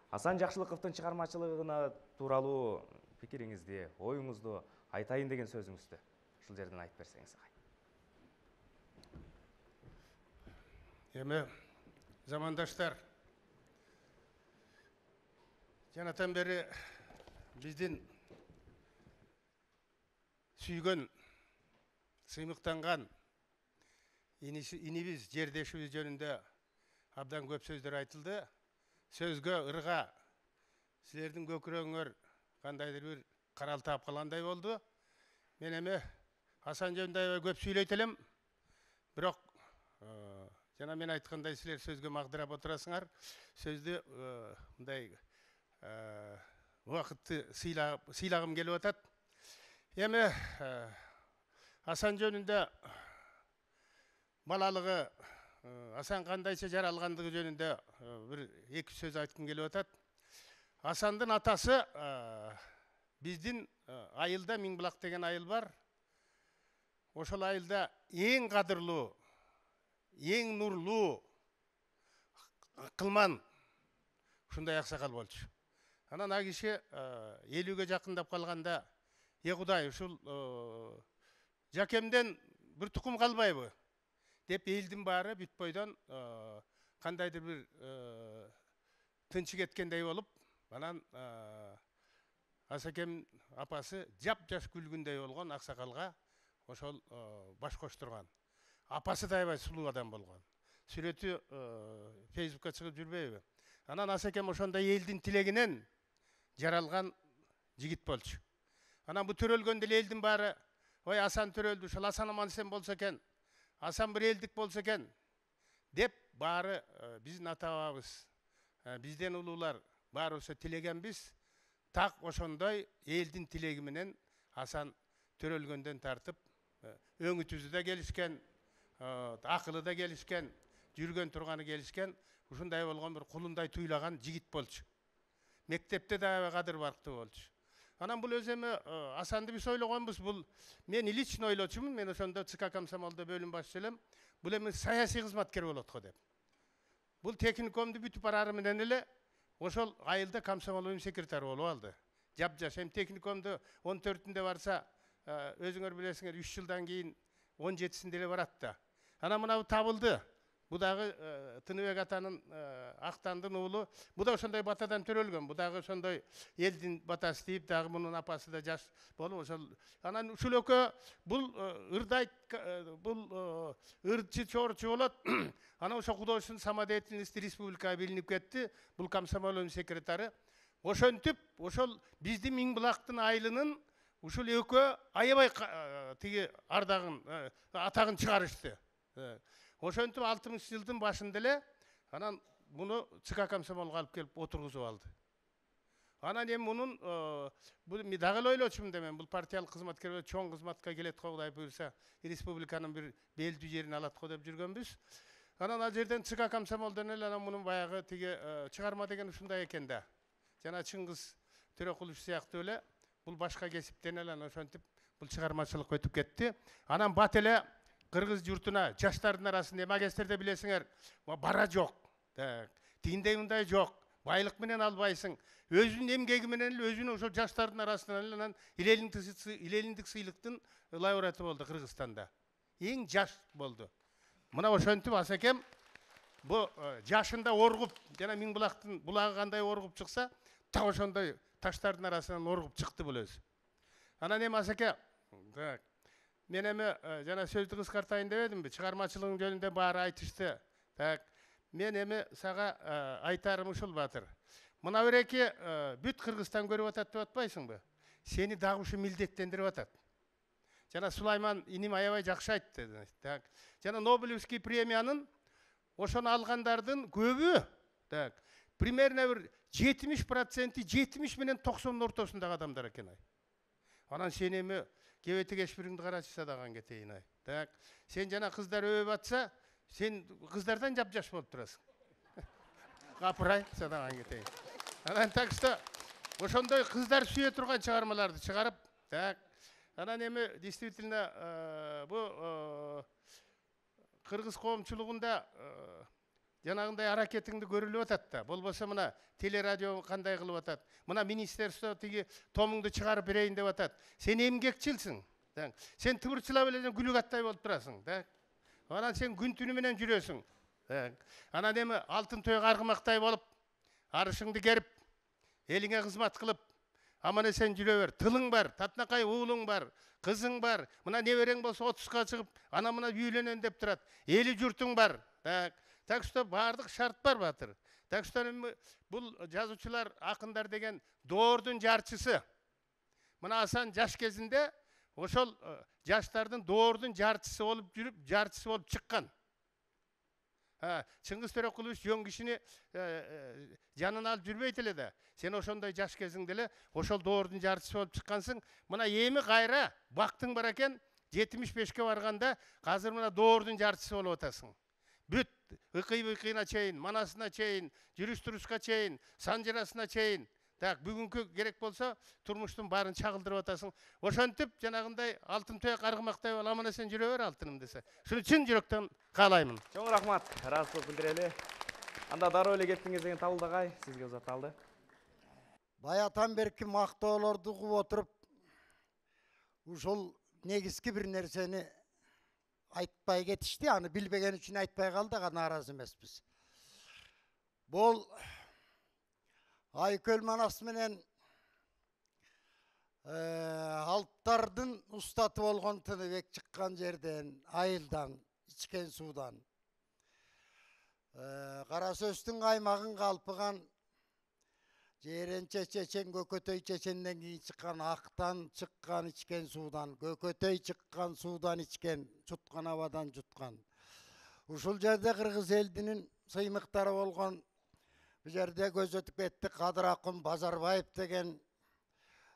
Асан Жакшылыковдун чыгармачылыгына тууралуу пикириңизди, оюңузду айтайын деген сөзүңүздү ушул жерден айтып берсеңиз агай. Эми замандаштар, жанатан бери биздин сүйгөн, сыймыктанган инибиз, жердешибиз жөнүндө абдан көп сөздөр айтылды. Сөзгө, ырга силердин көкүрөгүңөр кандайдыр бир карал таап калгандай болду. Мен эми Асан жөнүндө аябай көп сүйлөйт элем, бирок жана мен айткандай силер сөзгө магдырап отурасыңар. Сөздү мындай убакытты сыйлагым келип атат. Эми Асан жөнүндө балалыгы, Асан кандайча жаралгандыгы жөнүндө бир эки сөз айткым келип атат. Асандын атасы биздин айылда Миңбулак деген айыл бар. Ошол айылда эң кадырлуу, эң нурлуу, кылман ушундай аксакал болчу. Анан а киши 50-ге жакындап калганда, Кудай, ушул жакемден бир тукум калбайбы деп элдин баары бүт бойдон кандайдыр бир тынчы кеткендей болуп, анан Асакем апасы жап-жаш күлгүндөй болгон аксакалга ошол баш коштурган. Апасы да аябай сулуу адам болгон. Сүрөтү Фейсбукка чыгып жүрбөйбү? Анан Асакем ошондой элдин тилегинен жаралган жигит болчу. Анан бу төрөлгөндө эле элдин баары, ой Асан төрөлдү, ошол Асан аман эсен болсо экен, Асан бир элдик болсо экен деп баары биздин ата бабабыз, бизден улуулар баарыбыз тилегенбиз. Так ошондой элдин тилеги менен Асан төрөлгөндөн тартып өңү түзү да келишкен, акылы да келишкен, жүргөн турганы келишкен, ушундай болгон бир кулундай туйлаган жигит болчу. Мектепте да аябай кадыр барктуу болчу. Анан бул өзү эми Асанды биз ойлогонбуз, бул мен лично ойлочумун, мен ошондо ЦК комсомолдо бөлүм башчысы элем, бул эми саясий кызматкер болот го деп. Бул техникумду бүтүп барары менен эле ошол айылда комсомол бөлүм секретары болуп алды. Жап-жаш, эми техникумду 14-ндө барса, өзүңөр билесиңер, 3 жылдан кийин 17-синде эле барат да. Анан мына табылды. Бу дагы Тыныбек атанын Актандын уулу. Бу да ошондой батадан төрөлгөн. Бу дагы ошондой элдин батасы дейп, дагы мунун апасы да жаш болуп ошол. Анан ушул экөө бул ырдайт, бул ырчы чорчу болот. Анан ошо художественный самодеятельность республикага билинип кетти. Бул комсомол бөлүм секретары. Ошентип, ошол биздин Миңбулактын айылынын ушул экөө аябай тиги ардагын, атагын чыгарышты. Ошентип 60-жылдын башында эле анан муну ЦК комсомолго алып келип отургузуп алды. Анан эми мунун бул мен дагы ойлочумун да, мен бул партиялык кызматкер чоң кызматка келет го, Кудай буйрса, республиканын бир белдүү жерин алат го деп жүргөнбүз. Анан ал жерден ЦК комсомолдон эле анан мунун баягы тиги чыгарма деген ушундай экен да. Жана Чыңгыз Төрөкулов сыяктуу эле бул башка кесиптен эле ошентип бул чыгармачылыкка өтүп кетти. Анан бат эле Кыргыз журтуна, жаштардын арасында магистрде билесиңер, бара жок. Тигиндей мындай жок. Байлык менен албайсың. Өзүнүн эмгеги менен эле өзүнүн ошол жаштардын арасынан эле анан илелиндик сыйлыктын лауреаты болду Кыргызстанда. Эң жаш болду. Мына ошентип Асакем бу жашында оргуп, жана Миңбулактын булагы кандай оргуп чыкса, так ошондой таштардын арасынан оргуп чыкты бул өзү. Анан эми Асаке, мен эми жана сөздү кыскартайын деп эдимби, чыгармачылыгың жөнүндө баары айтышты. Так, мен эми сага айтарым ушул Батыр. Мына береки бүт Кыргызстан көрүп атат деп атпайсыңбы? Сени дагы ушу милдеттендирип атат. Жана Сулайман иним аябай жакшы айтты. Так, жана Нобелевский премиянын ошону алгандардын көбү, так, примерно бир 70%, 70 менен 90 ортосундагы адамдар экен ай. Анан сен эми кебети кешпириңди карачы садаган кетейин ай. Так, сен жана кыздар өбөп атса, сен кыздардан жап-жаш болуп турасың. Капырай садаган кетейин. Анан так что ошондой кыздар сүйө турган чыгармаларды чыгарып, так. Анан эми действительно бу кыргыз коомчулугунда жанагындай аракетиңди көрүлүп атат да. Болбосо мына телерадио кандай кылып атат. Мына министерство тиги томуңду чыгарып берейин деп атат. Сен эмгекчилсиң. Сен тыбырчылап эле күлүк аттай болуп турасың. Анан сен күн түнү менен жүрөсүң. Анан эми алтын тойго аргымактай болуп, арышыңды керип, элиңе кызмат кылып, аман эсен жүрө бер. Тылың бар, татынакай уулуң бар, кызың бар. Мына неберең болсо 30га чыгып, ана мына үйлөнөн деп турат. Эли журтуң бар. Так что бардык шарт бар батыр. Так что бул жазуучулар, акындар деген доордун жарчысы. Мына Асан жаш кезинде ошол жаштардын доордун жарчысы болуп жүрүп, жарчысы болуп чыккан. Чыңгыз Төрөкулович жөн кишини жанына алып жүрбөйт эле да. Сен ошондой жаш кезиңде эле ошол доордун жарчысы болуп чыккансың. Мына эми кайра бактың бар экен, 75ке барганда азыр мына доордун жарчысы болуп атасың. Бүт ыкый-быкыйына чейин, манасына чейин, жүрүш-турушка чейин, санжырасына чейин. Так, бүгүнкү керек болсо турмуштун баарын чагылдырып атасың. Ошентип жанагындай алтын төйөк аргымактай бол, аман эсен жүрө бер алтыным десе. Шуну чын жүрөктөн каалаймын. Чоң рахмат. Ыраазычылык билдирели. Анда дароо эле кеттиңиз деген Табылдагай сизге узатылды. Баятан берки мактоолорду угуп отуруп, ушул негизги бир нерсени айтпай кетишти. Аны билбеген үчүн айтпай калдык, нааразы эмеспиз. Бул Айкөл Манас менен алптардын устаты болгон Тыныбек чыккан жерден, айылдан, ичкен суудан. Кара сөздүн каймагын калпыган, Жеренче чечен, Көкөтөй чеченден кийин чыккан, актан чыккан ичкен суудан, Көкөтөй чыккан суудан ичкен, чуткан абадан жуткан. Ушул жерде кыргыз элдинин сыймыктары болгон, bu жерде көз өтүп кетти Кадыракун Базарбаев деген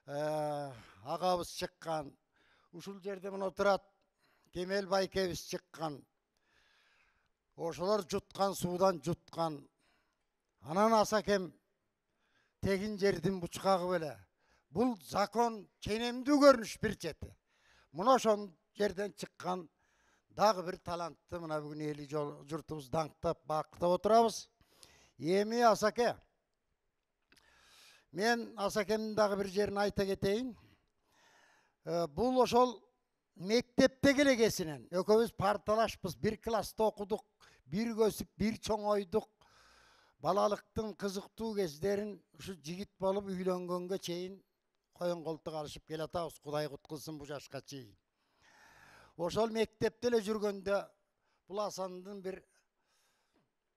агабыз чыккан. Ушул жерде мына отурат Кемел Байкебиз чыккан. Ошолор жуткан суудан жуткан. Анан Асакем тегин жердин бучкагы беле. Бул закон ченемдүү көрүнүш бир чети. Мына ошол жерден чыккан дагы бир талантты мына бүгүн эли журтубуз даңктап, бактап отурабыз. Эми Асаке, мен Асакемдин дагы бир жерин айта кетейин. Бул ошол мектептеги эле кесинен экөөбүз парталашпыз, бир класста окудук, бир көсүп, бир чоңойдук. Балалыктын кызыктуу кездерин ушу жигит болуп үйлөнгөнгө чейин коен колтук алышып келатабыз. Кудай куткулсун бу жашка чейин. Ошол мектепте эле жүргөндө бул Асандын бир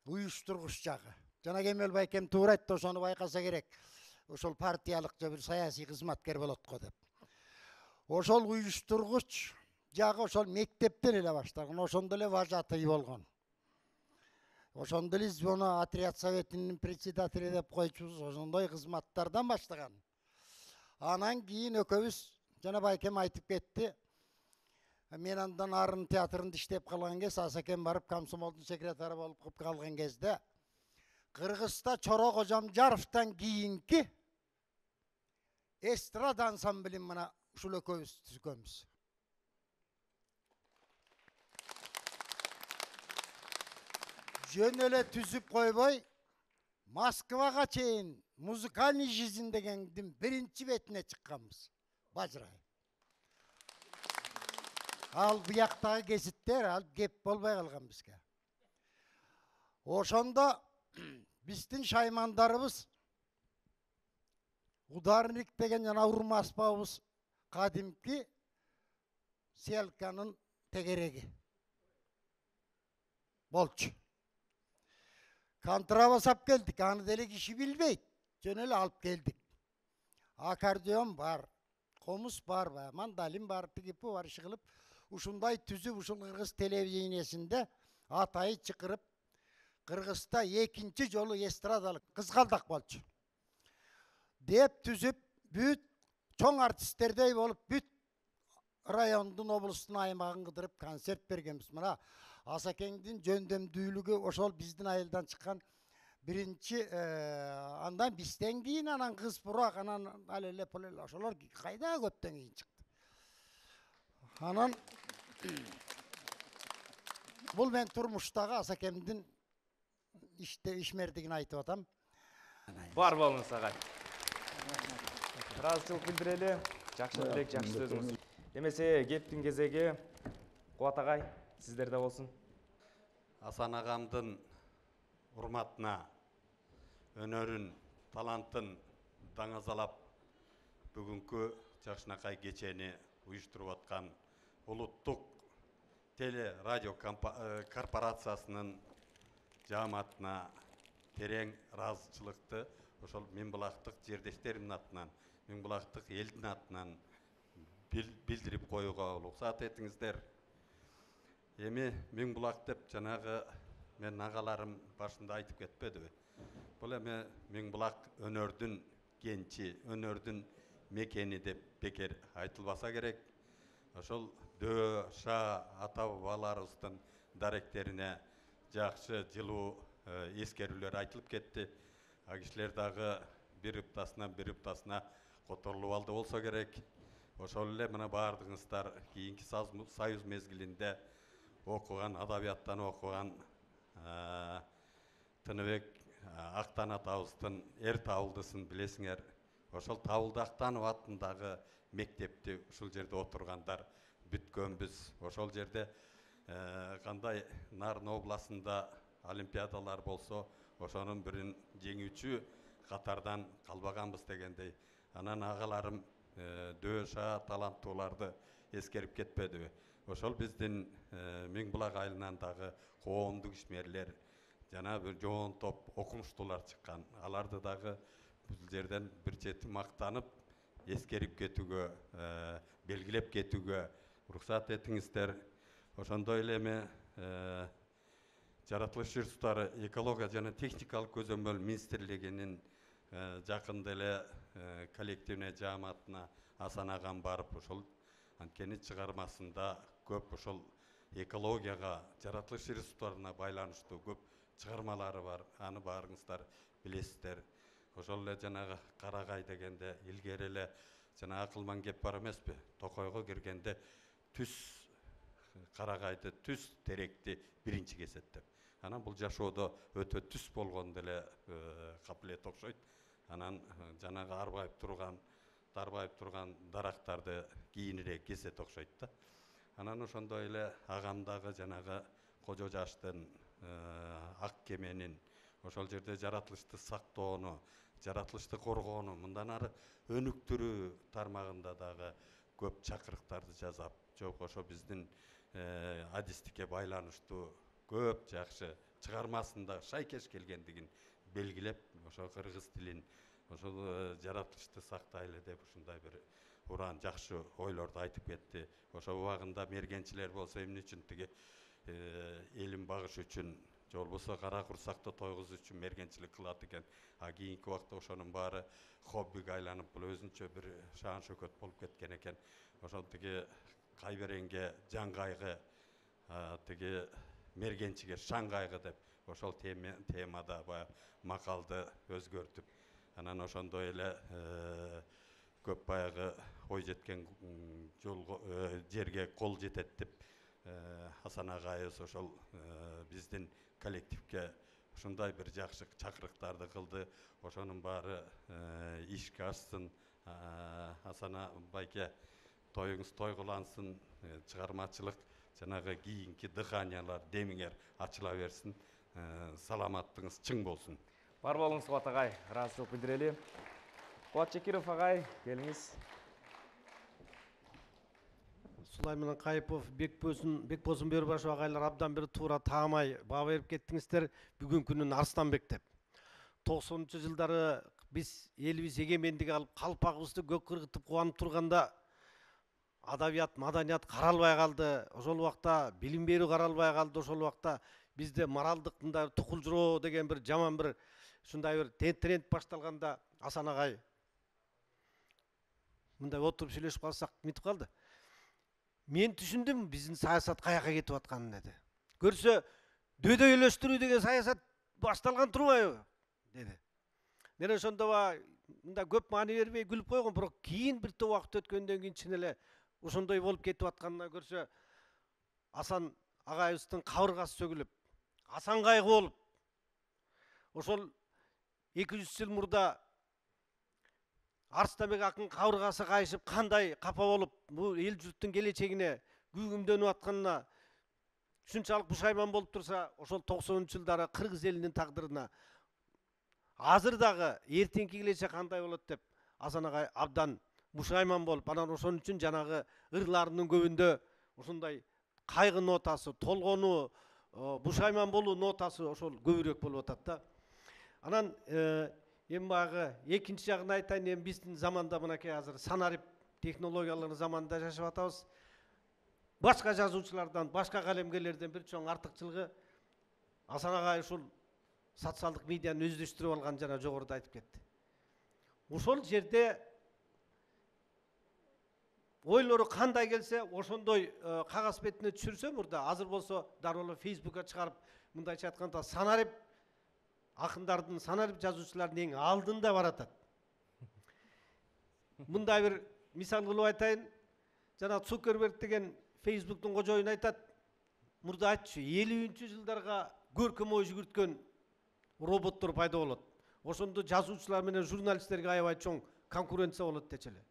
уюштургуч жагы. Жана Кемел Байкем туура айтты, ошону байкаса керек. Ошол партиялык же бир саясий кызматкер болот го деп. Ошол уюштургуч жагы ошол мектептен эле башталган, ошондо эле вожатый болгон. Ошондо эле звено отряд советинин председатели деп койчубуз, ошондой кызматтардан баштаган. Анан кийин экөөбүз жана Байкем айтып кетти. Мен андан Арын театрында иштеп калган кез, Асакем барып комсомолдун секретары болуп калган кезде Кыргызда Чоро Кожамжаровдон кийинки эстрада ансамблин мына ушул экөөбүз түзгөнбүз. Жөн эле түзүп койбой, Москвага чейин музыкальный жизнь дегендин биринчи бетине чыкканбыз. Бажырай. Ал буяктагы гезиттер ал кеп болбой калган бизге. Ошондо биздин шаймандарыбыз Ударник деген жана урма аспабыбыз кадимки селканын тегереги болчу. Контрабас келдик, аны деле киши билбейт. Жөн эле алып келдик. Аккордеон бар, комуз бар, мандалин бар, тигипи бар, иши кылып ушундай түзүп ушул кыргыз телевидениесинде атайы чыкырып Кыргызда экинчи жолу эстрадалык кызгалдак болчу. Деп түзүп бүт чоң артисттердей болуп бүт райондун, облустун аймагын кыдырып концерт бергенбиз. Мына Асакеңдин жөндөмдүүлүгү ошол биздин айылдан чыккан биринчи, андан бизден кийин анан кыз бурак, анан алеле полеле ошолор кайда көптөн кийин чыкты. Анан бул мен турмуштагы Асакемдин ишмердигин айтып атам. Бар болуңуз агай. Ыраазычылык билдирели. Жакшы элек, жакшы сөзүңүз. Эмесе кептин кезеги Кубат агай сиздерде болсун. Асан агамдын урматына өнөрүн, талантын даңазалап бүгүнкү Жакшынакай кечени уюштуруп аткан улуттук теле радио корпорациясынын жааматына терең ыраазычылыкты ошол Миңбулактык жердештеримдин атынан, Миңбулактык элдин атынан билдирип коюуга уруксат этиңиздер. Эми Миңбулак деп жанагы мен агаларым башында айтып кетпедиби? Бул эми Миңбулак өнөрдүн кенчи, өнөрдүн мекени деп бекер айтылбаса керек. Ошол Дөө, Ша, ата-бабаларыбыздын даректерине жакшы жылуу эскерүүлөр айтылып кетти. А кишилер дагы бир ыптасына которулуп алды болсо керек. Ошол эле мына баардыгыңыздар кийинки союз мезгилинде окуган, адабияттан окуган Тыныбек Актан атабыздын эр табылдысын билесиңер. Ошол Табылды Актанов атындагы мектепти ушул жерде отургандар бүткөнбүз. Ошол жерде кандай Нарын областында олимпиадалар болсо, ошонун бирин жеңүүчү катардан калбаганбыз дегендей. Анан агаларым Дөша таланттууларды эскерип кетпедиби? Ошол биздин Миңбулак айылынан дагы коомдук ишмерлер, жана бир жоон топ окумуштуулар чыккан. Аларды дагы бул жерден бир чети мактанып, эскерип кетүүгө, белгилеп кетүүгө уруксат этиңиздер. Ошондой эле эми жаратылыш ресурстары, экология жана техникалык көзөмөл министрлигинин жакында эле коллективный жааматына Асан агам барып, ошол анткени чыгармасында көп ошол экологияга, жаратылыш ресурстарына байланыштуу көп чыгармалары бар. Аны баарыңыздар билесиздер. Ошол эле жанагы Карагай дегенде илгери эле жана акылман кеп бар эмеспи? Токойго киргенде түз Карагайды, түз теректи биринчи кесет деп. Анан бул жашоодо өтө түз болгондо эле капылет окшойт. Анан жанагы дарбайып турган дарактарды кийинирээк кесет окшойт да. Анан ошондой эле агамдагы жанагы Кожо Жаштын ак кеменин ошол жерде жаратылышты сактоону, жаратылышты коргоону, мындан ары өнүктүрүү тармагында дагы көп чакырыктарды жасап, жок ошо биздин адистикке байланыштуу көп жакшы чыгармасында шайкеш келгендигин белгилеп, ошо кыргыз тилин, ошол жаратылышты сактайлы деп ушундай бир уран жакшы ойлорду айтып кетти. Ошо убагында мергенчилер болсо эмне үчүн тиги элин багыш үчүн, же болбосо кара курсакты тойгузуу үчүн мергенчилик кылат экен. А кийинки убакта ошонун баары хоббиге айланып, бул өзүнчө бир шаан шөкөт болуп кеткен экен. Ошол тиги кайберенге жан кайгы, тиги мергенчиге шаң кайгы деп ошол темада баягы макалды өзгөртүп, анан ошондой эле көп баягы ой жеткен жерге кол жетет деп Асан агайыбыз ошол биздин коллективге ушундай бир жакшы чакырыктарды кылды. Ошонун баары ишке ашсын. Асан байке тоюңуз тойгулансын, чыгармачылык жанагы кийинки дыханиялар, демиңер ачыла берсин. Саламаттыгыңыз чың болсун. Бар болуңуз Кубат агай, ыраазычылык билдирели. Кубат Чекиров агай, келиңиз. Сулайман Кайыпов, Бекбосын Бөрбашев агайлар абдан бир туура таамай баа берип кеттиңиздер. Бүгүнкүнүн Арстанбек деп. 90-жылдары биз элибиз эгемендик алып, калпагыбызды көк кыргытып кубанып турганда адабият, маданият каралбай калды. Ошол убакта билим берүү каралбай калды. Ошол убакта бизде моралдык мындай тукулжуроо деген бир жаман бир ушундай бир тренд башталганда Асан агай мындай отуруп сүйлөшүп калсак мынтип калды. Мен түшүндүм биздин саясат каяка кетип атканын деди. Көрсө дөдөйлөштүрүү деген саясат башталган турбайбы деди. Мен ошондо мындай көп маани бербей күлүп койгом, бирок кийин бир топ убакыт өткөндөн кийин чын эле ошондой болуп кетип атканына көрсө Асан агайыбыздын кабыргасы сөгүлүп, Асан кайгы болуп, ошол 200 жыл мурда Арыстанбек акын кабыргасы кайышып кандай капа болуп бул эл журттун келечегине күйгүмдөнүп атканына ушунчалык пушайман болуп турса, ошол 90-жылдары кыргыз элинин тагдырына азыр дагы эртеңки келечек кандай болот деп Асан агай абдан пушайман болуп, анан ошон үчүн жанагы ырларынын көбүндө ушундай кайгы нотасы, толгонуу, пушайман болуу нотасы ошол көбүрөөк болуп атат да. Анан эми баягы экинчи жагын айтайын, эми биздин заманда мынакей азыр санарип технологиялардын заманында жашап атабыз. Башка жазуучулардан, башка калемгерлерден бир чоң артыкчылыгы Асан агай ушул социалдык медианы өздөштүрүп алган, жана жогоруда айтып кетти. Ошол жерде ойлору кандай келсе, ошондой кагаз бетине түшүрсө мурда, азыр болсо дароо эле Facebookка чыгарып, мындайча айтканда санарип акындардын, санарип жазуучулардын эң алдында баратат. Мындай бир мисал кылып айтайын. Жана Цукерберг деген Facebooktун кожоюну айтат, мурда айтчу, 50-жылдарга көркөм ой жүгүрткөн роботтор пайда болот. Ошондо жазуучулар менен журналисттерге аябай чоң конкуренция болот дечи эле.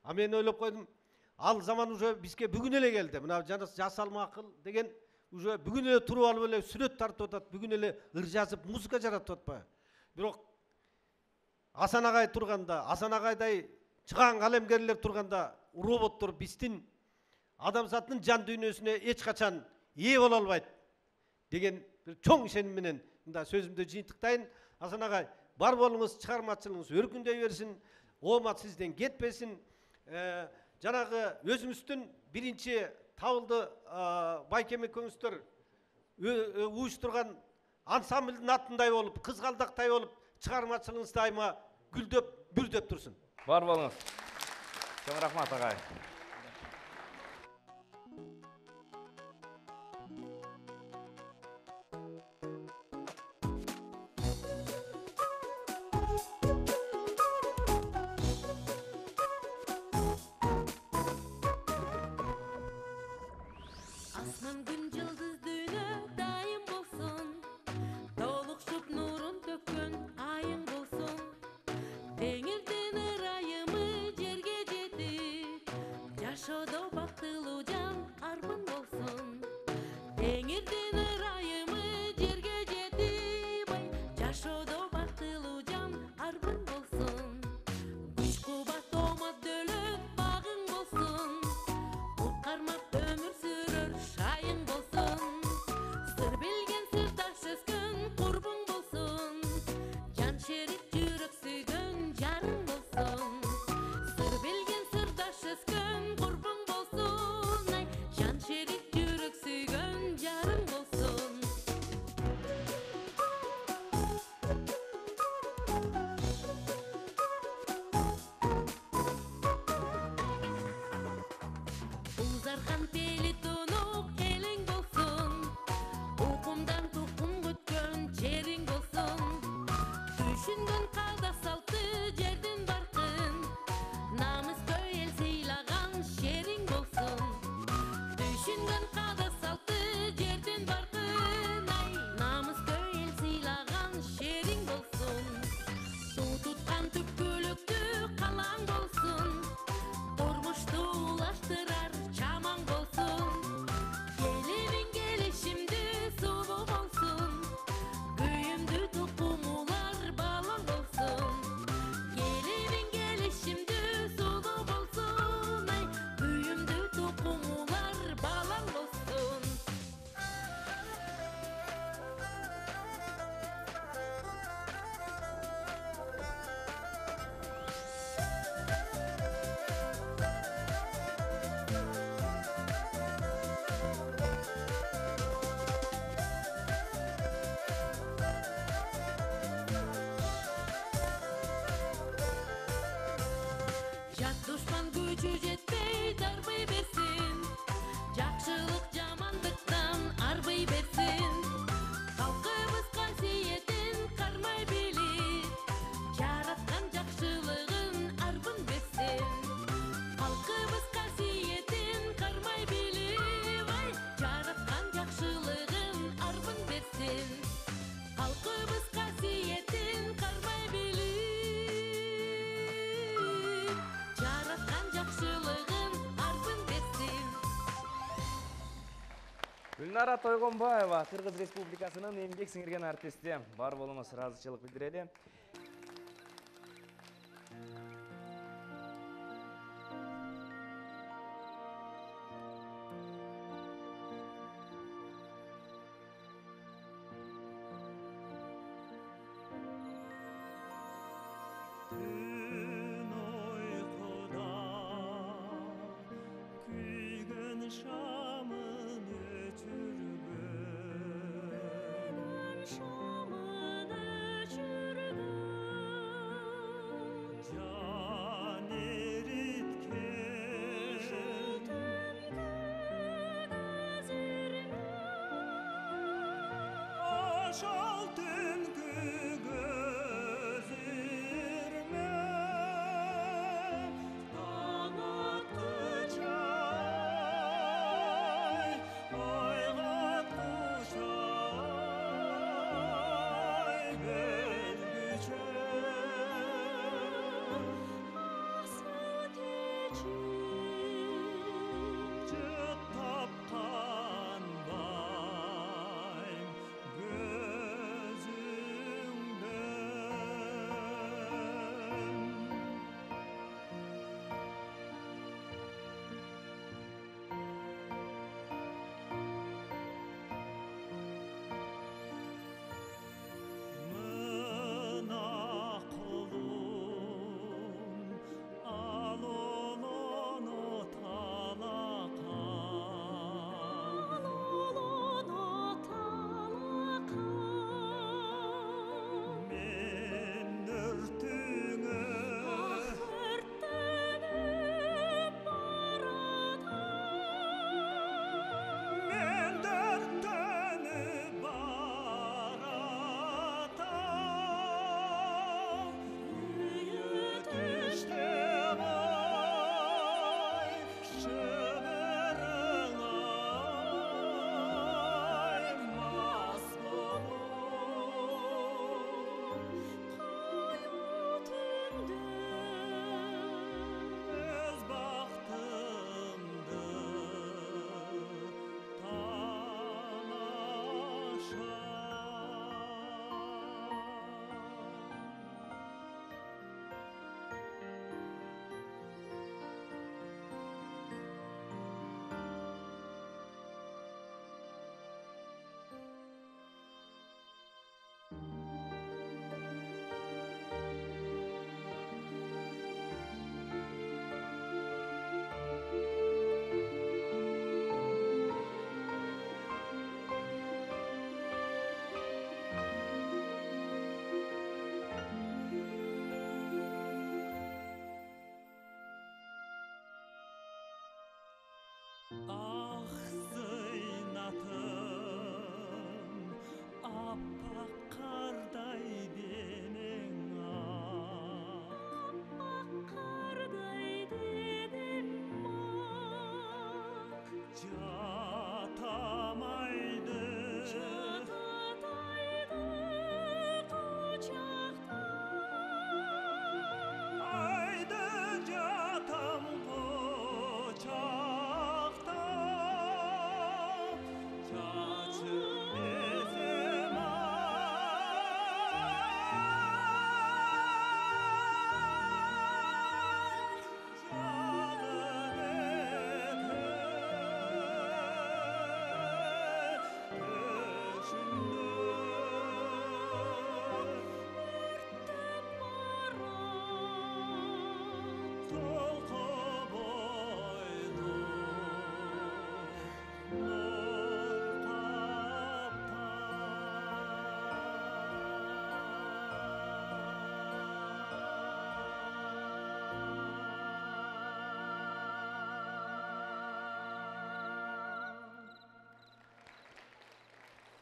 А мен ойлоп койдум, ал заман уже бизге бүгүн эле келди. Мына жасалма акыл деген уже бүгүн эле туруп алып эле сүрөт тартып атат, бүгүн эле ыр жазып, музыка жаратып атпайбы? Бирок Асан агай турганда, Асан агайдай чыган калемгерлер турганда, роботтор биздин адамзаттын жан дүйнөсүнө эч качан ээ боло албайт деген бир чоң ишеним менен мында сөзүмдү жыйынтыктайын. Асан агай, бар болуңуз, чыгармачылыгыңыз өркүндөй берсин, оомат сизден кетпесин. Жанагы өзүңүздүн биринчи табылды байкем экөөңүздөр уюштурган ансамблдын атындай болуп, кызгалдактай болуп, чыгармачылыгыңыз дайыма гүлдөп, бүрдөп турсун. Бар болуңуз. Чоң рахмат агай. Asman gün yıldız düğünü daim bolsun, dolukşup nurun tökün ayın bolsun. Dengirden ırayımı jerge jetip, yaşodo baktılуу can armın bolsun. Dengirden ırayımı jerge jetip, yaşodo baktılуу can armın bolsun. Güç kubat omad dölöp bagın bolsun, utkarmak ömür sürür şayın bolsun. Sır bilgen sırdaş özgün kurbun bolsun, can şerik jürek süygön jarың bolsun. Sır bilgen sırdaş özgün kurbun bolsun, ay can şerik jürek süygön jarың bolsun. Uzargan peli tunuk elin bolsun, ukumdan tukum gütkön çerin bolsun. Düşüngön kada saltı жердин баркын, намыс көйел сыйлаган шериң болsun. Düşüngön kada saltı жердин баркын, ай намыс көйел сыйлаган шериң болsun. Суу туткан түпкүлүктү калаң болsun, турмушту улаштырар чамаң болsun. Келибиң келишимди суу болsun, күйүмдү тукумулар балам болsun. Келибиң келишимди суу болsun, ай күйүмдү тукумулар балам болsun. Жат душман күчү жетпей дарбай берсин, жакшылык жамандыктан арбай берсин. Халкыбыз касиетин кармай билип, жараткан жакшылыгын арбын берсин. Халкыбыз касиетин кармай билип, ай жараткан жакшылыгын арбын берсин. Халкыбыз касиетин кармай билип, Динара Тойгонбаева, Кыргыз Республикасынын эмгек сиңирген артисти. Бар болуңуз ыраазычылык билдирели.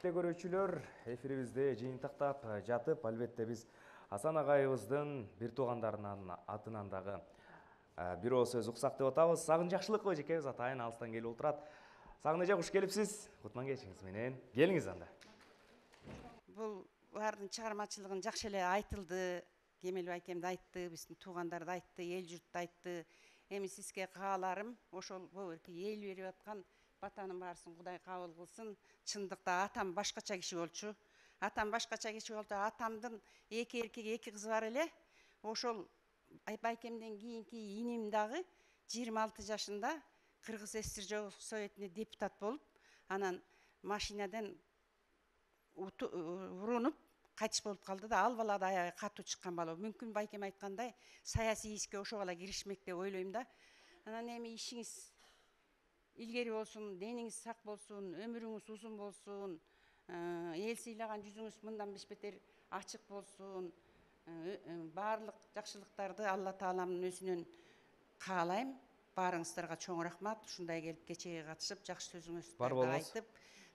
Көрүүчүлөр, эфирибизде жыйынтыктап жатып, албетте биз Асан агайыбыздын бир туугандарынын атынан дагы бир оо сөз уксак деп атабыз. Сагын Жакшылыкова жекебиз атайын алыстан келип отурат. Сагын эже, куш келипсиз. Кутман кечиңиз менен. Келиңиз анда. Бул баардын чыгармачылыгын жакшы эле айтылды. Кемел байкемди айтты, биздин туугандарды айтты, эл журтты айтты. Эми сизге кааларым ошол бөгөркү эл берип аткан батанын баарысын Кудай кабыл кылсын. Чындыкта атам башкача киши болчу. Атам башкача киши болду. Атамдын 2 эркек, 2 кызы бар эле. Ошол байкемден кийинки иним дагы 26 жашында Кыргыз ССР Советине депутат болуп, анан машинадан урунуп кайтыш болуп калды да, ал бала да аягы катуу чыккан бала. Мүмкүн байкем айткандай саясий ишке ошол бала киришмек деп ойлойм да. Анан эми ишиңиз илгери болсун, дениңиз сак болсун, өмүрүңүз узун болсун, эл сыйлаган жүзүңүз мындан бешбетер ачык болсун. Баарлык жакшылыктарды Алла Тааламдын өзүнөн каалайм. Баарыңыздарга чоң рахмат. Ушундай келип кечеге катышып, жакшы сөзүңүздөрдү айтып,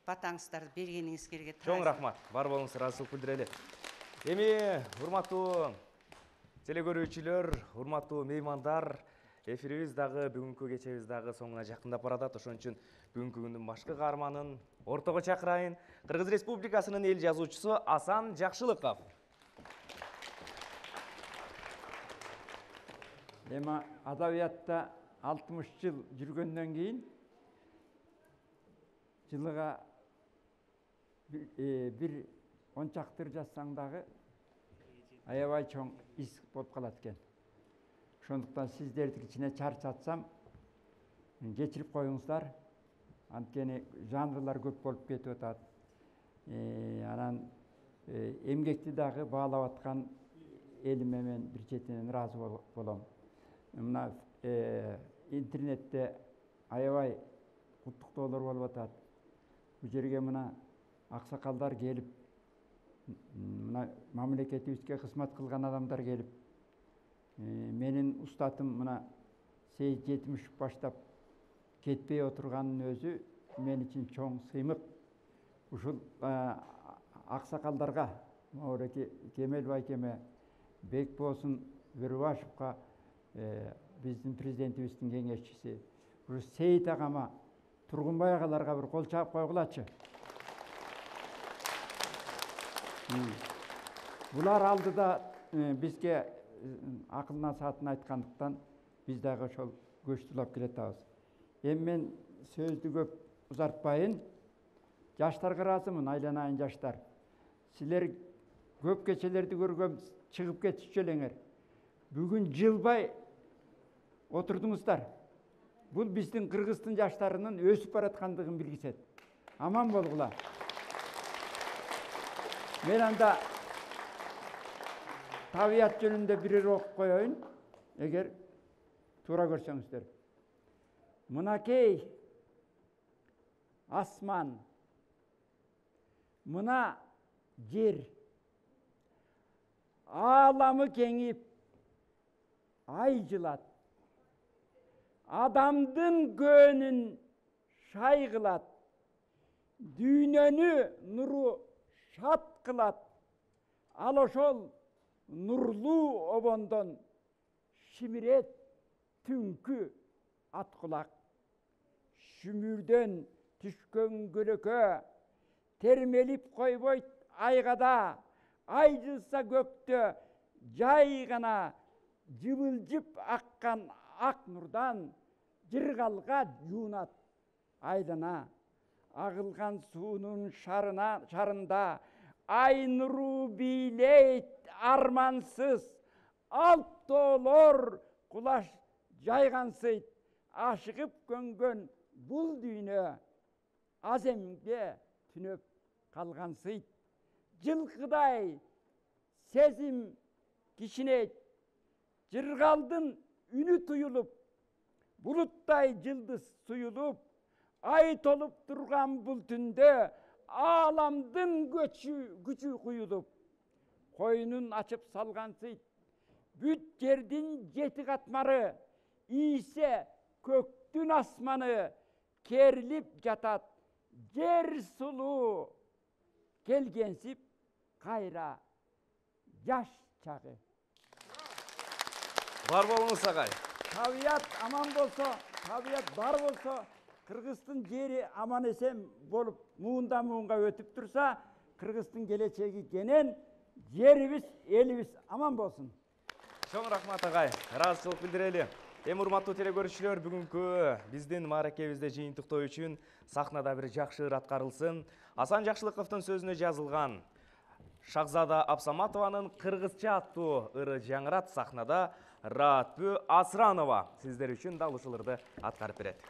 батаңыздарды бергениңизге чоң рахмат. Бар болуңуз, ыраазычылык билдирели. Эми урматтуу телекөрүүчүлөр, урматтуу меймандар, эфирибиз дагы бүгүнкү кечебиз дагы соңуна жакындап баратат. Ошон үчүн бүгүнкү күндүн башкы каарманын ортого чакырайын. Кыргыз Республикасынын эл жазуучусу Асан Жакшылыков. Эми адабиятта 60 жыл жүргөндөн кийин жылыга бир 10 чактыр жазсаң дагы аябай чоң из болуп калат экен. Ошондуктан сиздердин ичине чарчатсам кечирип коюңуздар. Анткени жанрлар көп болуп кетип атат. Анан эмгекти дагы баалап аткан элиме мен бир четинен ыраазы болом. Мына интернетте аябай куттуктоолор болуп атат. Бул жерге мына аксакалдар келип, мына мамлекетибизге кызмат кылган адамдар келип, менин устатым мына Сейит Жетимишев баштап кетпей отурганын өзү мен үчүн чоң сыймык. Ушул аксакалдарга, Мауреки Кемел байкеме, Бекбосын Бөрүбашевка, биздин президентибиздин кеңешчиси, ушу Сейит агама, Тургунбай агаларга бир кол чаап койгулачы. Булар алдыда бизге акыл насаатын айткандыктан биз дагы ошол көчтүлап келатабыз. Эми мен сөздү көп узартпайын. Жаштарга ыраазымын, айланайын жаштар. Силер көп кечелерди көргөм, чыгып кетишчү элеңер. Бүгүн жылбай отурдуңуздар. Бул биздин Кыргыздын жаштарынын өсүп бараткандыгын билгисет. Аман болгула. Мен анда табият жөнүндө бир окуп коеюн, эгер туура көрсөңүздөр. Мынакей асман, мына жер, ааламы кеңип, ай жылат, адамдын көөнүн шай кылат, дүйнөнү нуру шат кылат. Ал ошол нурлуу обондон шимирет түнкү ат кулак. Шүмүрдөн түшкөн көлөкө термелип койбойт айгада, ай жылса көктө жай гана жыбылжып аккан ак нурдан жыргалга жуунат айлана. Агылган суунун шарында ай нуру бийлейт армансыз, алт тоолор кулаш жайгансыйт. Ашыгып көнгөн бул дүйнө аземге түнөп калгансыйт. Жылкыдай сезим кичинейт, жыргалдын үнү туюлуп, булуттай жылдыз суюлуп, ай толуп турган бул түндө ааламдын күчү куюлуп, койнун ачып салгансыйт. Бүт жердин жети катмары, ийсе көктүн асманы, керилип жатат жер сулуу, келгенсип кайра жаш чагы. Бар болуңуз агай. Табият аман болсо, табият бар болсо, Кыргыздын жери аман эсен болуп, муундан муунга өтүп турса, Кыргыздын келечеги кенен, жерибиз, элибиз аман болсун. Чоң рахмат агай. Ыраазычылык билдирели. Урматтуу теле көрүүчүлөр, бүгүнкү биздин мааракебизде жыйынтыктоо үчүн сахнада бир жакшы ыр аткарылсын. Асан Жакшылыковдун сөзүнө жазылган Шахзада Абсаматованын кыргызча аттуу ыры жаңырат. Сахнада Раатбү Асранова сиздер үчүн дал ушул ырды аткарып берет.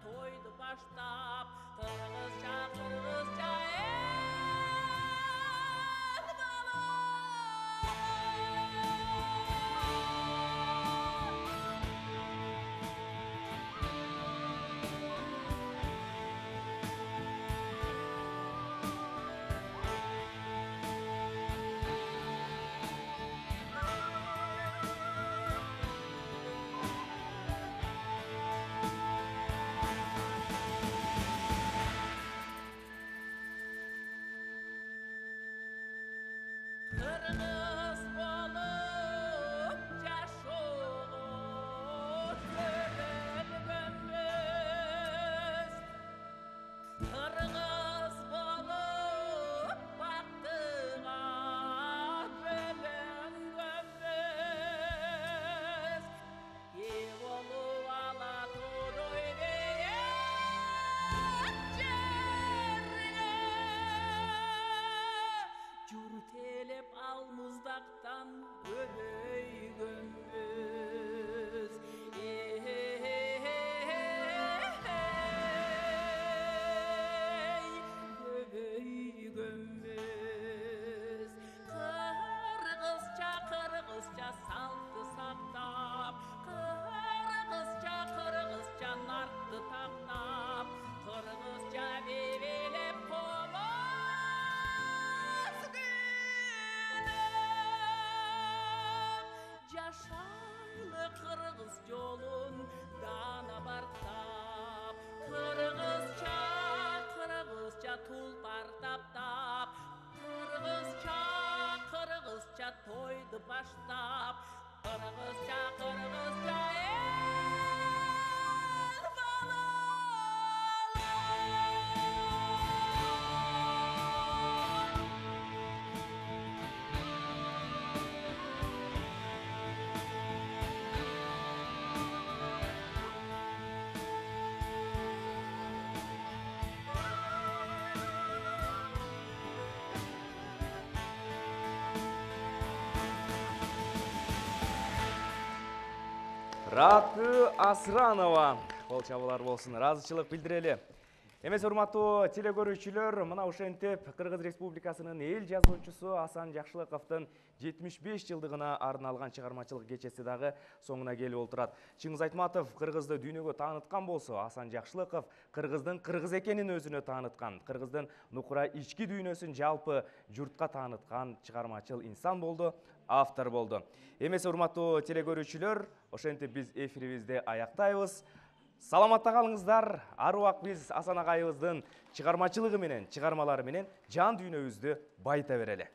Toydu başlap, kırgızca kırgızca Раатбү Асранова. Кол чабуулар болсун. Ыраазычылык билдирели. Эмес урматтуу теле көрүүчүлөр, мына ошентип Кыргыз Республикасынын эл жазуучусу Асан Жакшылыковдун 75 жылдыгына арналган чыгармачылык кечеси дагы соңуна келип олтурат. Чыңгыз Айтматов Кыргызды дүйнөгө тааныткан болсо, Асан Жакшылыков Кыргыздын кыргыз экенин өзүнө тааныткан, Кыргыздын нукура ички дүйнөсүн жалпы журтка тааныткан чыгармачыл инсан болду, автор болду. Эмес урматтуу теле көрүүчүлөр, ошентип биз эфирибизди аяктайбыз. Саламатта калыңыздар. Ар убак биз Асан агайыбыздын чыгармачылыгы менен, чыгармалары менен жан дүйнөбүздү байыта берели.